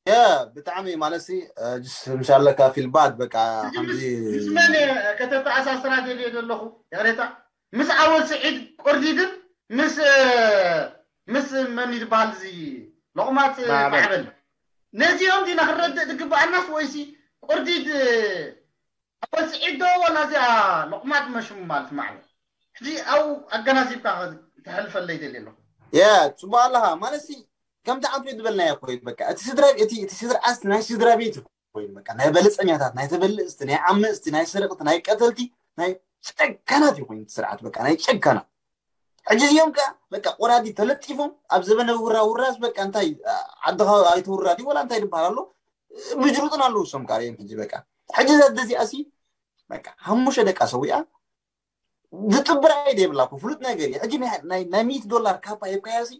ያ፣ ብጣዕሚ ማለትሲ፣ እ፣ ጅስ ምሻለካ ፊል ባድ በቃ ሕጂ ከምዚ ምስ፣ ምስ መን እየ ከተተኣሳስራ ደልየ ዘለኹ? ይቕሬታ። ምስ ኣወል ስዒድ ቁርዲድን ምስ፣ እ፣ ምስ መን እዩ ዝበሃል እዚ ሎቕማጽ ማዕበል። ማዕበል። ነዚኦም ዲና ክንረድእ ዝግብኣናስ ወይሲ ቁርዲድ፣ እ፣ ኣወል ስዒድ ዶ ዋላ እዚኣ ሎቕማጽ መሽሙ ማለት ማዕበል? ሕጂ ኣው ኣገናዚብካ ተሕልፈለይ ደልየ ኣለኹ። ያ፣ ጽቡቕ ኣለኻ። ማለትሲ ከምቲ ዓንቱ ዝበልናዮ ኮይኑ በቃ እቲ ስድራ፣ እቲ፣ እቲ ስድራ ኣስቲ ናይ ስድራ ቤት ኮይኑ በቃ ናይ በለጸኛታት፣ ናይ ተበልጽቲ፣ ናይ ዓመጽቲ፣ ናይ ሰረቕቲ፣ ናይ ቀተልቲ፣ ናይ ጨካናት እዩ ኮይኑ እቲ ስርዓት በቃ ናይ ጨካናት። ሕጂ እዚኦም ከኣ በቃ ቆራዲ ተለጢፎም ኣብ ዘበነ ውራ ውራስ በቃ እንታይ ዓድኻ ኣይትውራድ እዩ ወላ እንታይ ዝበሃል ኣሎ ብጅሩጥን ኣለዉ እሶም ከኣ እዮም ሕጂ በቃ። ሕጂ እዛ ኣደ እዚኣ ሲ በቃ ሓሙሽተ ደቃ ሰዊኣ ዝጥብር ኣይደ የብላ እኮ ፍሉጥ ነገር እዩ። ሕጂ ናይ፣ ናይ፣ ናይ ሚእቲ ዶላር ካባ ሂብካያ ሲ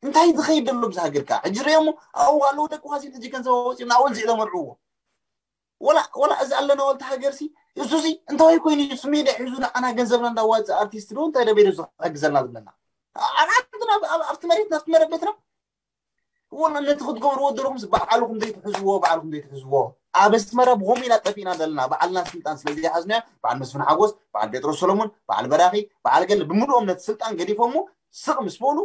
እንታይ ዝኸይድ ዘሎ ብዚ ሃገር ከዓ ሕጂ ርእዮሞ ኣብኡ ኣለዉ ደቂ ኳሲን ሕጂ ገንዘብ ኣወፂኡ ናወል ዝዒ ተመርዕዎ ወላ ወላ እዚ ኣለና ወልቲ ሃገር ሲ እሱ ሲ እንታይ ኮይኑ እዩ ስሜዳ ሒዙ ንዓና ገንዘብና እንዳዋፅእ ኣርቲስት ዶ እንታይ ደበይዶ ዝሕግዘና ዝብለና ኣብዓድና ኣብቲ መሬትና ኣብቲ መረበትና ወላ ነቲ ክትገብርዎ ዘለኹም ባዕልኹም ዘይትሕዝዎ ባዕልኹም ዘይትሕዝዎ ኣብ ኣስመራ ብኸምኡ ኢና ጠፊእና ዘለና ባዕልና ስልጣን ስለ ዘይሓዝናዮ በዓል መስፍን ሓጎስ በዓል ጴጥሮስ ሰሎሞን በዓል በራኺ በዓል ገለ ብምልኦም ነቲ ስልጣን ገዲፎሞ ስቕ ምስ በሉ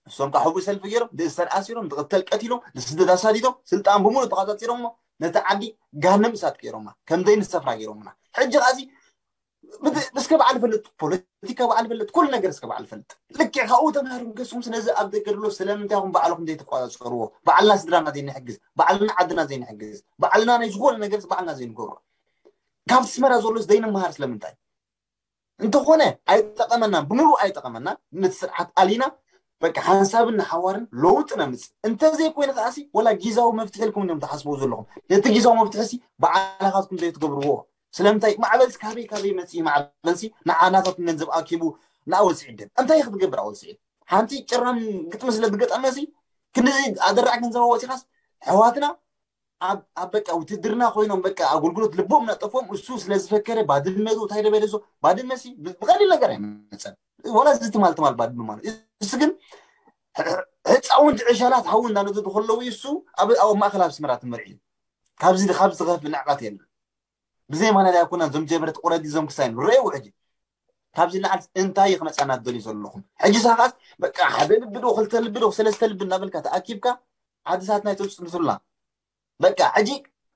እሶም ከዓ ሕቡእ ሰልፊ ገይሮም ንእሰር ኣሲሮም ንቕተል ቀቲሎም ንስደት ኣሳዲዶም ስልጣን ብምሉእ ተቓፃፂሮሞ ነቲ ዓዲ ጋንም እሳት ገይሮማ ከም ዘይንሰፍራ ገይሮምና ሕጂ ከዚ እስከ በዓል ፈልጥ ፖለቲካ በዓል ፈልጥ ኩሉ ነገር እስከ በዓል ፈልጥ ልክዕ ካብኡ ተማሃሩ ገስኩም ስለዚ ኣብ ደገ ድሎ ስለምንታይ ኹም ባዕልኹም ዘይትቋፃፀርዎ በዓልና ስድራና ዘይንሕግዝ በዓልና ዓድና ዘይንሕግዝ በዓልና ናይ ዝኾነ ነገር በዓልና ዘይንገብሮ ካብ ኣስመራ ዘሎስ ዘይንመሃር ስለምንታይ እንተኾነ ኣይጠቐመናን ብምሉእ ኣይጠቐመናን ነቲ ስርዓት ኣሊና በቃ ሓንሳብን ንሓዋርን ለውጢ ነምፅእ እንተዘይኮይኑ ከዓሲ ወላ ጊዛዊ መፍትሒ ኢልኩም እዮም ትሓስበው ዘለኹም ነቲ ጊዛዊ መፍትሒ ሲ በዓላኻትኩም ዘይትገብርዎ ስለምንታይ ማዕበልሲ ካበይ ካበይ መፅኢ ማዕበልሲ ንዓናታት ገንዘብ ኣኪቡ ንኣወል ስዒድ ደም እንታይ ክትገብር ኣወል ስዒድ ሓንቲ ጭራም ግጥሚ ስለ ዝገጠመሲ ክንዚ ኣደራዕ ገንዘብ ኣወፂኻስ ኣሕዋትና ኣብ በቃ ውትድርና ኮይኖም በቃ ኣገልግሎት ልቦም ነጠፎም እሱ ስለ ዝፈከረ ባድመ እንታይ ደበለ ዞ ባድመ ሲ ብቀሊል ነገር ኣይመፀን ወላ እዚ ትማል ትማል ባድመ ማለት እሱ ግን ህፃውንቲ ዕሻላት ሓዊ እንዳነደዱ ከለዉ እሱ ኣብ ኣብ ማእከል ኣብ ስመራ ትመርዒ ካብዚ ካብ ዝኸፍ ንዕቀት የለን ብዘይ ማናት ኣይኮና ዞም ጀበረት ቁረዲ ዞም ክሳይን ረእው ሕጂ ካብዚ ንዓል እንታይ ክመፃና ትደልዩ ዘለኹም ሕጂ ሳኻስ በቃ ሓደ ልቢ ዶ ክልተ ልቢ ዶ ሰለስተ ልቢ እናበልካ ተኣኪብካ ዓድሳትና ይተፅንቱልና በቃ ሕጂ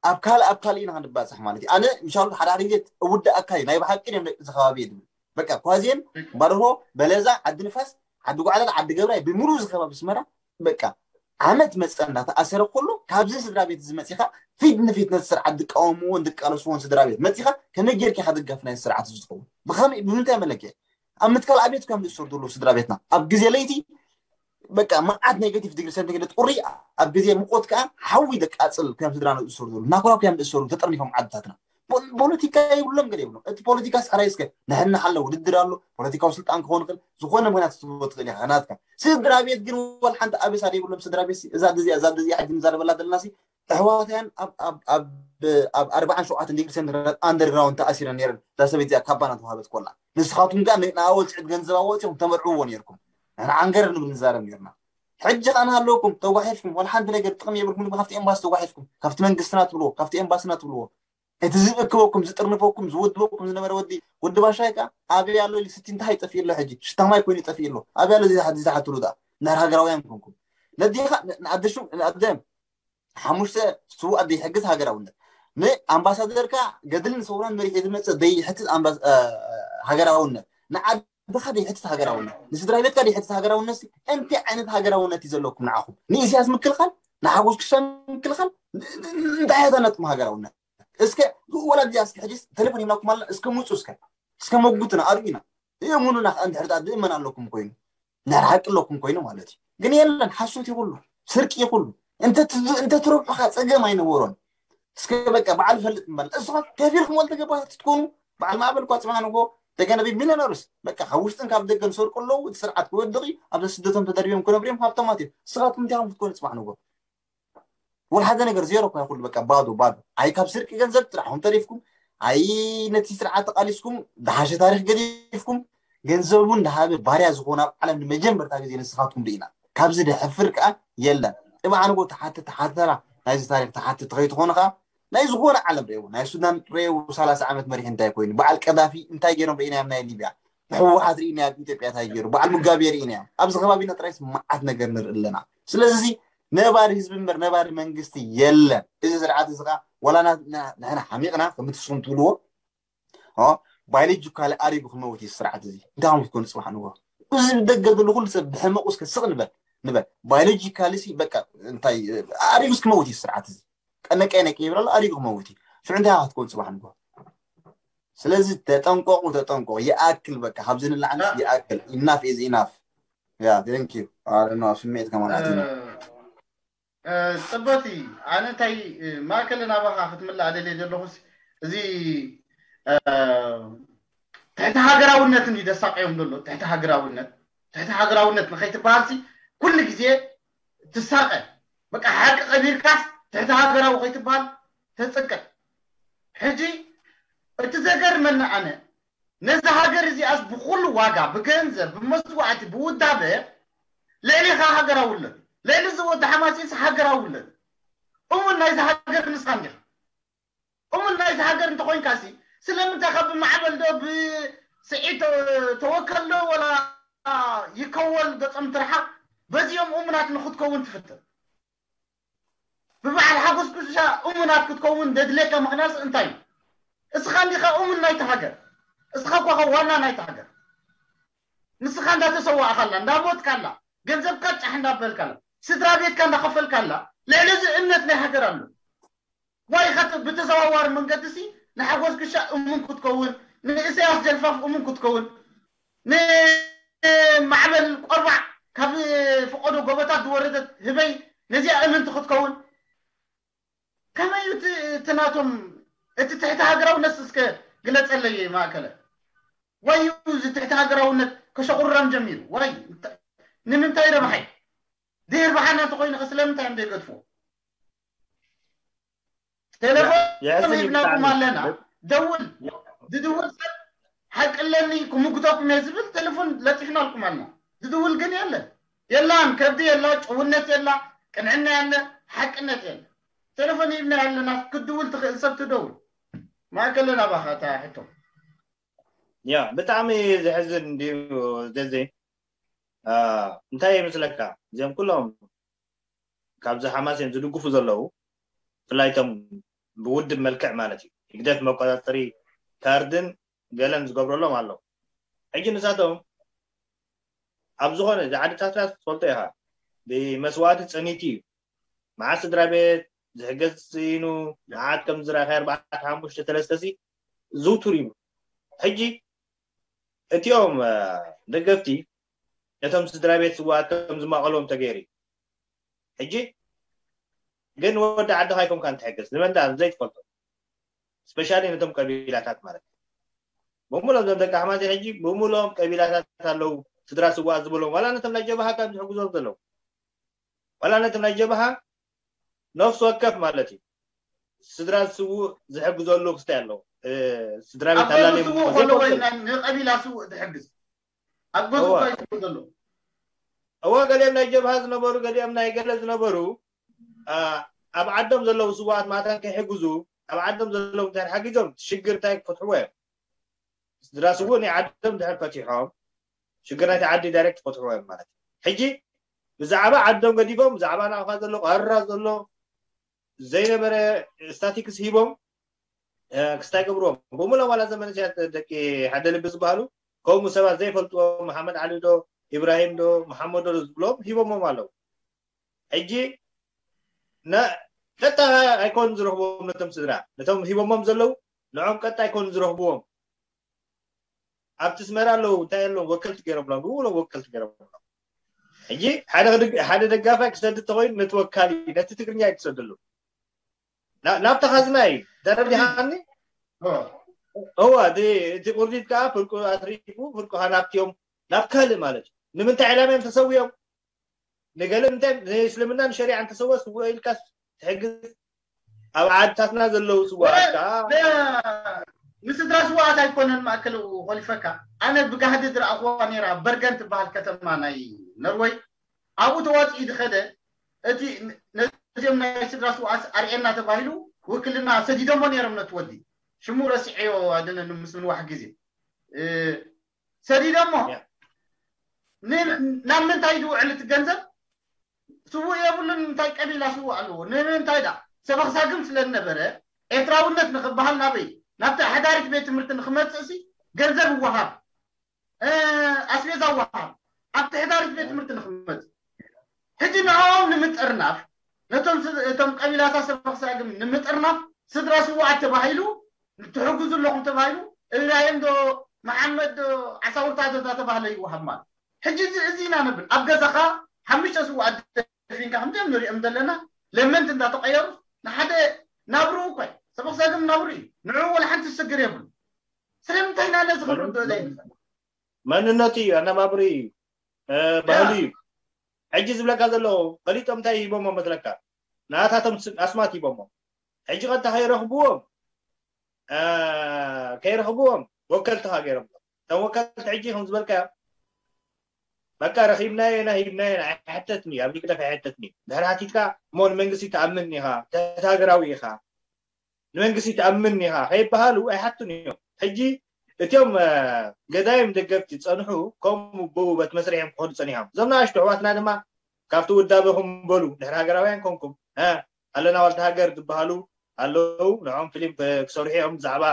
ኣብ ካልእ ኣብ ካልእ ኢና ክንባፅሕ ማለት እዩ ኣነ ምሻሉ ሓደ ሓደ ግዜ እውዳእ ኣካል ናይ ብሓቂ እዮም ደቂ ከባቢ ድብል በቃ ኳዜን ባርሆ በለዛ ዓዲ ንፋስ ዓዲ ጓዕላል ዓዲ ገብራይ ብምሉ ዝከባቢ ስመራ በቃ ዓመት መፀ እንዳተኣሰረ ከሎ ካብዚ ስድራ ቤት እዚ መፂኻ ፊት ንፊት ነቲ ስርዓት ዝቃወምዎን ዝቃለስዎን ስድራ ቤት መፂኻ ከመይ ጌርካ ኢኻ ደጋፊ ናይ ስርዓት እዚ ዝኸውን ብኸመይ ብምንታይ መለክዒ ኣብ ምትካል ኣብየት ከም ዝእሰሩ ዘለዉ ስድራ ቤትና ኣብ ግዜ ለይቲ በቃ መዓት ኔጋቲቭ ዲግሪ ሰንቲግሬድ ቁሪ ኣብ ግዜ ሙቆት ከዓ ሓዊ ደቃፅል ከም ስድራ ዝእሰሩ ዘለዉ ናኩራኩ እዮም ዝእሰሩ ተጠርኒፎም ዓድታትና ፖለቲካ የብሎም ገለ የብሎም እቲ ፖለቲካ ስዕራይ እስከ ንሕና ኣሎ ውድድር ኣሎ ፖለቲካዊ ስልጣን ክኾን ይኽእል ዝኾነ ምክንያት ክትህቦ ትኽእል ኢኻ ናትካ ስድራ ቤት ግን ወላ ሓንቲ ኣበሳ ዘይብሎም ስድራ ቤት እዛ ድዚኣ እዛ ድዚኣ ሕጂ ንዛረበላ ዘለና ኣሕዋትያን ኣብ ኣርባዓን ሸውዓተን ዲግሪ ሴንቲግሬድ ኣንደርግራውንድ ተኣሲረን ነይረን እዛ ሰበይቲ እዚኣ ካባና ተዋሃበት ኮላ ንስኻትኩም ጋር ንኣወል ስዕድ ገንዘብ ኣወፂኹም ተመርዕዎ ነይርኩም ንሕና ዓንገረር ንብል ንዛረብ ነይርና ሕጂ ከኣ ንሃለውኩም ተጓሒፍኩም ወላ ሓንቲ ነገር ጥቕሚ የብልኩም ካብቲ ኤምባሲ ተጓሒፍኩም ካብቲ መንግስትና ትብልዎ ካብቲ ኤምባስና ትብልዎ እቲ ዝእክበኩም ዝጥርንፈኩም ዝውድበኩም ዝነበረ ወዲ ወዲ ባሻይ ከኣ ኣበይ ኣሎ ኢሉ ስቲ እንታይ ይጠፍእ ኣሎ ሕጂ ሽታ ማይ ኮይኑ ይጠፍእ ኣሎ ኣበይ ኣሎ ዝሓትሉ ዳ እንድሕር ሃገራውያን ኮንኩም ነዲኻ ንኣደሹ ንኣደ ሓሙሽተ ስዉእ ኣደ ይሕግዝ ሃገራውነት ንኣምባሳደርካ ገድልን ሰውራን መሪሑ ዝመፅእ ዘይሕትት ሃገራውነት ንዓድኻ ዘይሕትት ሃገራውነት ንስድራ ቤትካ ዘይሕትት ሃገራውነት እንታይ ዓይነት ሃገራውነት እዩ ዘለኩም ንዓኹም ንኢስያስ ምክልኻል ንሓጎስ ክሻ ምክልኻል እንታይ እያ ነጥኩም ሃገራውነት እስከ ወላ ዲያ እስከ ሕጂ ቴሌፎን ሂብናኩም ኣለና እስከ ምፁ እስከ እስከ መጉትና ኣርእዩና እየሙኑና ከዓ እንድሕር ድኣ ድእመን ኣለኩም ኮይኑ ናይ ሓቂ ኣለኩም ኮይኑ ማለት እዩ ግን የለን ሓሶት ይኩሉ ስርቂ ይኩሉ እንተ ትረብሑ ከዓ ፀገም ኣይነበሮን እስከ በቃ በዓል ፈልጥ ምባል እሱ ከፊልኩም ወልተ ገባታት ትትኮኑ በዓል ማዕበል እኳ ፅባሕ ንጎ ተገነቢ ሚሊዮነርስ በቃ ካብ ውሽጥን ካብ ደገን ሰርቁ ኣለዉ እቲ ስርዓት ክወድቕ ኣብዚ ስደቶም ተደርቢዮም ክነብሩ እዮም ሃብታማት እዮም ንስኻትኩም እንታይ ከም ክትኮኑ ፅባሕ ንጎ ወላ ሓደ ነገር ዜሮ እኳ ይኹሉ በቃ ባዶ ባዶ ኣይ ካብ ስርቂ ገንዘብ ጥራሕኹም ተሪፍኩም ኣይ ነቲ ስርዓት ተቃሊስኩም ዝሓሸ ታሪክ ገዲፍኩም ገንዘቡ እንዳሃበ ባርያ ዝኾነ ኣብ ዓለም ንመጀመርታ ግዜ ንስኻትኩም ርኢና ካብዚ ድሕፍር ከዓ የለን ጥባዕ ንጎ ተሓትት ተሓተራ ናይዚ ታሪክ ተሓትት ከይትኾኑ ከዓ ናይ ዝኾነ ዓለም ርእዎ ናይ ሱዳን ርእዎ ሰላሳ ዓመት መሪሒ እንታይ ኮይኑ በዓል ቀዳፊ እንታይ ገይሮም ርኢናዮም ናይ ሊብያ ብሕወሓት ርኢናዮ ኣብ ኢትዮጵያ እንታይ ገይሩ በዓል ሙጋቤ ርኢናዮም ኣብዚ ከባቢና ጥራይስ መዓት ነገር ንርኢ ኣለና ስለዚ ነባሪ ህዝቢ እምበር ነባሪ መንግስቲ የለን እዚ ስርዓት እዚ ከዓ ዋላ ንሕና ሓሚቕና ከምትስኹም ትብልዎ ባዮሎጂካሊ ኣሪጉ ክመውት እዩ ስርዓት እዚ እንታይ ከም ክትኮኑ ፅባሕ ንጎ እዚ ብደገ ዘሎ ኩሉ ሰብ ብሕመቑ እስከ ስቕ ንበል ንበል ባዮሎጂካሊ ሲ በቃ እንታይ ኣሪጉ ክመውት እዩ ስርዓት እዚ ቀነቀ ነቀ ይብል ኣሎ ኣሪጉ ክመውት እዩ ሽዑ እንታይ ክትኮኑ ፅባሕ ንጎ ስለዚ ተጠንቀቁ ተጠንቀቁ ይኣክል በቃ ካብዚ ንላዕሊ ይኣክል ኢናፍ ኢዝ ኢናፍ ያ ቴንክ ዩ ኣረና ስሜት ከማን ኣቲና ፅበቲ ኣነ እንታይ ማእከል ናባኻ ክትምላእ ደልየ ዘለኹስ እዚ ትሕቲ ሃገራውነትን እዩ ደሳቀዮም ዘሎ ትሕቲ ሃገራውነት ትሕቲ ሃገራውነት ንኸይትበሃልሲ ኩሉ ግዜ ትሳቐ። በቃ ሓቂ ቀቢርካስ ትሕቲ ሃገራዊ ከይትበሃል ተጽቅዕ። ሕጂ እቲ ዘገርመኒ ኣነ ነዛ ሃገር እዚኣስ ብኹሉ ዋጋ ብገንዘብ ብመስዋዕቲ ብውዳበ ልዕሊኻ ሃገራዊ ኣሎ። ልዕሊ እዚ ወዲ ሓማሴንስ ሃገራዊ ኣሎ። እሙን ናይዚ ሃገር ንስኻ እንዲኻ። እሙን ናይዚ ሃገር እንተኾይንካሲ ስለምንታይ ካብ ማዕበል ዶ ብስዒድ ተወከል ዶ ወላ ይከወል ገጾም ትርሓቕ በዚኦም እሙናት ንክትከውን ትፍትን? ብበዓል ሓጎስ ኩሻ እሙናት ክትከውን ደድልየካ ምኽንያት እንታይ እዩ? እስኻ እንዲኻ እሙን ናይቲ ሃገር። እስኻ እኳ ዋና ናይቲ ሃገር። ንስኻ እንዳተሰዋእካላ እንዳሞትካላ ገንዘብካ ጫሕ እንዳበልካላ ስድራ ቤትካ እንዳኸፈልካላ ልዕሊ እዚ እምነት ናይ ሃገር ኣሎ። ዋይ ኢኻ ብተዘዋዋሪ መንገዲ ሲ ንሓጎስ ግሻ እሙን ክትከውን ንእሰያስ ጀልፋፍ እሙን ክትከውን ንማዕበል ቆርባዕ ካብ ፈቆዶ ጎቦታት ዝወረደት ህበይ ነዚኣ እምንቲ ክትከውን ከመይ እዩ እቲ ናቶም እቲ ትሕቲ ሃገራውነት እስከ ግለጸለይ ማእከለ ወይ እዩ እዚ ትሕቲ ሃገራውነት ከሸቑርረም ጀሚሩ ወይ ንምንታይ ረብሓይ ድሄር ብሓና እንተኮይኑ ስለምንታይ እዮም ዘይገድፍዎ ቴሌፎን ሂብናኩም ኣለና ደውል ዝድውል ሰብ ሓቂ ኣለኒ ክምጉተኩም እየ ዝብል ቴሌፎን ለጢፍናልኩም ኣለና ዝድውል ግን የለን የላን ከብዲ የላ ጭውነት የላ ቅንዕና የለ ሓቅነት የለ ቴሌፎን ሂብና ኣለና ክትድውል ትኽእል ሰብ ትደውል ማእከለ ናባኻ እታ ሕቶ ያ ብጣዕሚ ዘሕዝን እንድዩ ዘዜ እንታይ ይመስለካ እዚኦም ኩሎም ካብዚ ሓማስ እዮም ዝድግፉ ዘለዉ ብፍላይቶም ብውድብ መልክዕ ማለት እዩ ህግደፍ መቆፃፀሪ ካርድን ገለን ዝገብረሎም ኣለዉ ሕጂ ንሳቶም ኣብ ዝኾነ እዚ ዓድታትና ትፈልጦ ኢኻ ብመስዋእቲ ፀኒቲ እዩ መዓት ስድራ ቤት ዝሕገዝ ስኢኑ መዓት ከም ዝረኣኸ ኣርባዕተ ሓሙሽተ ተለስተሲ ዝውቱር እዩ ሕጂ እቲኦም ደገፍቲ ነቶም ስድራ ቤት ስዋኣት ከም ዝማቐሎም ተገይሩ እዩ ሕጂ ግን ወዲ ዓድኻ ይኮምካ እንትሕግዝ ንመንዳ ዘይትፈልጦ ስፔሻሊ ነቶም ቀቢላታት ማለት ብምሎም ዞም ደቂ ኣሕማዚ ሕጂ ብምሎም ቀቢላታት ኣለዉ ስድራ ስዋኣት ዝበሎም ዋላ ነቶም ናይ ጀብሃ ከም ዝሕግዞም ዘለዉ ዋላ ነቶም ናይ ጀብሃ ነፍሲ ወከፍ ማለት እዩ ስድራ ዝስውእ ዝሕግዘሉ ክስታይ ኣለዎ ስድራ ቤት ኣላለ ዝስውእ ከሎ ወይ ንቀቢላ ስውእ ዝሕግዝ ኣብ ገዙ እዋ። እንታይ ዝስውእ ዘሎ እወ ገሊኦም ናይ ጀብሃ ዝነበሩ ገሊኦም ናይ ገለ ዝነበሩ አ፣ ኣብ ዓዶም ዘለዉ ስዋኣት ማታን ከይሕግዙ ኣብ ዓዶም ዘለዉ እንታይ ሓጊዞም ሽግር እንታይ ክፈትሕዎ እዮም ስድራ ስውእ ናይ ዓዶም ድሕር ፈቲሖም ሽግር ናይቲ ዓዲ ዳይሬክት ክፈትሕዎ እዮም ማለት እዩ ሕጂ ብዛዕባ ዓዶም ገዲፎም ብዛዕባ ናቕፋ ዘሎ ቀራ ዘሎ ዘይነበረ ስታቲክስ ሂቦም ክስታይ ገብርዎም ብምሎም ዋላ ዘመነ ደቂ ሓደ ልቢ ዝበሃሉ ከምኡ ሰባት ዘይፈልጥዎም መሓመድ ዓሊ ዶ ኢብራሂም ዶ መሓመድ ዶ ዝብሎም ሂቦሞም ኣለዉ ሕጂ ቀጥታ ኣይኮን ዝረኽብዎም ነቶም ስድራ ነቶም ሂቦሞም ዘለዉ ንዖም ቀጥታ ኣይኮን ዝረኽብዎም ኣብቲ ስመራ ኣለዉ እንታይ ኣለዎም ወከልቲ ገይሮምሎም ብውሎም ወከልቲ ገይሮምሎም ሕጂ ሓደ ደጋፋይ ክሰድድ ተኮይኑ ነቲ ወካሊ ነቲ ትግርኛ እዩ ክሰደሉ ናብቲ ካዝና እዩ ተረዲሃኒ እዋ እቲ ቁርዲት ከዓ ፍርቁ ኣትሪፉ ፍርቁ ሃናብትዮም ናብ ካልእ ማለት እዩ ንምንታይ ዕላማ እዮም ተሰዊኦም ንገለ ምንታይ ንእስልምና ንሸሪዓ እንተሰወ ስውእ ኢልካ ትሕግዝ ኣብ ዓድታትና ዘለዉ ስዋኣት ከዓ ንስድራ ስዋኣት ኣይኮነን ማእከል ኮሊፈካ ኣነ ብጋህዲ ዝረኣኽዋ ነራ በርገን ትበሃል ከተማ ናይ ነርወይ ኣብኡ ተዋፅኢ ዝኸደ እቲ ነዚኦም ናይ ስድራ ስዋኣት ኣርእየና ተባሂሉ ውክልና ሰዲዶሞ ነይሮም ነቲ ወዲ ሽሙ ረሲዐዮ ኣይደለኒ ምስ ምንዋሕ ግዜ ሰዲዶሞ ናብ ምንታይ ዝውዕል እቲ ገንዘብ ስውእ የብሉን እንታይ ቀቢላ ስውእ ኣለዎ ንምንታይ ዳ ሰበኽሳግም ስለ ዝነበረ ኤርትራውነት ንክበሃል ናበይ ናብቲ ኣሕዳሪት ቤት ትምህርቲ ንክመፅእ ሲ ገንዘብ ይወሃብ ኣስቤዛ ይወሃብ ኣብቲ ኣሕዳሪት ቤት ትምህርቲ ንክመፅእ ሕጂ ንዕኦም ንምጥርናፍ ነቶም እቶም ቀቢላታት ሰበኽሳግም ንምጥርናፍ ስድራ ስውኣት ተባሂሉ ትሕግዙ ኣለኹም ተባሂሉ እብራሂም ዶ መሓመድ ዶ ዓሳውርታ ዶ እንዳተባህለ ይወሃብ ማለት ሕጂ እዚ እዚ ኢና ነብል ኣብ ገዛኻ ሓሙሽተ ስውኣት ደፊንካ ከምዚኦም ንሪኦም ዘለና ለመንቲ እንዳተቀየሩ ንሓደ ናብርኡ እኮ ሰበኽ ዘግም ናብሩ እዩ ንዕኡ ወላ ሓንቲ ዝስግር የብሉ ስለምንታይ ኢና ነዚ ክንርድኦ ዘይንኽእል መንነቱ እዩ ኣነባብሩ እዩ ባህሉ እዩ ሕጂ ዝብለካ ዘለዉ ፈሊጦም እንታይ ሂቦሞ መስለካ? ናታቶም ኣስማት ሂቦሞ። ሕጂ ቀጥታ ከይረኽብዎም ከይረኽብዎም ወከልትኻ ገይሮም። እቶም ወከልቲ ሕጂ ከም ዝበልካዮ በቃ ረኺብናዮ ኢና ሂብናዮ ኢና ኣይሕተትን እዩ። ኣብ ህግደፍ ኣይሕተትን እዩ። ድሕሪ ሓቲትካ እሞ ንመንግስቲ ትኣምን ኢኻ፣ ትሕትሃገራዊ ኢኻ፣ ንመንግስቲ ትኣምን ኢኻ ከይበሃሉ ኣይሓቱን እዮም። ሕጂ እቲኦም ገዳይም ደገፍቲ ዝፀንሑ ከምኡ ብኡ በቲ መስርሕ እዮም ክኸዱ ፀኒሖም። እዞም ንኣሽቱ ኣሕዋትና ድማ ካብቲ ውዳበኹም በሉ ድሕሪ ሃገራውያን ኮንኩም ኣለና ዋልታ ሃገር ዝበሃሉ ኣለዉ። ንዖም ፊልም ክሰርሑ እዮም ብዛዕባ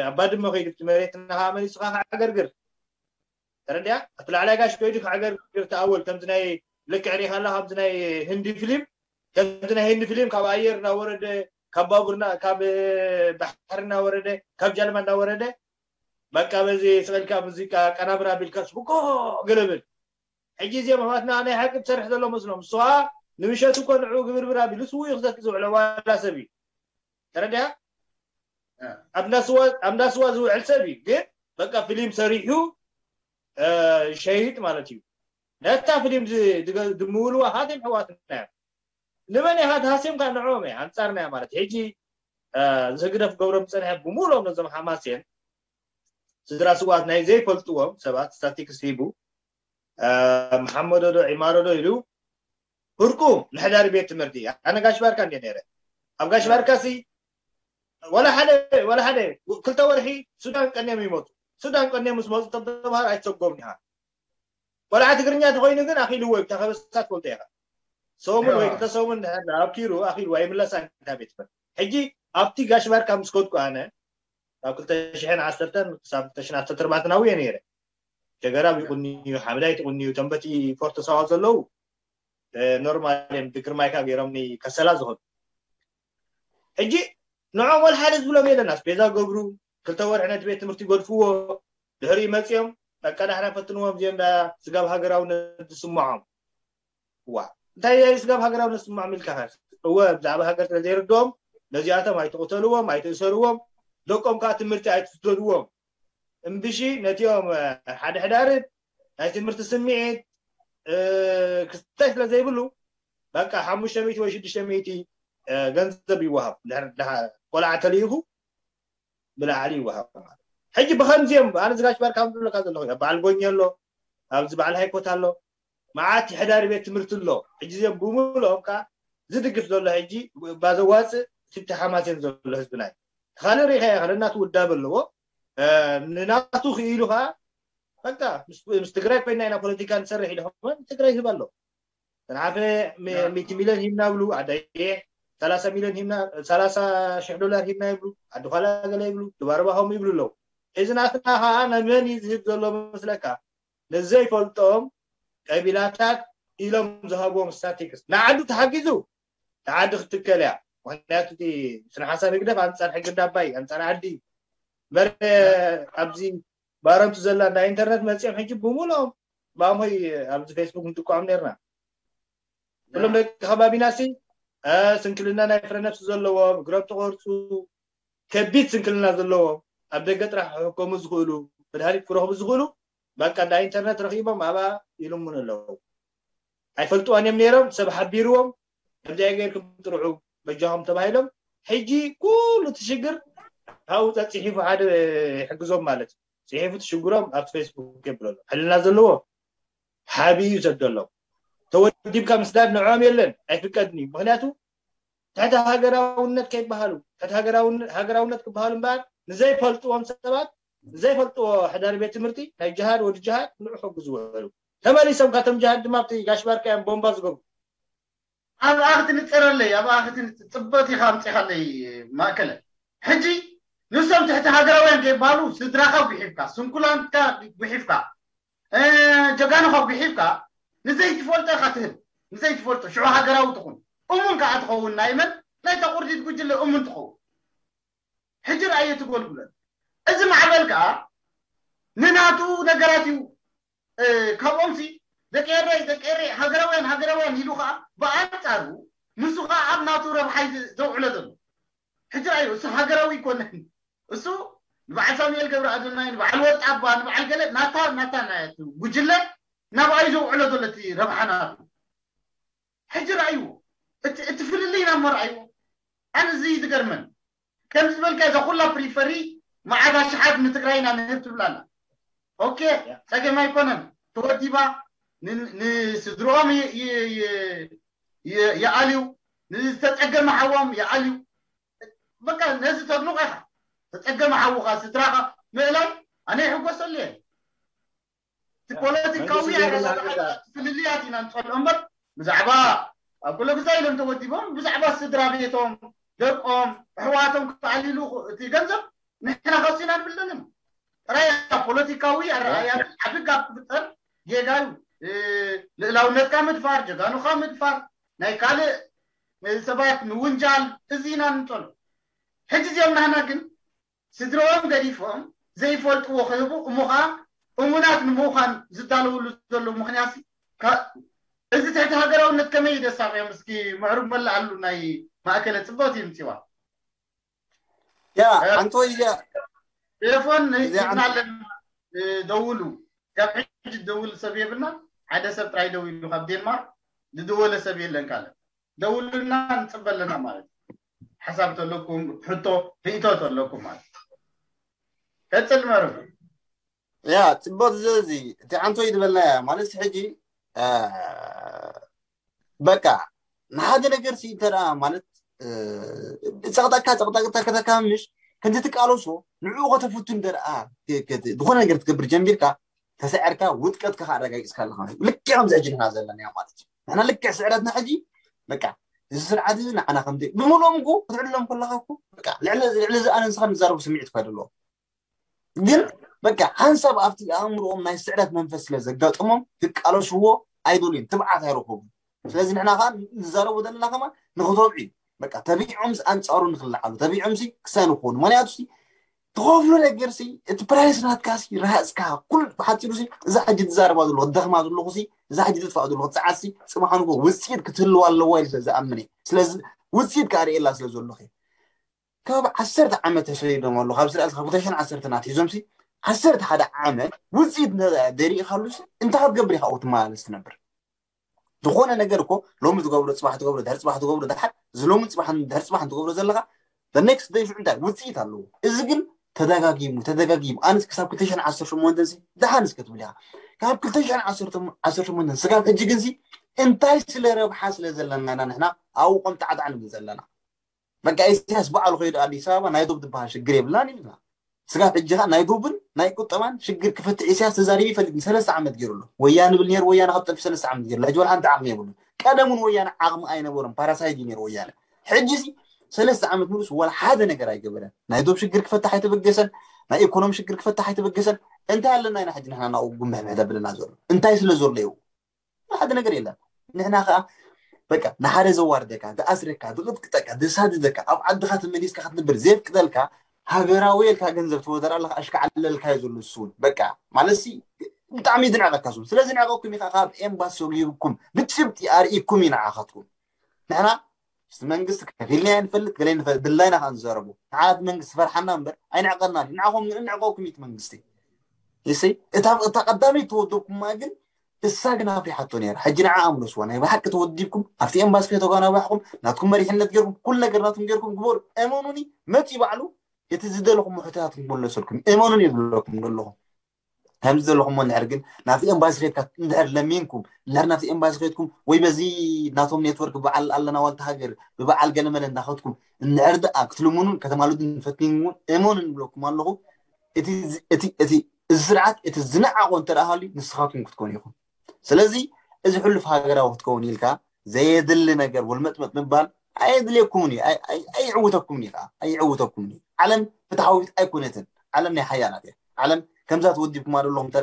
ኣባድመ ከይዱ እቲ መሬት እናኸዓ መሊሱ ከዓ ክዓገርግር ተረዲያ እቲ ላዕላይ ጋሽ ከይዱ ክዓገርግር ተኣወል ከምዚ ናይ ልክዕ ሪኢኻ ኣላ ከምዚ ናይ ህንዲ ፊልም ከምዚ ናይ ህንዲ ፊልም ካብ ኣየር እናወረደ ካብ ባቡርና ካብ ባሕሪ እናወረደ ካብ ጃልማ እናወረደ በቃ በዚ ስቐልካ ሙዚቃ ቀናብራ ቢልካ ስብኮ ገለብል ሕጂ እዚኦም ኣሕዋትና ናይ ሓቂ ትሰርሕ ዘሎ መስሎም እሱ ከዓ ንምሸት እኮ ንዑ ግብርብር ኣቢሉ ስዉ እዩ ክሰቲ ዝውዕሎ ዋላ ሰብ እዩ ተረዲያ ኣብ እንዳስዋ ዝውዕል ሰብ እዩ ግን በቃ ፊልም ሰሪሑ ሸይጥ ማለት እዩ ነታ ፊልም ድምውልዋ ሃትም ኣሕዋትና እዮም ንመን ኢኻ ተሃስዮም ካብ ንዕኦም እየ ኣንጻርና እያ ማለት ሕጂ ዝህግደፍ ገብሮም ዝጸንሐ ብምሉኦም ነዞም ሓማስየን ስድራ ስውኣት ናይ ዘይፈልጥዎም ሰባት ስታቲክስ ሂቡ መሓመዶ ዶ ዒማሮ ዶ ኢሉ ህርቁ ንሕዳሪ ቤት ትምህርቲ ኣነ ጋሽ ባርካ እንደ ነረ ኣብ ጋሽ ባርካ ሲ ወላ ሓደ ወላ ሓደ ክልተ ወርሒ ሱዳን ቀንዮም ይመጡ ሱዳን ቀንዮም ምስ መፁ ተምሃር ኣይተሰጎም ኢኻ ቆልዓ ትግርኛ ተኮይኑ ግን ኣኪልዎ እዩ ብታ ከበሳ ትፈልጦ ኢኻ ሰሙን ወይ ክልተ ሰሙን ኣብኪሩ ኣኪልዎ ኣይምለሳ እንታይ ቤት ትምህርቲ ሕጂ ኣብቲ ጋሽ ባርካ ምስ ከድኩ ኣነ ካብ ክልተ ሽሕን ዓሰርተን ክሳብ ክልተ ሽሕን ዓሰርተ ኣርባዕተን ኣብየ ነይረ ሸገራብ ይቁንዩ ሓምላይ ትቁንዩ ተንበቲ ፎርቶ ሳዋ ዘለዉ ኖርማል እዮም ብግርማይካ ገይሮምኒ ከሰላ ዝኸዱ ሕጂ ንዖም ወላ ሓደ ዝብሎም የለን ኣስቤዛ ገብሩ ክልተ ወርሒ ነቲ ቤት ትምህርቲ ይገድፍዎ ድሕሪኡ መፂኦም በቃ ዳሕና ፈትንዎም እዚኦም ዳ ስጋብ ሃገራውነት ዝስምዖም ዋ እንታይ ስጋብ ሃገራውነት ዝስምዖም ኢልካ እወ ብዛዕባ ሃገር ስለ ዘይርድኦም ነዚኣቶም ኣይትቕተልዎም ኣይትእሰርዎም ደቆም ከዓ ትምህርቲ ኣይትስደድዎም እምብሺ ነቲኦም ሓደ ሕዳርት ናይ ትምህርቲ ስምዒት ክስታይ ስለ ዘይብሉ በቃ ሓሙሽተ ሚእቲ ወይ ሽዱሽተ ሚእቲ ገንዘብ ይወሃብ ቆልዓ ተልኢኹ ብላዕሊ ይወሃብ ማለት ሕጂ ብኸምዚኦም ኣነ ዝጋሽ ባርካ ዝብለካ ዘለኹ በዓል ጎኝ ኣሎ ኣብዚ በዓል ሃይኮት ኣሎ መዓት ሕዳሪ ቤት ትምህርቲ ኣሎ ሕጂ እዚኦም ብምልኦም ከዓ ዝድግፍ ዘሎ ሕጂ ባዘዋፅእ ትብቲ ሓማሴን ዘሎ ህዝብና እዩ ካልእ ሪኢኻ ኢኻ ነናቱ ውዳበ ኣለዎ ንናቱ ክኢሉ ከዓ በቃ ምስ ትግራይ ኮይና ኢና ፖለቲካ ንሰርሕ ኢሉ ከመን ትግራይ ህብ ኣሎ ተንሓፈ ሚእቲ ሚልዮን ሂብና ብሉ ኣዳየ ሰላሳ ሚልዮን ሂብና ሰላሳ ሽሕ ዶላር ሂብና ይብሉ ኣድኳላ ገለ ይብሉ ድባርባ ከምኡ ይብሉ ኣለዉ እዚ ናትና ከዓ ነመን እዩ ዝህብ ዘሎ መስለካ ንዘይፈልጦም ቀቢላታት ኢሎም ዝሃብዎም ስታቲክስ ንዓዱ ተሓጊዙ ንዓዲ ክትከል እያ ምክንያቱ እቲ ስነ ሓሳብ ህግደፍ ኣንፃር ሕጊ ዳባይ ኣንፃር ዓዲ በረ ኣብዚ ባረምቱ ዘላ እንዳ ኢንተርነት መፂኦም ሕጂ ብምሎም ብኣምሆይ ኣብዚ ፌስቡክ ንጥቋዖም ነርና ኩሎም ደቂ ከባቢና ሲ ስንክልና ናይ ፍረ ነፍሲ ዘለዎም እግሮም ተቆርፁ ከቢድ ስንክልና ዘለዎም ኣብ ደገ ጥራሕ ክሕከሙ ዝኽእሉ መድሃኒት ክረኽቡ ዝኽእሉ በቃ እንዳ ኢንተርነት ረኺቦም ኣብኣ ይልምኑ ኣለዉ ኣይፈልጥዋን እዮም ነይሮም ሰብ ሓቢርዎም ከምዚኣ ገይርኩም ጥርዑ በጃኹም ተባሂሎም ሕጂ ኩሉ እቲ ሽግር ካብኡ ጸጽሒፉ ሓደ ይሕግዞም ማለት እዩ ጽሒፉ እቲ ሽግሮም ኣብቲ ፌስቡክ የብሎ ኣሎ ሕልና ዘለዎ ሓቢ እዩ ዘደሎም ተወዲብካ ምስዳድ ንዕኦም የለን ኣይፍቀድን እዩ ምክንያቱ ትሕቲ ሃገራውነት ከይበሃሉ ትሕቲ ሃገራውነት ክበሃሉ እምበኣር ንዘይፈልጥዎም ሰባት ንዘይፈልጥዎ ሕዳሪ ቤት ትምህርቲ ናይ ጅሃድ ወዲ ጅሃድ ንዑ ሕጉ ዝውዕሉ ተመሊሶም ካቶም ጅሃድ ድማ ኣብቲ ጋሽ ባርካ እዮም ቦምባ ዝገብሩ ኣብኣ ክትንፀረለይ ኣብኣ ክትፅበት ኢኻ ኣምፂኻለይ ማእከለ ሕጂ ንሶም ትሕቲ ሃገራውያን ከይበሃሉ ስድራኻ ጉሒፍካ ስንኩላንካ ጉሒፍካ ጀጋኑኻ ጉሒፍካ ንዘይትፈልጦ ኢኻ ትህብ ንዘይትፈልጦ ሽዑ ሃገራዊ ትኹን እሙን ከዓ ትኸውን ናይ መን ናይታ ቁርዲት ጉጅለ እሙን ትኸውን ሕጂ ረኣየ ትጎልጉለን እዚ ማዕበል ከዓ ንናቱ ነገራት እዩ ካብኦምሲ ደቂ ኤረይ ደቂ ኤረይ ሃገራውያን ሃገራውያን ኢሉ ከዓ ብኣንፃሩ ንሱ ከዓ ኣብ ናቱ ረብሓይ ዘውዕሎ ዘሎ ሕጂ ረኣዩ እሱ ሃገራዊ ይኮነን እሱ ንበዓል ሳሙኤል ገብረ ኣዶናይ ንበዓል ወርቂ ኣባ ንበዓል ገለ ናታ ናታ ናቱ ጉጅለ ናብኣ እዩ ዘውዕሎ ዘሎ እቲ ረብሓ ናቱ። ሕጂ ረኣይዎ፣ እቲ ፍልልይ ናብ መርኣይዎ። ኣነ እዚ እዩ ዝገርመን። ከም ዝበልካ እዛ ኩላ ፕሪፈሪ መዓት ኣሽሓት ንትግራይ ኢና ንህብ ትብላና። ኦኬ፣ ጸገም ኣይኮነን። ተወዲባ ንስድሮኦም ይኣልዩ፣ ንዝተጸገመ ሓዎም ይኣልዩ። በቃ ነዚ ተድንቆ ኢኻ። ተጸገመ ሓውኻ ስድራኻ ምእላይ ኣነ ይሕጎሰሉ እየ። እቲ ፖለቲካዊ ኣረዳድኣ ፍልልያት ኢና ንጸልኦ እምበር ብዛዕባ ኣብ ኩለ ግዛ ኢሎም ተወዲቦም ብዛዕባ ስድራ ቤቶም ደቆም ኣሕዋቶም ክኣልሉ እቲ ገንዘብ ንሕና ከሲና ንብል ዘለና ጥራይ ፖለቲካዊ ኣረኣያ ዓቢ ጋብ ክፍጠር ጌጋ እዩ። ልእላውነትካ ምድፋር፣ ጀጋኑኻ ምድፋር፣ ናይ ካልእ ሰባት ምውንጃል እዚ ኢና ንጸልኦ። ሕጂ እዚኦም ናህና ግን ስድራኦም ገዲፎም ዘይፈልጥዎ ክህቡ እሞ ኸዓ እሙናት ንምዃን ዝዳለውሉ ዘለዉ ምኽንያት እዚ ትሕቲ ሃገራውነት ከመይ ደሳቕዮም እስኪ ምዕሩግ መላኣሉ ናይ ማእከለ ጽብቕቲ ይምጽዋ ያ ኣንቶይ ቴሌፎን ሂብናለን ደውሉ ካብ ሕጂ ደውል ሰብ የብልና ሓደ ሰብ ጥራይ ደው ኢሉ ካብ ዴንማርክ ዝደወለ ሰብ የለን ካለ ደውልና ንፅበ ኣለና ማለት ሓሳብ ተለኩም ሕቶ ርእቶ ተለኩም ማለት ቀፅል መርብ ያ ፅቡቅ እዚ እቲ ዓንቶ ይድበልና ያ ማለት ሕጂ በቃ ንሓደ ነገር ሲ እንተ ማለት ፀቅጠቅካ ፀቅጠቅታ ከተካምሽ ከምዚ ትቃለሶ ንዕኡ ከተፍቱ እንተ ዝኾነ ነገር ትገብር ጀሚርካ ተስዐርካ ውድቀትካ ኣረጋጊፅካ ኣለካ ልክዕ ከምዚ ሕጂ ንሕና ዘለና ማለት እዩ ንሕና ልክዕ ስዕረትና ሕጂ በቃ እዚ ስርዓት እዚ ንዓና ከም ብምልኦም እኮ ክትዕልሎም ከለካ እኮ በቃ ልዕሊ እዚ ኣነ ንስኻ ንዛረቡ ስምዒት እኳ ደለዎም ግን በቃ ሓንሳብ ኣብቲ ኣእምሮኦም ናይ ስዕረት መንፈስ ስለ ዘጋጥሞም ክቃለስዎ ኣይደልዩን ትብዓት ኣይረኸቡን ስለዚ ንሕና ከዓ ንዛረቡ ዘለና ከማ ንክተብዑ እዩ በቃ ተቢዖምስ ኣንፃሩ ንክለዓሉ ተቢዖምሲ ክሳይ ንክኾኑ ምክንያቱ ትኸፍሎ ነገር ሲ እቲ ፕራይስ ናትካ ሲ ረሃፅካ ኩሉ ብሓፂሩ ሲ እዛ ሕጂ ትዛረባ ዘለኹ ትደኽማ ዘለኹ ሲ እዛ ሕጂ ትጥፋእ ዘለኹ ፀዓት ሲ ፅባሕ ንጎ ውፅኢት ክትህልዋ ኣለዋ ኢሉ ስለ ዝኣምን እየ ስለዚ ውፅኢት ከዓ ርእየላ ስለ ዘለኹ ካብ ዓሰርተ ዓመት ተሰዲዶም ኣለዉ ካብ ስርዓት ካብ ክልተ ሽሕን ዓሰርተን ኣትሒዞም ሲ ዓሰርተ ሓደ ዓመት ውፅኢት ደሪእካሉ ሲ እንታይ ክትገብር ኢኻ ትመላለስ ትነብር ዝኾነ ነገር እኮ ሎሚ ትገብሮ ፅባሕ ትገብሮ ድሕሪ ፅባሕ ትገብሮ ድሓር እዚ ሎሚ ፅባሕ ድሕሪ ፅባሕ ትገብሮ ዘለካ next day ሽዑ እንታይ ውፅኢት ኣለዎ እዚ ግን ተደጋጊሙ ተደጋጊሙ ኣነስ ክሳብ ክልተ ሽሕን ዓሰርተ ሸሞንተን ሲ ደሓን እስከ ትብል ኢኻ ካብ ክልተ ሽሕን ዓሰርተ ሸሞንተን ስጋብ ሕጂ ግን ሲ እንታይ ስለ ረብሓ ስለ ዘለና ኢና ንሕና ኣብኡ ቆምጣዕጣዕ ንብል ዘለና በቃ ኢሳያስ ባዕሉ ከይዱ ኣዲስ ኣበባ ናይ ዶብ ዝበሃል ሽግር የብላን ኢልና ስጋብ ሕጂ ኸዓ ናይ ዶብን ናይ ቁጠባን ሽግር ክፈትሕ ኢሳያስ ተዛሪቡ ይፈልጥ ሰለስተ ዓመት ገይሩ ኣሎ ወያነ ብል ነይሩ ወያነ ካብ ጠፊ ሰለስተ ዓመት ገይሩ ሕጂ ወላ ሓንቲ ዓቕሚ የብሉ ቀደም እውን ወያነ ዓቕሚ ኣይነበሮም ፓራሳይት እዩ ነይሩ ወያነ ሕጂ ሲ ሰለስተ ዓመት ሙሉስ ወላ ሓደ ነገር ኣይገበረን ናይ ዶብ ሽግር ክፈትሕ ኣይተበገሰን ናይ ኢኮኖሚ ሽግር ክፈትሕ ኣይተበገሰን እንታይ ኣለና ኢና ሕጂ ንሕና ናብኡ ጉምብሕብሕ ዘብለና ዘሎ እንታይ ስለ ዘሎ ይው ሓደ ነገር የለን ንሕና ከዓ በቃ ንሓደ ዘዋርደካ ዝኣስረካ ዝቅጥቅጠካ ዘሳድደካ ኣብ ዓድካ ተመሊስካ ክትነብር ዘየፍቅደልካ ሃገራዊ ኢልካ ገንዘብ ትወደር ኣለካ ኣሽካዓለልካዮ ዘሎ እሱ እውን በቃ ማለት ሲ ብጣዕሚ ዝንዕቀካ እሱ ስለዚ ንዕቀኩም ኢካ ካብ ኤምባሲ ሰጉጉኩም ብጭብጢ ኣርእኩም እዩ ንዓካትኩም ንሕና ምስቲ መንግስቲ ከፊልና ንፈልጥ ገለ ንፈልጥ ድላይና ከዓ ንዛረቡ ንዓት መንግስቲ ፈርሓና እምበር ኣይንዕቀና ንዓኹም ንዕቀኩም እዩ መንግስቲ ይሲ እታ እታ ቀዳመይ ተወደብኩማ ግን እሳ ግን ኣፍሪሓቶ ነይራ ሕጂ ንዓ ኣምለስዋ ናይ ብሓቂ ተወዲብኩም ኣብቲ ኤምባሲ ከይተጓናባሕኩም ናትኩም መሪሕነት ገርኩም ኩሉ ነገር ናትኩም ገርኩም ግበሩ እመኑኒ መፂ ባዕሉ እቲ ዝደለኹም ሕቶታትኩም ክመለሰልኩም እመኑኒ ይብለኩም ዘለኹም ከምዚ ዘለኹም እንድሕር ግን ናብቲ ኤምባሲ ከድካ እንድሕር ለሚንኩም እንድሕር ናብቲ ኤምባሲ ከድኩም ወይ በዚ ናቶም ኔትወርክ በዓል ኣለና ዋልታ ሃገር ብበዓል ገለመለ እንዳኸድኩም እንድሕር ደኣ ክትልምኑን ከተማልዱን ፈቲንኩም እውን እመኑ ንብለኩም ኣለኹ እቲ እዚ ስርዓት እቲ ዝነዓቆ እንተ ደኣ ሃልዩ ንስኻትኩም ክትኮኑ ኢኹም ስለዚ እዚ ሕሉፍ ሃገራዊ ክትከውን ኢልካ ዘየድሊ ነገር ወልመጥመጥ ምባል ኣየድልየኩምን እዩ ኣይዕውተኩምን እዩ ከዓ ኣይዕውተኩምን እዩ ዓለም ፍትሓዊት ኣይኮነትን ዓለም ናይ ሓያላት እያ ዓለም ከምዛ ተወዲብኩማ ዘለኹም እንተ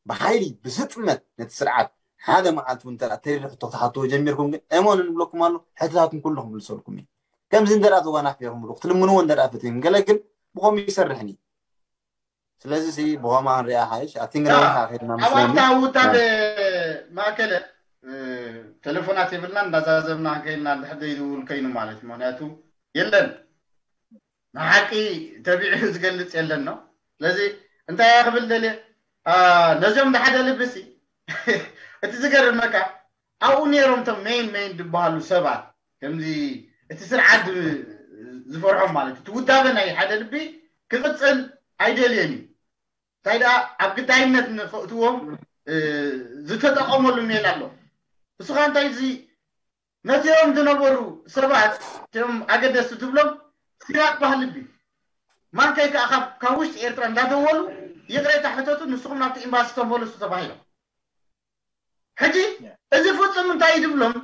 ብሓይሊ ብስጥመት ነቲ ስርዓት ሓደ መዓልቲ እውን እንተ ተሪሪ ሕቶ ክትሓትዎ ጀሚርኩም ግን እመኑ ንብለኩም ኣሎ ሕቶታትኩም ኩሉ ክምልሰልኩም እዩ ከምዚ እንተ ተጓናፊኹም ብሉ ክትልምንዎ እንተ ፈትዮም ገለ ግን ብኸም ይሰርሕን እዩ ስለዚ ሲ ብኸማ ንሪኣ ሓይሽ ኣብቲ ንረብሓ ከድና ምስለኒ ኣብታ ውዳበ ማእከለ ተሌፎናት የብልና እንዳዛዘብና ከይልና እንድሕር ዘይድውል ከይኑ ማለት እዩ ምክንያቱ የለን ንሓቂ ተቢዑ ዝገልፅ የለን ነው ስለዚ እንታይ ክብል ደልየ ነዚኦም ዝሓደ ልብሲ እቲ ዝገርመካ ኣብኡ ነይሮም እቶም ሜን ሜን ዝበሃሉ ሰባት፣ ከምዚ እቲ ስርዓት ዝ- ዝፈርሖም ማለት እቲ ውዳበ ናይ ሓደ ልቢ ክቕፅል ኣይደልየን እዩ። እንታይ ደኣ ኣብ ግዳይነት ንክእትዎም እ፣ ዝተጠቐመሉ ሜላ ኣሎ። እሱ ከዓ እንታይ እዚ ነዚኦም ዝነበሩ ሰባት እቶም ኣገደስቲ ዝብሎም ሲራክ ባህልቢ ማንካይ ከዓ ካብ ካብ ውሽጢ ኤርትራ እንዳደወሉ ይቕሬታ ሕተቱ፣ ንስኹም ናብቲ ኤምባሲ ተመለሱ ተባሂሎም። ሕጂ እዚ ፍጹም እንታይ እዩ ዝብሎም?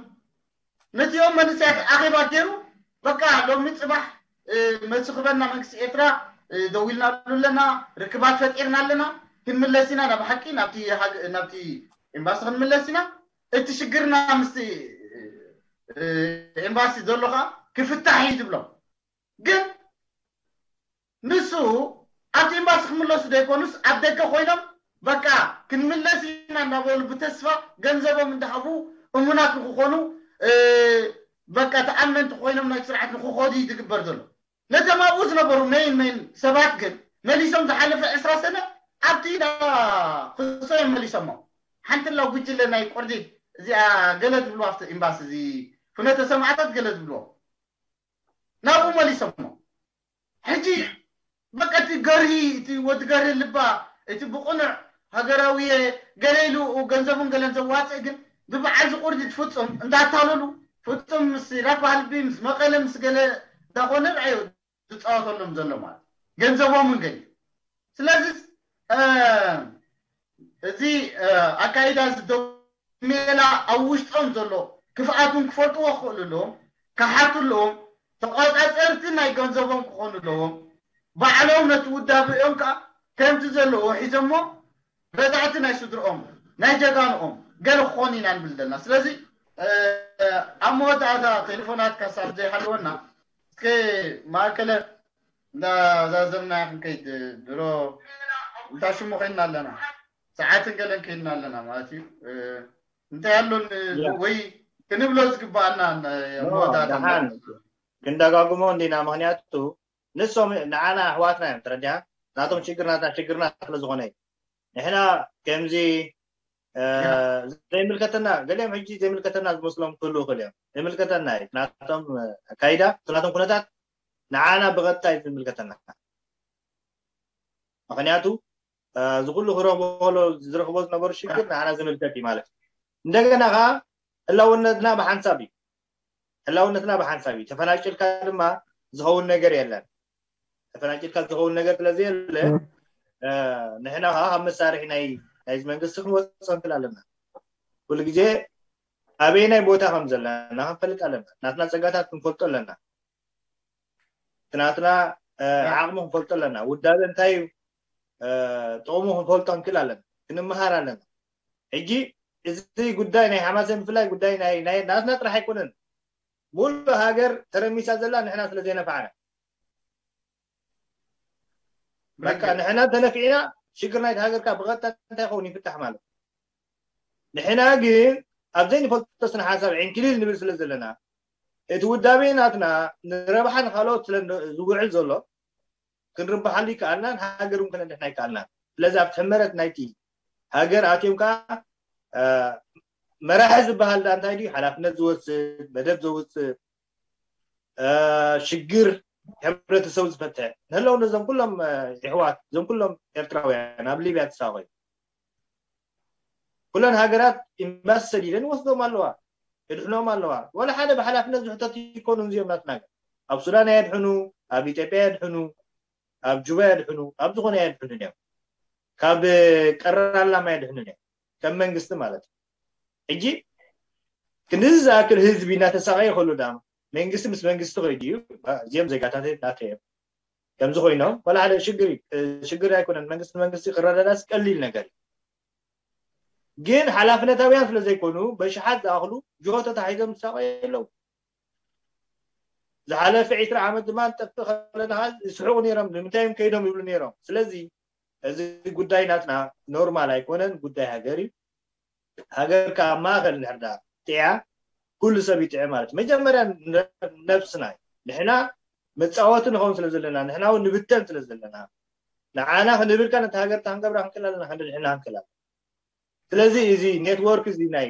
ነዚኦም መንእሰያት ኣኼባ ገይሩ በቃ ሎሚ ጽባሕ እ፣ መልሲ ክበና መንግስቲ ኤርትራ እ፣ ደዊልናሉ ኣለና፣ ርክባት ፈጢርና ኣለና፣ ክንምለስ ኢና ናብ ሓቂ ናብቲ ሃገ- ናብቲ ኤምባሲ ክንምለስ ኢና። እቲ ሽግርና ምስቲ እ፣ ኤምባሲ ዘሎ ከዓ ክፍታሕ እዩ ዝብሎም። ግን ንሱ ኣብቲ ኤምባሲ ክምለሱ ዘይኮኑስ ኣብ ደገ ኮይኖም በቃ ክንምለስ ኢና እናበሉ ብተስፋ ገንዘቦም እንዳሃቡ እሙናት ንክኾኑ እ፣ በቃ ተኣመንቲ ኮይኖም ናይ ስርዓት ንክኾዱ እዩ ዝግበር ዘሎ። ነቶም ኣብኡ ዝነበሩ ሜን ሜን ሰባት ግን መሊሶም ዝሓለፈ ዕስራ ሰነ ኣብቲ ኢዳ ክሶ እዮም መሊሶሞ። ሓንቲ ላ ጉጅለ ናይ ቆርዲድ እዚኣ ገለ ዝብልዋ ኣብቲ ኤምባሲ እዚ ፍኖተ ሰማዕታት ገለ ዝብልዎ ናብኡ መሊሶሞ። ሕጂ በቃ እቲ ገርሂ እቲ ወዲ ገርሂ ልባ እቲ ብቕኑዕ ሃገራዊ ገለ ኢሉ ገንዘቡን ገለን ዘዋፅእ ግን ብበዓል ዝቁርዲ ፍፁም እንዳታለሉ ፍፁም ምስ ኢራክ ባህልቢ ምስ መቐለ ምስ ገለ እንዳኾነ ርኣዮ ዝፃወተሎም ዘሎ ማለት ገንዘቦምን ገሊ ስለዚ እዚ ኣካይዳ ዝደው ሜላ ኣብ ውሽጦም ዘሎ ክፍኣቱን ክፈልጥዎ ክኽእሉ ኣለዎም ክሓቱ ኣለዎም ተቋፃፀርቲ ናይ ገንዘቦም ክኾኑ ኣለዎም ባዕሎም ነቲ ውዳብኦም ከዓ ከምቲ ዘለዎ ሒዞሞ ገዛእቲ ናይ ስድርኦም ናይ ጀጋንኦም ገለ ክኾኑ ኢና ንብል ዘለና ስለዚ ኣብ መወዳእታ ቴሌፎናት ካሳብ ዘይሃለወና እስከ ማእከለ እንዳዛዘምና ክንከይድ ድሮ እንታ ሽሙ ኮይንና ኣለና ሰዓትን ገለን ከይድና ኣለና ማለት እዩ እንታይ ኣሎ ወይ ክንብሎ ዝግባኣና መወዳእታ ክንደጋግሞ እንዲና ምክንያቱ ንሶም ንዓና ኣሕዋትና እዮም ተረዲያ ናቶም ችግር ናትና ችግርና ስለ ዝኾነ እዩ ንሕና ከምዚ ዘይምልከተና ገሊኦም ሕጂ ዘይምልከተና ዝመስሎም ክህሉ ይኽእል እዮም ዘይምልከተና እዩ ናቶም ኣካይዳ ናቶም ኩነታት ንዓና ብቐጥታ እዩ ዝምልከተና ምክንያቱ እዚ ኩሉ ክረኽቦ ዝረኽቦ ዝነበሩ ሽግር ንዓና ዝምልከት እዩ ማለት እዩ እንደገና ከዓ ህላውነትና ብሓንሳብ እዩ ህላውነትና ብሓንሳብ እዩ ተፈናቂልካ ድማ ዝኸውን ነገር የለን ተፈናቂልካ ዝኸውን ነገር ስለዘየለ ንሕና ከዓ ካብ መሳርሒ ናይ ናይዚ መንግስቲ ክንወፅእ ንክእል ኣለና ኩሉ ግዜ ኣበይ ናይ ቦታ ከም ዘለና ክንፈልጥ ኣለና ናትና ፀጋታት ክንፈልጦ ኣለና ናትና ዓቕሚ ክንፈልጦ ኣለና ውዳበ እንታይ እዩ ጥቕሙ ክንፈልጦ ንክእል ኣለና ክንመሃር ኣለና ሕጂ እዚ ጉዳይ ናይ ሓማሴን ብፍላይ ጉዳይ ናይ ናይ ናትና ጥራሕ ኣይኮነን ሙሉእ ሃገር ተረሚሳ ዘላ ንሕና ስለ ዘይነፋዕና በቃ ንሕና ተነፊዕና ሽግር ናይቲ ሃገርካ ብቐጥታ እንታይ ይኸውን ይፍታሕ ማለት ንሕና ግን ኣብ ዘይንፈልጦ ስነ ሓሳብ ዕንክሊል ንብል ስለ ዘለና እቲ ውዳቤ ናትና ንረብሓ ንካልኦት ስለ ዝውዕል ዘሎ ክንርብሓሉ ይከኣልናን ሃገር እውን ክነድሕና ይከኣልናን ስለዚ ኣብቲ ሕመረት ናይቲ ሃገር ኣትዮም ከዓ መራሒ ዝበሃል ዳ እንታይ ድዩ ሓላፍነት ዝወስድ መደብ ዘውፅእ ሽግር ሕብረተሰብ ዝፈትሕ ንህለው ነዞም ኩሎም ይሕዋት እዞም ኩሎም ኤርትራውያን ኣብ ሊብያ ተሳቆዩ ኩለን ሃገራት ኤምባሲ ሰዲደን ይወስዶም ኣለዋ የድሕኖም ኣለዋ ወላ ሓደ ብሓላፍነት ዝሕተቱ ይኮኑ እዚኦም ናትና ኣብ ሱዳን ኣየድሕኑ ኣብ ኢትዮጵያ የድሕኑ ኣብ ጁባ የድሕኑ ኣብ ዝኾነ ኣየድሕኑን እዮም ካብ ቀረር ኣላማ የድሕኑን እዮም ከም መንግስቲ ማለት እዩ ሕጂ ክንድዚ ዝኣክል ህዝቢ እናተሳቀየ ከሎ ዳማ መንግስቲ ምስ መንግስቲ ከይዱ እዩ እዚኦም ዜጋታት ናተ እዮም ከምዚ ኮይኖም ወላ ሓደ ሽግር ሽግር ኣይኮነን መንግስቲ መንግስቲ ክረዳዳስ ቀሊል ነገር እዩ ግን ሓላፍነታውያን ስለ ዘይኮኑ በሽሓት ዝኣኽሉ ጅሆ ተታሒዞም ዝሳቀዩ ኣለዉ ዝሓለፈ ዕስራ ዓመት ድማ ንጠፍእ ከለና ከዓ ይስሕቁ ነይሮም ንምንታይ እዮም ከይዶም ይብሉ ነይሮም ስለዚ እዚ ጉዳይ ናትና ኖርማል ኣይኮነን ጉዳይ ሃገር እዩ ሃገር ከዓ ማእከል እንድሕር ዳ ጥዕያ ኩሉ ሰብ ይጥዕ ማለት መጀመርያ ነብስና እዩ ንሕና መፃወቲ ንኸውን ስለ ዘለና ንሕና እውን ንብተን ስለ ዘለና ንዓና ክንብልካ ነቲ ሃገር ታንገብራ ክንክእል ኣለና ክንድሕና ክንክእል ኣለና ስለዚ እዚ ኔትወርክ እዚ ናይ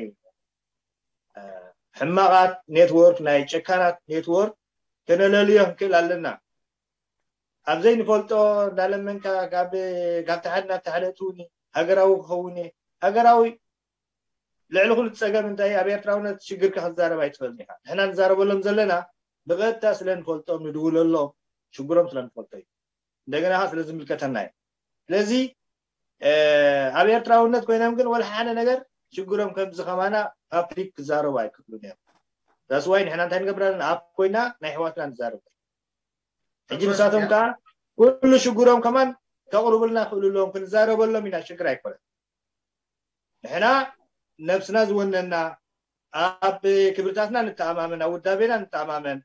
ሕማቓት ኔትወርክ፣ ናይ ጨካናት ኔትወርክ ከነለልዮ ክንክእል ኣለና። ኣብ ዘይንፈልጦ እንዳለመንካ ካብ ካብ ተሓደ ናብ ተሓደ እትውኒ ሃገራዊ ክኸውን እየ። ሃገራዊ ልዕሊ ኩሉ ጸገም እንታይ ኣብ ኤርትራውነት ሽግርካ ክትዛረብ ኣይትኽእልን ኢኻ። ንሕና ንዛረበሎም ዘለና ብቐጥታ ስለ ንፈልጦም ንድውለሎም ሽግሮም ስለ ንፈልጦ እዩ። እንደገና ስለ ዝምልከተና እዩ። ስለዚ ኣብ ኤርትራውነት ኮይኖም ግን ወላ ሓደ ነገር ሽግሮም ከምዚ ከማና ፓብሊክ ክዛረቡ ኣይክእሉን እዮም። ዳስዋይ ንሕና እንታይ ንገብር ኣለና? ኣብ ኮይና ናይ ኣሕዋትና ንዛረብ። ሕጂ ንሳቶም ከዓ ኩሉ ሽግሮም ከማን ከቕርቡልና ክእሉ ኣለዎም፣ ክንዛረበሎም ኢና። ሽግር ኣይኮነን። ንሕና ነብስና ዝወነና፣ ኣብ ክብርታትና ንተኣማመን፣ ኣብ ውዳቤና ንተኣማመን፣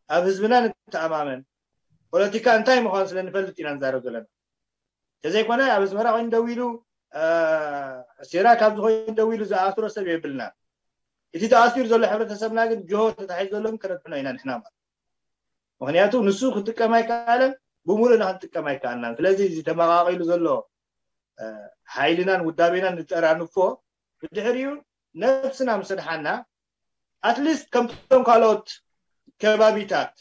ኣብ ህዝብና ንተኣማመን። ፖለቲካ እንታይ ምዃኑ ስለ ንፈልጥ ኢና ንዛረብ ዘለና። ተዘይኮነ ኣብ ኣስመራ ኮይኑ ደው ኢሉ ሴራ ካብ ዝኾይኑ ደው ኢሉ ዝኣስሮ ሰብ የብልና። እቲ ተኣሲሩ ዘሎ ሕብረተሰብና ግን ጅሆ ተታሒዙ ዘሎ ግን ክረድሕኖ ኢና ንሕና ማለት። ምክንያቱ ንሱ ክጥቀም ኣይከኣለን፣ ብሙሉእና ክንጥቀም ኣይከኣልናን። ስለዚ እዚ ተመቃቂሉ ዘሎ ሓይልናን ውዳቤናን ንጠራንፎ፣ ብድሕሪኡ ነብስና ምስ ኣድሓና ኣትሊስት ከምቶም ካልኦት ከባቢታት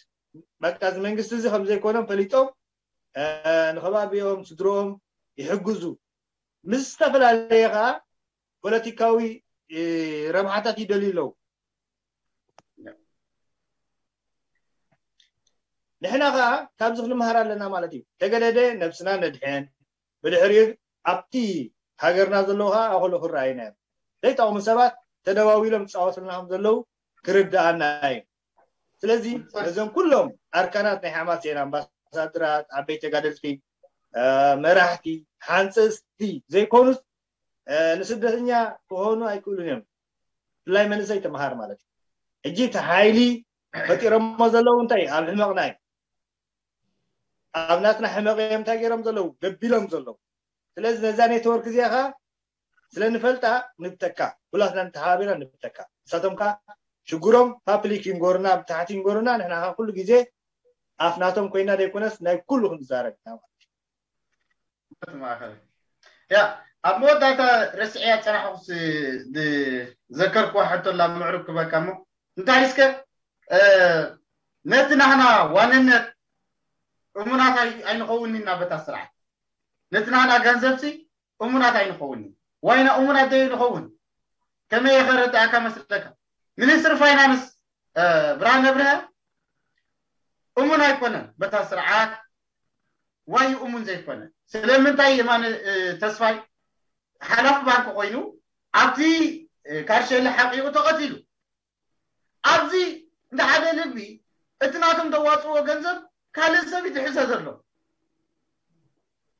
በቃ እዚ መንግስቲ እዚ ከምዘይኮኖም ፈሊጦም ንከባቢኦም ስድሮኦም ይሕግዙ። ምስ ዝተፈላለየ ከዓ ፖለቲካዊ ረብሓታት ይደልዩ ኣለዉ። ንሕና ከዓ ካብዚ ክንመሃር ኣለና ማለት እዩ። ተገደደ ነብስና ነድሕን፣ ብድሕሪኡ ኣብቲ ሃገርና ዘለዉ ከዓ ኣክሉ ክረኣዩና እዮም። ዘይጠቕሙ ሰባት ተደዋዊሎም ዝፃወቱልና ከም ዘለዉ ክርድኣና እዩ። ስለዚ ነዞም ኩሎም ኣርካናት ናይ ሓማሴን ኣምባሳደራት፣ ዓበይቲ ተጋደልቲ፣ መራሕቲ፣ ሓንፀፅቲ ዘይኮኑስ ንስደተኛ ክኾኑ ኣይክእሉን እዮም። ብፍላይ መንእሰይ ተምሃር ማለት እዩ። ሕጂ እቲ ሓይሊ ፈጢሮሞ ዘለዉ እንታይ ኣብ ሕመቕና እዩ። ኣብ ናትና ሕመቕ እዮም እንታይ ገይሮም ዘለዉ ገቢሎም ዘለዉ። ስለዚ ነዛ ኔትወርክ እዚኣ ኸዓ ስለ ንፈልጣ ንብተካ፣ ኩላትና ንተሓባቢርና ንብተካ። ንሳቶም ከ ሽግሮም ፓብሊክ ይንጎርና፣ ብታሕቲ ይንጎርና፣ ንሕና ከ ኩሉ ግዜ ኣፍ ናቶም ኮይና ዘይኮነስ ናይ ኩሉ ክንዛረብ ኢና ማለት እዩ። ማእኸል ያ ኣብ መወዳእታ ረስዕያ ፀናሕኩስ ዘከርኩዋ ሕቶ ላ ምዕሩግ ክበካ እሞ እንታይ እስከ ነቲ ናህና ዋንነት እሙናት ኣይንኸውን ኢና በታ ስርዓት ነቲ ናህና ገንዘብሲ እሙናት ኣይንኸውን ዋይና እሙናት ደይ ንኸውን ከመይ የኸረዳእካ መስለካ ሚኒስትር ፋይናንስ ብርሃነ ብርሀ እሙን ኣይኮነን በታ ስርዓት ዋይ እሙን ዘይኮነ ስለምንታይ የማነ ተስፋይ ሓላፍ ባንክ ኮይኑ ኣብቲ ካርሸሊ ሓቂኡ ተቐቲሉ ኣብዚ እንደ ሓደ ልቢ እቲ ናቶም ተዋፅዎ ገንዘብ ካልእ ሰብ ይትሕዘ ዘሎ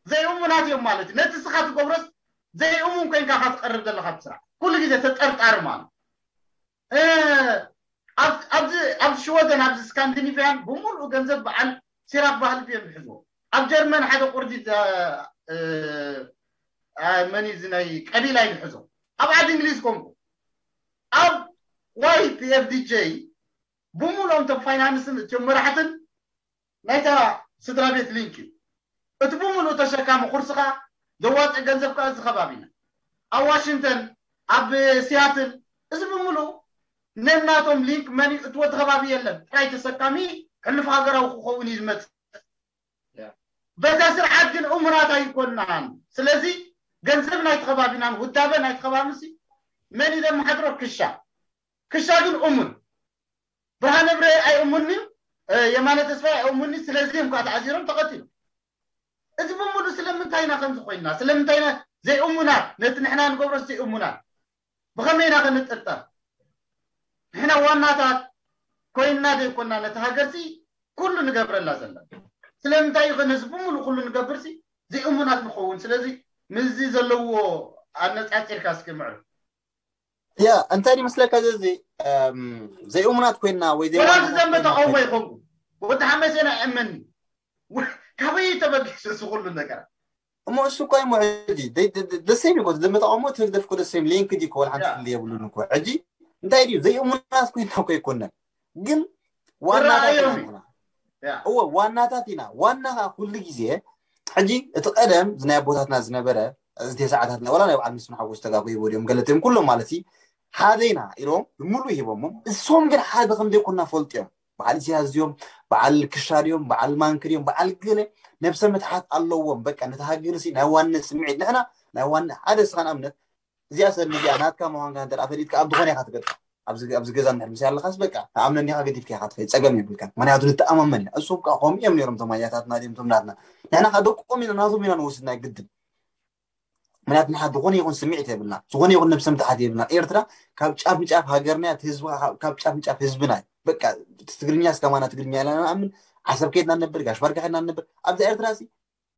ዘይእሙናት እዮም ማለት እዩ ነቲ ስኻ ትገብሮስ ዘይእሙን ኮይንካ ካ ትቀርብ ዘለካ ብስራሕ ኩሉ ግዜ ተጠርጣሪ ማለት ኣብዚ ሽወደን ኣብዚ ስካንዲኒቪያን ብምሉኡ ገንዘብ በዓል ሲራክ ባህልቢ እዮም ዝሕዝዎ ኣብ ጀርመን ሓደ ቁርዲ መን እዚ ናይ ቀቢላ ይሕዞ ኣብ ዓዲ እንግሊዝ ኮንኩ ኣብ ዋይ ፒኤፍዲጄ ብምሉኦም ቶም ፋይናንስን እትዮም መራሕትን ናይታ ስድራ ቤት ሊንክ እዩ እቲ ብምሉእ ተሸካሚ ኩርስኻ ዘዋፅእ ገንዘብ ከዓ እዚ ከባቢና ኣብ ዋሽንግተን ኣብ ሲያትል እዚ ብምሉእ ነናቶም ሊንክ መን እትዎ ተኸባቢ የለን ጥራይ ተሰካሚ ሕሉፍ ሃገራዊ ክኸውን እዩ ዝመፅእ በዛ ስርዓት ግን እሙናት ኣይኮናን ስለዚ ገንዘብ ናይቲ ከባቢናን ውዳበ ናይቲ ከባቢ ሲ መን እዩ ዘመሓድሮ ክሻ ክሻ ግን እሙን ብርሃነ ብረ ኣይእሙን እዩ የማነ ተስፋ ኣይእሙን እዩ ስለዚ እዮም ከዓ ተኣሲሮም ተቐቲሉ እዚ ብምሉ ስለምንታይ ኢና ከምዚ ኮይንና ስለምንታይ ኢና ዘይእሙናት ነቲ ንሕና ንገብሮ ዘይእሙናት ብኸመይ ኢና ክንጥርጠር ንሕና ዋናታት ኮይንና ዘይኮንና ነቲ ሃገርሲ ኩሉ ንገብረላ ዘለና ስለምንታይ እዩ ነዚ ብምሉ ኩሉ ንገብርሲ ዘይእሙናት ንኸውን ስለዚ ምስዚ ዘለዎ ኣነፃፂርካ እስኪ ምዕሩ ያ እንታይ ይመስለካ እዚ ዘይእሙናት ኮይና ወይ ወላ ዘንበ ተቃውሞ ይኸውን ወዲ ሓመሴና እመኒ ካበይ ተበጊሱ እዚ ኩሉ ነገር እሞ እሱ እኮ ይሞ ሕጂ ደሰይም ይኮ ዘንበ ተቃውሞ ትህግደፍ ኮ ደሰይም ሊንክ ዲ ኮ ወላ ሓንቲ ፍሊ የብሉን እኮ ሕጂ እንታይ ድዩ ዘይእሙናት ኮይና እኮ ይኮነን ግን ዋናታት ኢና እዎ ዋናታት ኢና ዋና ኩሉ ግዜ ሕጂ እቲ ቀደም ናይ ኣቦታትና ዝነበረ እዚ ሰዓታት ናይ ዋላ ናይ በዓል ምስምሓጎ ዝተጋጎይዎ ድዮም ገለትዮም ኩሎም ማለት እዩ ሓደ ኢና ኢሎም ብምሉእ ሂቦሞም እሶም ግን ሓደ ከም ዘይኮና ፈልጥዮም። በዓል ኢሳያስ ድዮም፣ በዓል ክሻ ድዮም፣ በዓል ማንክ ድዮም፣ በዓል ገለ ነብሰ ምትሓት ኣለዎም። በቃ ነቲ ሃገር ሲ ናይ ዋነት ስምዒት ንሕና ናይ ዋነ ሓደ ስኻ ንኣብነት እዚኣ ሰብ እዚኣ ናትካ ምዃንካ እንተ ፈሊጥካ ኣብ ዝኾነ ኢኻ ትገጥም። ኣብዚ ገዛ ንድሕር ምስ ኣለኻስ በቃ ተኣምነኒ ኢኻ ገዲፍካ ኢኻ ትኸይድ ጸገም የብልካን። ምክንያቱ ንተኣማመን ኢና። እሶም ከዓ ከምኡ እዮም ነይሮም ተማያታትና ድዮም ቶም ናትና ንሕና ከዓ ደቆም ኢና ናቶም ኢና ንወስድ ናይ ግድን ምክንያቱ ንሓ ዝኾነ ይኹን ስምዒት የብልና ዝኾነ ይኹን ነብሰ ምትሓት የብልና ኤርትራ ካብ ጫፍ ንጫፍ ሃገርና እቲ ህዝቢ ካብ ጫፍ ንጫፍ ህዝብና እዩ በቃ ትግርኛ እስከማና ትግርኛ ኢላ ንኣምን ዓሰብ ከይድና ነብር ጋሽ ባርካ ከይድና ነብር ኣብዛ ኤርትራ ሲ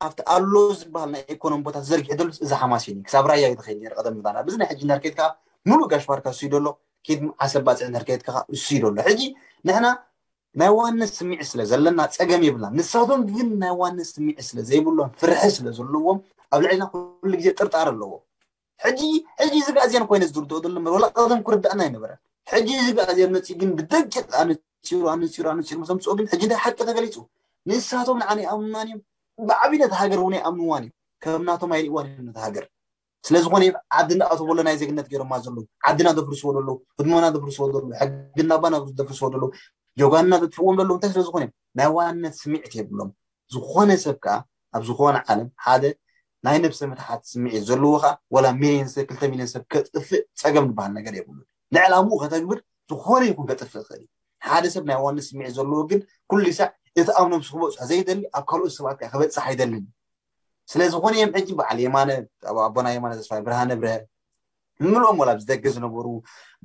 ኣብቲ ኣሎ ዝበሃል ናይ ኢኮኖሚ ቦታ ተዘርጊሑ ዘሎ እዚ ሓማሴን እዩ ክሳብ ራያ እዩ ተኸይድ ነር ቀደም ምባና ብዚ ናይ ሕጂ ነርከይድ ከዓ ሙሉእ ጋሽ ባርካ እሱ እዩ ደሎ ኬድ ዓሰብ ባፅዕ ነርከይድ ከዓ እሱ እዩ ደሎ ሕጂ ንሕና ናይ ዋነት ስምዒት ስለ ዘለና ጸገም የብልና ንሳቶም ግን ናይ ዋነት ስምዒት ስለ ዘይብሎም ፍርሒ ስለ ዘለዎም ኣብ ልዕልና ኩሉ ግዜ ጥርጣር ኣለዎም ሕጂ ሕጂ እዚ ጋዜን ኮይነ ዝርድኦ ዘሎ ወላ ቀደም ክርዳእና ኣይነበረን ሕጂ እዚ ጋዜን መፂ ግን ብደቂቅ ኣነፂሩ ኣነፂሩ ኣነፂሩ ምስ ኣምፅኦ ግን ሕጂ እንታይ ሓቂ ተገሊፁ ንሳቶም ንዓና ይኣምኑናን እዮም ብዓብነት ሃገር እውን ኣይኣምንዋን እዮም ከም ናቶም ኣይርእዋን እዮም ነቲ ሃገር ስለዝኾነ ዓዲ እንዳኣተወሎ ናይ ዜግነት ገይሮማ ዘለዉ ዓድና ዘፍርስዎ ዘለዉ ህድሞና ዘፍርስዎ ዘለዉ ሕግና ባና ዘፍርስዎ ዘለዉ ጆጋንና ዘጥፍዎም ዘለዉ እንታይ ስለዝኾነ ናይ ዋንነት ስምዒት የብሎም ዝኾነ ሰብ ከዓ ኣብ ዝኾነ ዓለም ሓደ ናይ ነብሰ ምትሓት ስምዒት ዘለዎ ከዓ ወላ ሚሊዮን ሰብ ክልተ ሚሊዮን ሰብ ከጥፍእ ፀገም ዝበሃል ነገር የብሉ ንዕላምኡ ከተግብር ዝኾነ ይኹን ከጥፍእ ይኽእል ሓደ ሰብ ናይ ዋንነት ስምዒት ዘለዎ ግን ኩሉ ሳዕ እቲ ኣብ ነብሱ ክበፅሖ ዘይደሊ ኣብ ካልኦት ሰባት ከዓ ክበፅሕ ኣይደልን ስለ ዝኾነ እዮም ሕጂ በዓል የማነ ኣቦና የማነ ተስፋይ ብርሃነ ብርሀ ምልኦም ወላ ኣብዚ ደገ ዝነበሩ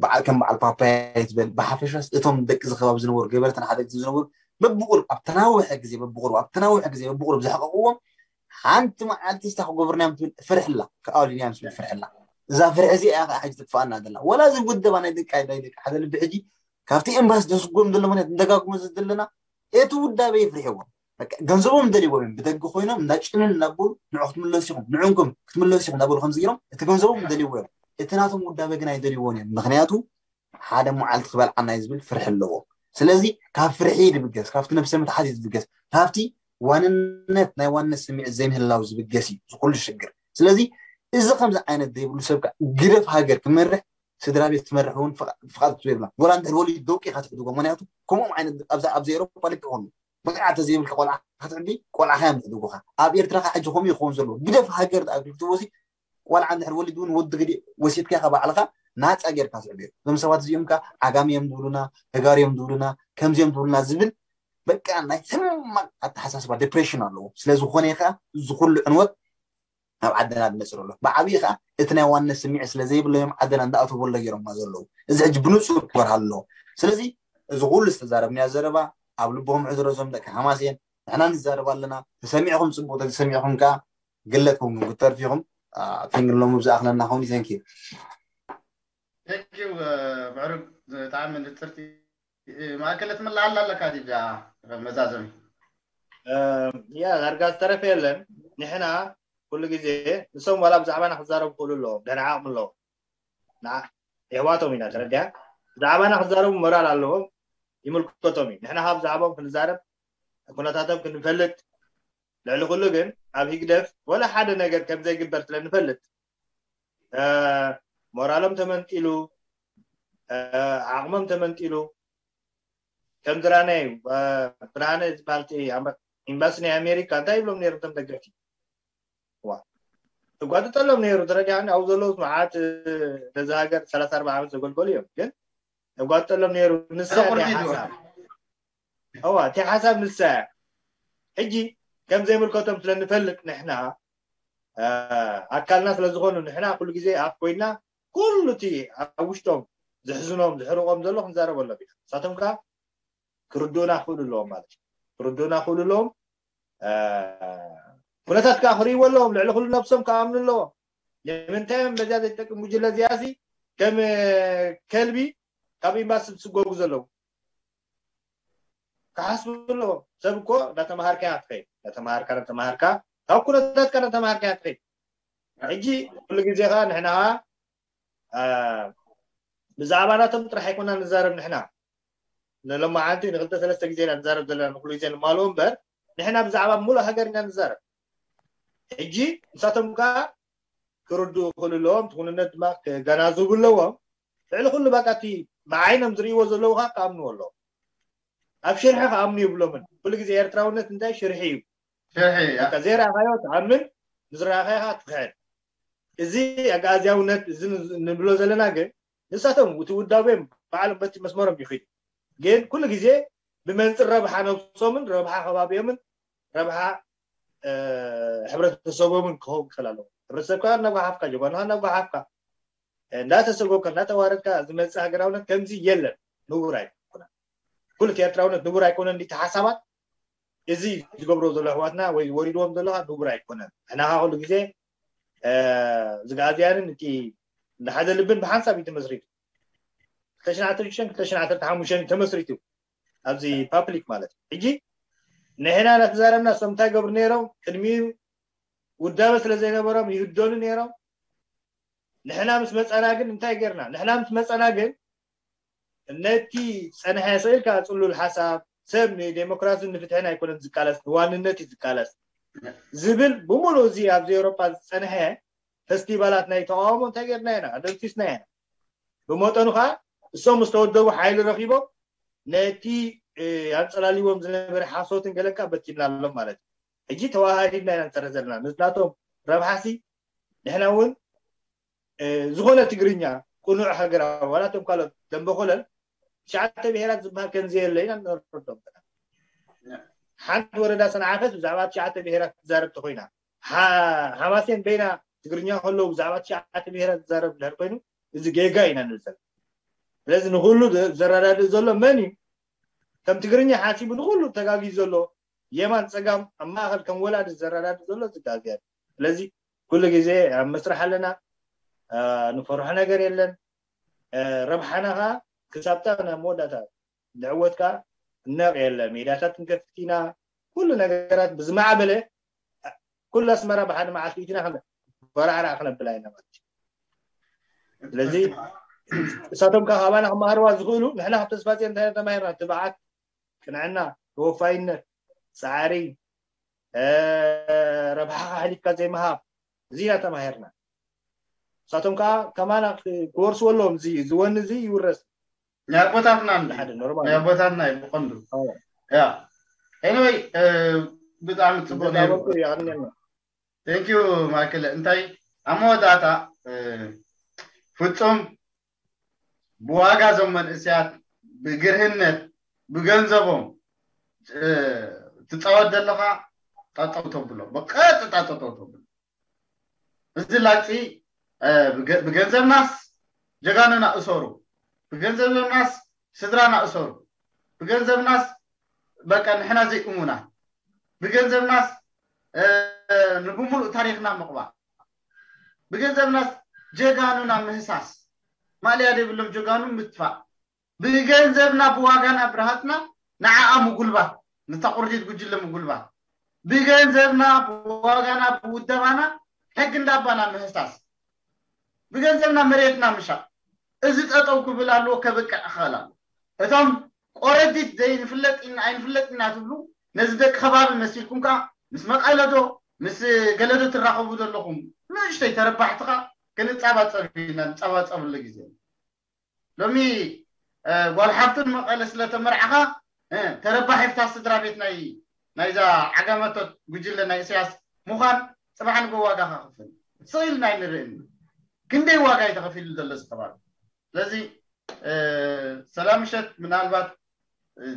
በዓል ከም በዓል ፓፓያ ትበል ብሓፈሻስ እቶም ደቂ ዝኸባቢ ዝነበሩ ገበርትን ሓደግቲ ዝነበሩ በብቁሩብ ኣብ ተናውሐ ግዜ በብቁሩብ ኣብ ተናውሐ ግዜ በብቁሩብ ዘሕቀቅዎም ሓንቲ መዓልቲ ስታ ክገብርና እዮም ትብል ፍርሕላ ክኣውሊና እዮም ትብል ፍርሕላ እዛ ፍርሒ እዚኣ ከዓ ሕጂ ትጥፋኣና ዘላ ወላ እዚ ውደባ ናይ ደቂ ናይ ደቂ ሓደ ልቢ ሕጂ ካብቲ ኤምባሲ ዘስጎም ዘሎ ምክንያት ንደጋግሞ ዘለና እቲ ውዳበ የፍርሕዎም ገንዘቦም ደልዎም እዮም ብደጊ ኮይኖም እንዳጭንን እናበሉ ንዑ ክትምለሱ ኢኹም ንዑንኩም ክትምለሱ ኢኹም እናበሉ ከምዚ ገይሮም እቲ ገንዘቦም ደልዎ እዮም እቲ ናቶም ውዳበ ግን ኣይደልዎን እዮም ምክንያቱ ሓደ መዓልቲ ክበልዓና እዩ ዝብል ፍርሒ ኣለዎ ስለዚ ካብ ፍርሒ ድብገስ ካብቲ ነብሰ ምትሓት እዩ ዝብገስ ካብቲ ዋንነት ናይ ዋንነት ስምዒት ዘይምህላው ዝብገስ እዩ ዝኩሉ ሽግር ስለዚ እዚ ከምዚ ዓይነት ዘይብሉ ሰብ ግደፍ ሃገር ክመርሕ ስድራ ቤት ትመርሕ እውን ፍቓድ ክትህቦ የብላን። ወላ እንድሕር ወሊዱ ደቂ ኢኻ ትሕድጎ። ምኽንያቱ ከምኦም ዓይነት ኣብዚ ኣብዚ ኤሮፓ ልክዕ ከምኡ ብቕዓት ተዘይብልካ ቆልዓ ክትዕቢ ቆልዓኻ እዮም ዝሕድጉኻ። ኣብ ኤርትራ ኸዓ ሕጂ ከምኡ እዩ ክኸውን ዘለዎ። ግደፍ ሃገር ደኣ ክትብሎ ሲ ቆልዓ እንድሕር ወሊዱ እውን ወዲ ግዲ ወሲድካ ኢኻ ባዕልኻ ናጻ ጌርካ ትዕብዮ። እዞም ሰባት እዚኦም ከኣ ዓጋመ እዮም ዝብሉና፣ ተጋሩ እዮም ዝብሉና፣ ከምዚ እዮም ዝብሉና ዝብል በቃ ናይ ሕማቕ ኣተሓሳስባ ዲፕሬሽን ኣለዎም። ስለ ዝኾነ እዩ ከኣ እዚ ኩሉ ዕንወት ናብ ዓድና ዝመፅእ ዘሎ ብዓብዪ ከዓ እቲ ናይ ዋንነት ስምዒት ስለ ዘይብሎም እዮም ዓድና እንዳኣተው በሎ ገይሮማ ዘለዉ እዚ ሕጂ ብንፁር ክበርሃሉ ኣለዎ ስለዚ እዚ ኩሉ ዝተዛረብናዮ ዘረባ ኣብ ልቦም ሕድሮ እዞም ደቂ ሓማሴን ንሕና ንዛረብ ኣለና ተሰሚዕኹም ፅቡቅ ተሰሚዕኹም ከዓ ግለትኩም ክትተርፊ ኢኹም ቴንግሎ ምብዛእ ኣኽለና ኸውን እዩ thank you thank you ምዕሩግ ብጣዕሚ ንፅርቲ ማእከለት ምላዓል ኣለካ ዲጃ መዛዘሚ ያ ዳርጋ ዝተረፈ የለን ንሕና ኩሉ ግዜ ንሶም ዋላ ብዛዕባና ክዛረቡ ክእሉ ኣለዎም ደሕና ዓቕሚ ኣለዎም የሕዋቶም ኢና ተረዲያ ብዛዕባና ክዛረቡ ሞራል ኣለዎም ይምልከቶም እዩ ንሕና ካብ ብዛዕባኦም ክንዛረብ ኩነታቶም ክንፈልጥ ልዕሊ ኩሉ ግን ኣብ ሂግደፍ ወላ ሓደ ነገር ከም ዘይግበር ስለ ንፈልጥ ሞራሎም ተመንጢሉ ዓቕሞም ተመንጢሉ ከም ዝራናዩ ብርሃነ ዝበሃል ኤምባሲ ናይ ኣሜሪካ እንታይ ይብሎም ነይሮም እቶም ደገፍቲ እጓጥጠሎም ነይሩ ተረዲኣኒ ኣብኡ ዘለዉ መዓት ነዚ ሃገር ሰላሳ ኣርባ ዓመት ዘገልገሉ እዮም ግን እጓጥጠሎም ነይሩ ንሳ ሓሳብ እዋ እቲ ሓሳብ ንሳ እያ ሕጂ ከም ዘይምልከቶም ስለ ንፈልጥ ንሕና ኣካልና ስለ ዝኾኑ ንሕና ኩሉ ግዜ ኣፍ ኮይና ኩሉ እቲ ኣብ ውሽጦም ዝሕዝኖም ዝሕርቆም ዘሎ ክንዛረበሎም ኢና ንሳቶም ከዓ ክርድኡና ክኽእሉ ኣለዎም ማለት እዩ ክርድኡና ክኽእሉ ኣለዎም ኩነታት ከዓ ክርእይዎ ኣለዎም ልዕሊ ኩሉ ነብሶም ክኣምኑ ኣለዎም ንምንታይ እዮም በዚኣ ዘይጠቅም ጉጅለ እዚኣ ሲ ከም ከልቢ ካብ ኤምባሲ ዝስጎጉ ዘለዉ ክሓስቡ ኣለዎም ሰብ እኮ እንዳተምሃርካ ኢኻ ትኸይድ እንዳተምሃርካ እንዳተምሃርካ ካብ ኩነታትካ እንዳተምሃርካ ኢኻ ትኸይድ ሕጂ ኩሉ ግዜ ከዓ ንሕና ከዓ ብዛዕባ ናቶም ጥራሕ ኣይኮና ንዛረብ ንሕና ንሎማዓንቲ ንክልተ ሰለስተ ግዜ ኢና ንዛረብ ዘለና ንኩሉ ግዜ ንማልኡ እምበር ንሕና ብዛዕባ ሙሉእ ሃገር ኢና ንዛረብ ሕጂ ንሳቶም ከዓ ክርድኡ ክእሉ ኣለዎም። እቲ ኩንነት ድማ ከገናዝቡ ኣለዎም። ልዕሊ ኩሉ በቃ እቲ ብዓይኖም ዝርእይዎ ዘለዉ ከዓ ክኣምንዎ ኣለዎም። ኣብ ሽርሒ ክኣምኑ የብሎምን። ኩሉ ግዜ ኤርትራውነት እንታይ ሽርሒ እዩ። ሽርሒ በቃ ዘይረኣኻዮ ትኣምን፣ ንዝረኣኻዮ ከዓ ትኽሕድ። እዚ ኣግኣዝያውነት እዚ ንብሎ ዘለና ግን ንሳቶም እቲ ውዳቤም ባዕሎም በቲ መስመሮም ይኸዱ። ግን ኩሉ ግዜ ብመንፅር ረብሓ ነብሶምን ረብሓ ከባቢኦምን ረብሓ ሕብረተሰቦምን ክኸውን ክኽእል ኣለዎ። ሕብረተሰብካ እናጓሓፍካ፣ ጀጓንኻ እናጓሓፍካ፣ እንዳተሰጎካ፣ እንዳተዋረድካ ዝመፅእ ሃገራውነት ከምዚ የለን። ንቡር ኣይኮነን። ኩሉ እቲ ኤርትራውነት ንቡር ኣይኮነን። እንዲቲ ሓሳባት እዚ ዝገብሮ ዘሎ ኣሕዋትና ወይ ወሪድዎም ዘሎ ከዓ ንቡር ኣይኮነን። ንሕና ከዓ ኩሉ ግዜ ዝግኣዝያንን እቲ እንዳሓዘ ልብን ብሓንሳብ እዩ ተመስሪቱ። ክልተ ሽሕን ዓሰርተ ሽዱሽተን ክልተ ሽሕን ዓሰርተ ሓሙሽተን እዩ ተመስሪቱ ኣብዚ ፓብሊክ ማለት እዩ። ሕጂ ንሕና እናተዛረብና እሶም እንታይ ገብሩ ነይሮም? ቅድሚኡ ውዳበ ስለ ዘይነበሮም ይህደኑ ነይሮም። ንሕና ምስ መፀና ግን እንታይ ጌርና? ንሕና ምስ መፀና ግን ነቲ ፀንሐ ስኢልካ ፅሉል ሓሳብ ሰብ ንዴሞክራሲን ንፍትሕን ኣይኮነን ዝቃለስ፣ ንዋንነት እዩ ዝቃለስ ዝብል ብምሉእ እዚ ኣብዚ ኤውሮጳ ዝፀንሐ ፈስቲቫላት ናይ ተቃውሞ እንታይ ጌርና ኢና? ኣደምሲስና ኢና። ብመጠኑ ከዓ እሶም ምስ ተወደቡ ሓይሊ ረኪቦም ነቲ ኣንፀላልዎም ዝነበረ ሓሶትን ገለካ በቲንናሎም ማለት እዩ። ሕጂ ተዋሃሂድና ኢና ንሰርሕ ዘለና። ንናቶም ረብሓሲ ንሕና እውን ዝኾነ ትግርኛ ቅኑዕ ሃገራዊ ዋላ እቶም ካልኦት ደንበ ኮለል ትሽዓተ ብሄራት ዝበሃል ከምዘየለ ኢና ንረዶም ዘለና። ሓንቲ ወረዳ ሰንዓፈት ብዛዕባ ትሽዓተ ብሄራት ትዛረብ ተኮይና፣ ሓማሴን በይና ትግርኛ ከለዉ ብዛዕባ ትሽዓተ ብሄራት ትዛረብ ድሕር ኮይኑ እዚ ጌጋ ኢና ንብል ዘለና። ስለዚ ንኩሉ ዘረዳድእ ዘሎ መን እዩ? ከም ትግርኛ ሓሲቡ ንኩሉ ተጋጊ ዘሎ የማን ፀጋም ኣብ ማእኸል ከም ወላዲ ዘረዳድእ ዘሎ ዝጋግያ። ስለዚ ኩሉ ግዜ ኣብ መስርሕ ኣለና፣ ንፈርሖ ነገር የለን። ረብሓና ከዓ ክሳብታ ናብ መወዳእታ ንዕወት ከዓ ነቕ የለ። ሜዳታት ንከፍት ኢና። ኩሉ ነገራት ብዝማዕበለ ኩሉ ኣስመራ ብሓደ መዓልቲ ኢትና በራዕራዕ ክነብላ ኢና ማለት እዩ። ስለዚ እሳቶም ከዓ ካባና ክመሃርዋ ዝኽእሉ ንሕና ካብ ተስፋፅዮን እንታይ ተማሂርና? ትብዓት፣ ቅንዕና፣ ተወፋይነት፣ ፃዕሪ፣ ረብሓኻ ሓሊፍካ ዘይምሃብ፣ እዚ ኢና ተማሂርና። ንሳቶም ከዓ ከማና ክወርስዎ ኣለዎም። እዚ ዝወኒ እዚ ይውረስ። ናይ ኣቦታትና እንዲ ሓደ ኖርማል ናይ ኣቦታትና እዩ ብቐንዱ። ያ ኤኒወይ ብጣዕሚ ፅቡቅ ነይሩ። እንዳበልኩ ይቐንየልና። Thank you ማይክል። እንታይ ኣብ መወዳእታ ፍፁም ብዋጋ እዞም መንእሰያት ብግርህነት ብገንዘቦም ትፃወት ዘለኻ ጠጠው ተብሎ፣ ብቀጥታ ጠጠው ተብሎ። እዚ ላግፂ ብገንዘብናስ ጀጋኑና እሰሩ፣ ብገንዘብናስ ስድራና እሰሩ፣ ብገንዘብናስ በቃ ንሕና ዘይእሙናት፣ ብገንዘብናስ ንብሙሉእ ታሪኽና ምቕባር፣ ብገንዘብናስ ጀጋኑና ምህሳስ፣ ማእለያ ዘይብሎም ጀጋኑ ምጥፋእ፣ ብገንዘብና ብዋጋና ብረሃፅና ንዓኣ ምጉልባት፣ ነታ ቁርዲት ጉጅለ ምጉልባት፣ ብገንዘብና ብዋጋና ብውደባና ሕጊ እንዳባና ምህሳስ፣ ብገንዘብና መሬትና ምሻጥ፣ እዚ ጠጠው ክብል ኣለዎ፣ ከብቅዕ ክኽእል ኣለዎ። እቶም ቆረዲት ዘይንፍለጥ ኢና ኣይንፍለጥ ኢና ትብሉ ነዚ ደቂ ከባቢ መሲልኩም ከዓ ምስ መቐለዶ ምስ ገለዶ ትራኸቡ ዘለኹም ንእሽተይ ተረባሕትኻ ክንፃባፀብ ኢና፣ ንፃባፀብሉ ግዜ ሎሚ ጓል ሓፍትን መቐለ ስለተመርዓኻ ተረባሒፍታ ስድራ ቤት ናይ ናይዛ ዓጋመቶት ጉጅለ ናይ እስያስ ምዃን ፅባሕ ንጎ ዋጋ ከኽፍል ስኢልና ኣይንርእን። ክንደይ ዋጋ እዩ ተኸፊሉ ዘሎ እዚ ከባቢ። ስለዚ ሰላም ምሸት ምናልባት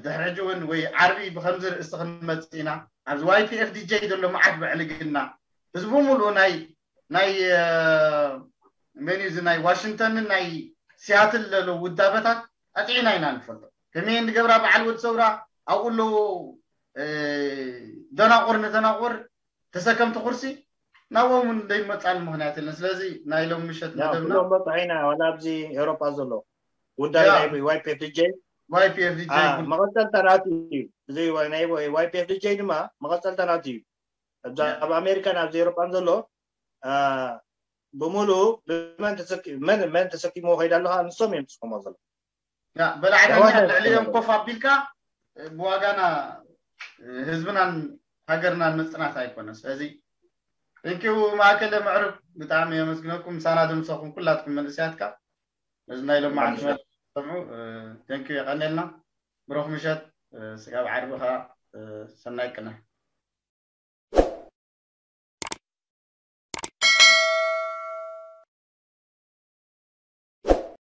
ድሕሪ ሕጂ እውን ወይ ዓርቢ ብከምዚ ርእስቲ ክንመፅእ ኢና። ኣብዚ ዋይፒኤፍ ዲጀይ ዘሎ መዓት ብዕልግና ህዝቡ ሙሉእ ናይ ናይ መን እዩ እዚ ናይ ዋሽንግተንን ናይ ሲያትል ዘሎ ውዳበታት ኣጥዒና ኢና ንፈልጦ። ከመይ ንገብራ በዓል ወዲ ሰውራ ኣብኡ ኣለዉ ደናቁር ንደናቁር ተሰከምቲ ኩርሲ ናብኦም እውን ዘይመፃሉ ምክንያት የለን። ስለዚ ናይ ሎም ምሸት መደብና ኩሎም በፅሑ ኢና ዋላ ኣብዚ ኤውሮጳ ዘሎ ጉዳይ ናይ ዋይፒኤፍ ዲጀይ ዋይፒኤፍ ዲጀይ መቐፀልታ ናቱ እዩ። እዚ ናይ ዋይፒኤፍ ዲጀይ ድማ መቐፀልታ ናቱ እዩ። እዛ ኣብ ኣሜሪካን ኣብዚ ኤውሮጳን ዘሎ ብምሉኡ ብመን ተሰኪ- መን መን ተሰኪሞ ከይዳ ኣለካ ንሶም እዮም ዝስከሞ ዘሎ። በላዕተኛ ልዕሊኦም ኮፍ ኣቢልካ ብዋጋና ህዝብናን ሃገርናን ምፅናት ኣይኮነ። ስለዚ Thank you ማእከለ ምዕሩግ፣ ብጣዕሚ የመስግነኩም። ምሳና ዝምሰኹም ኩላትኩም መንእሰያትካ ነዚ ናይ ሎማዓንቲ ሰምዑ። Thank you፣ የቐኔልና። ብሩኽ ምሸት። ስጋብ ዓርቢ ኸዓ ሰናይ ቅነ።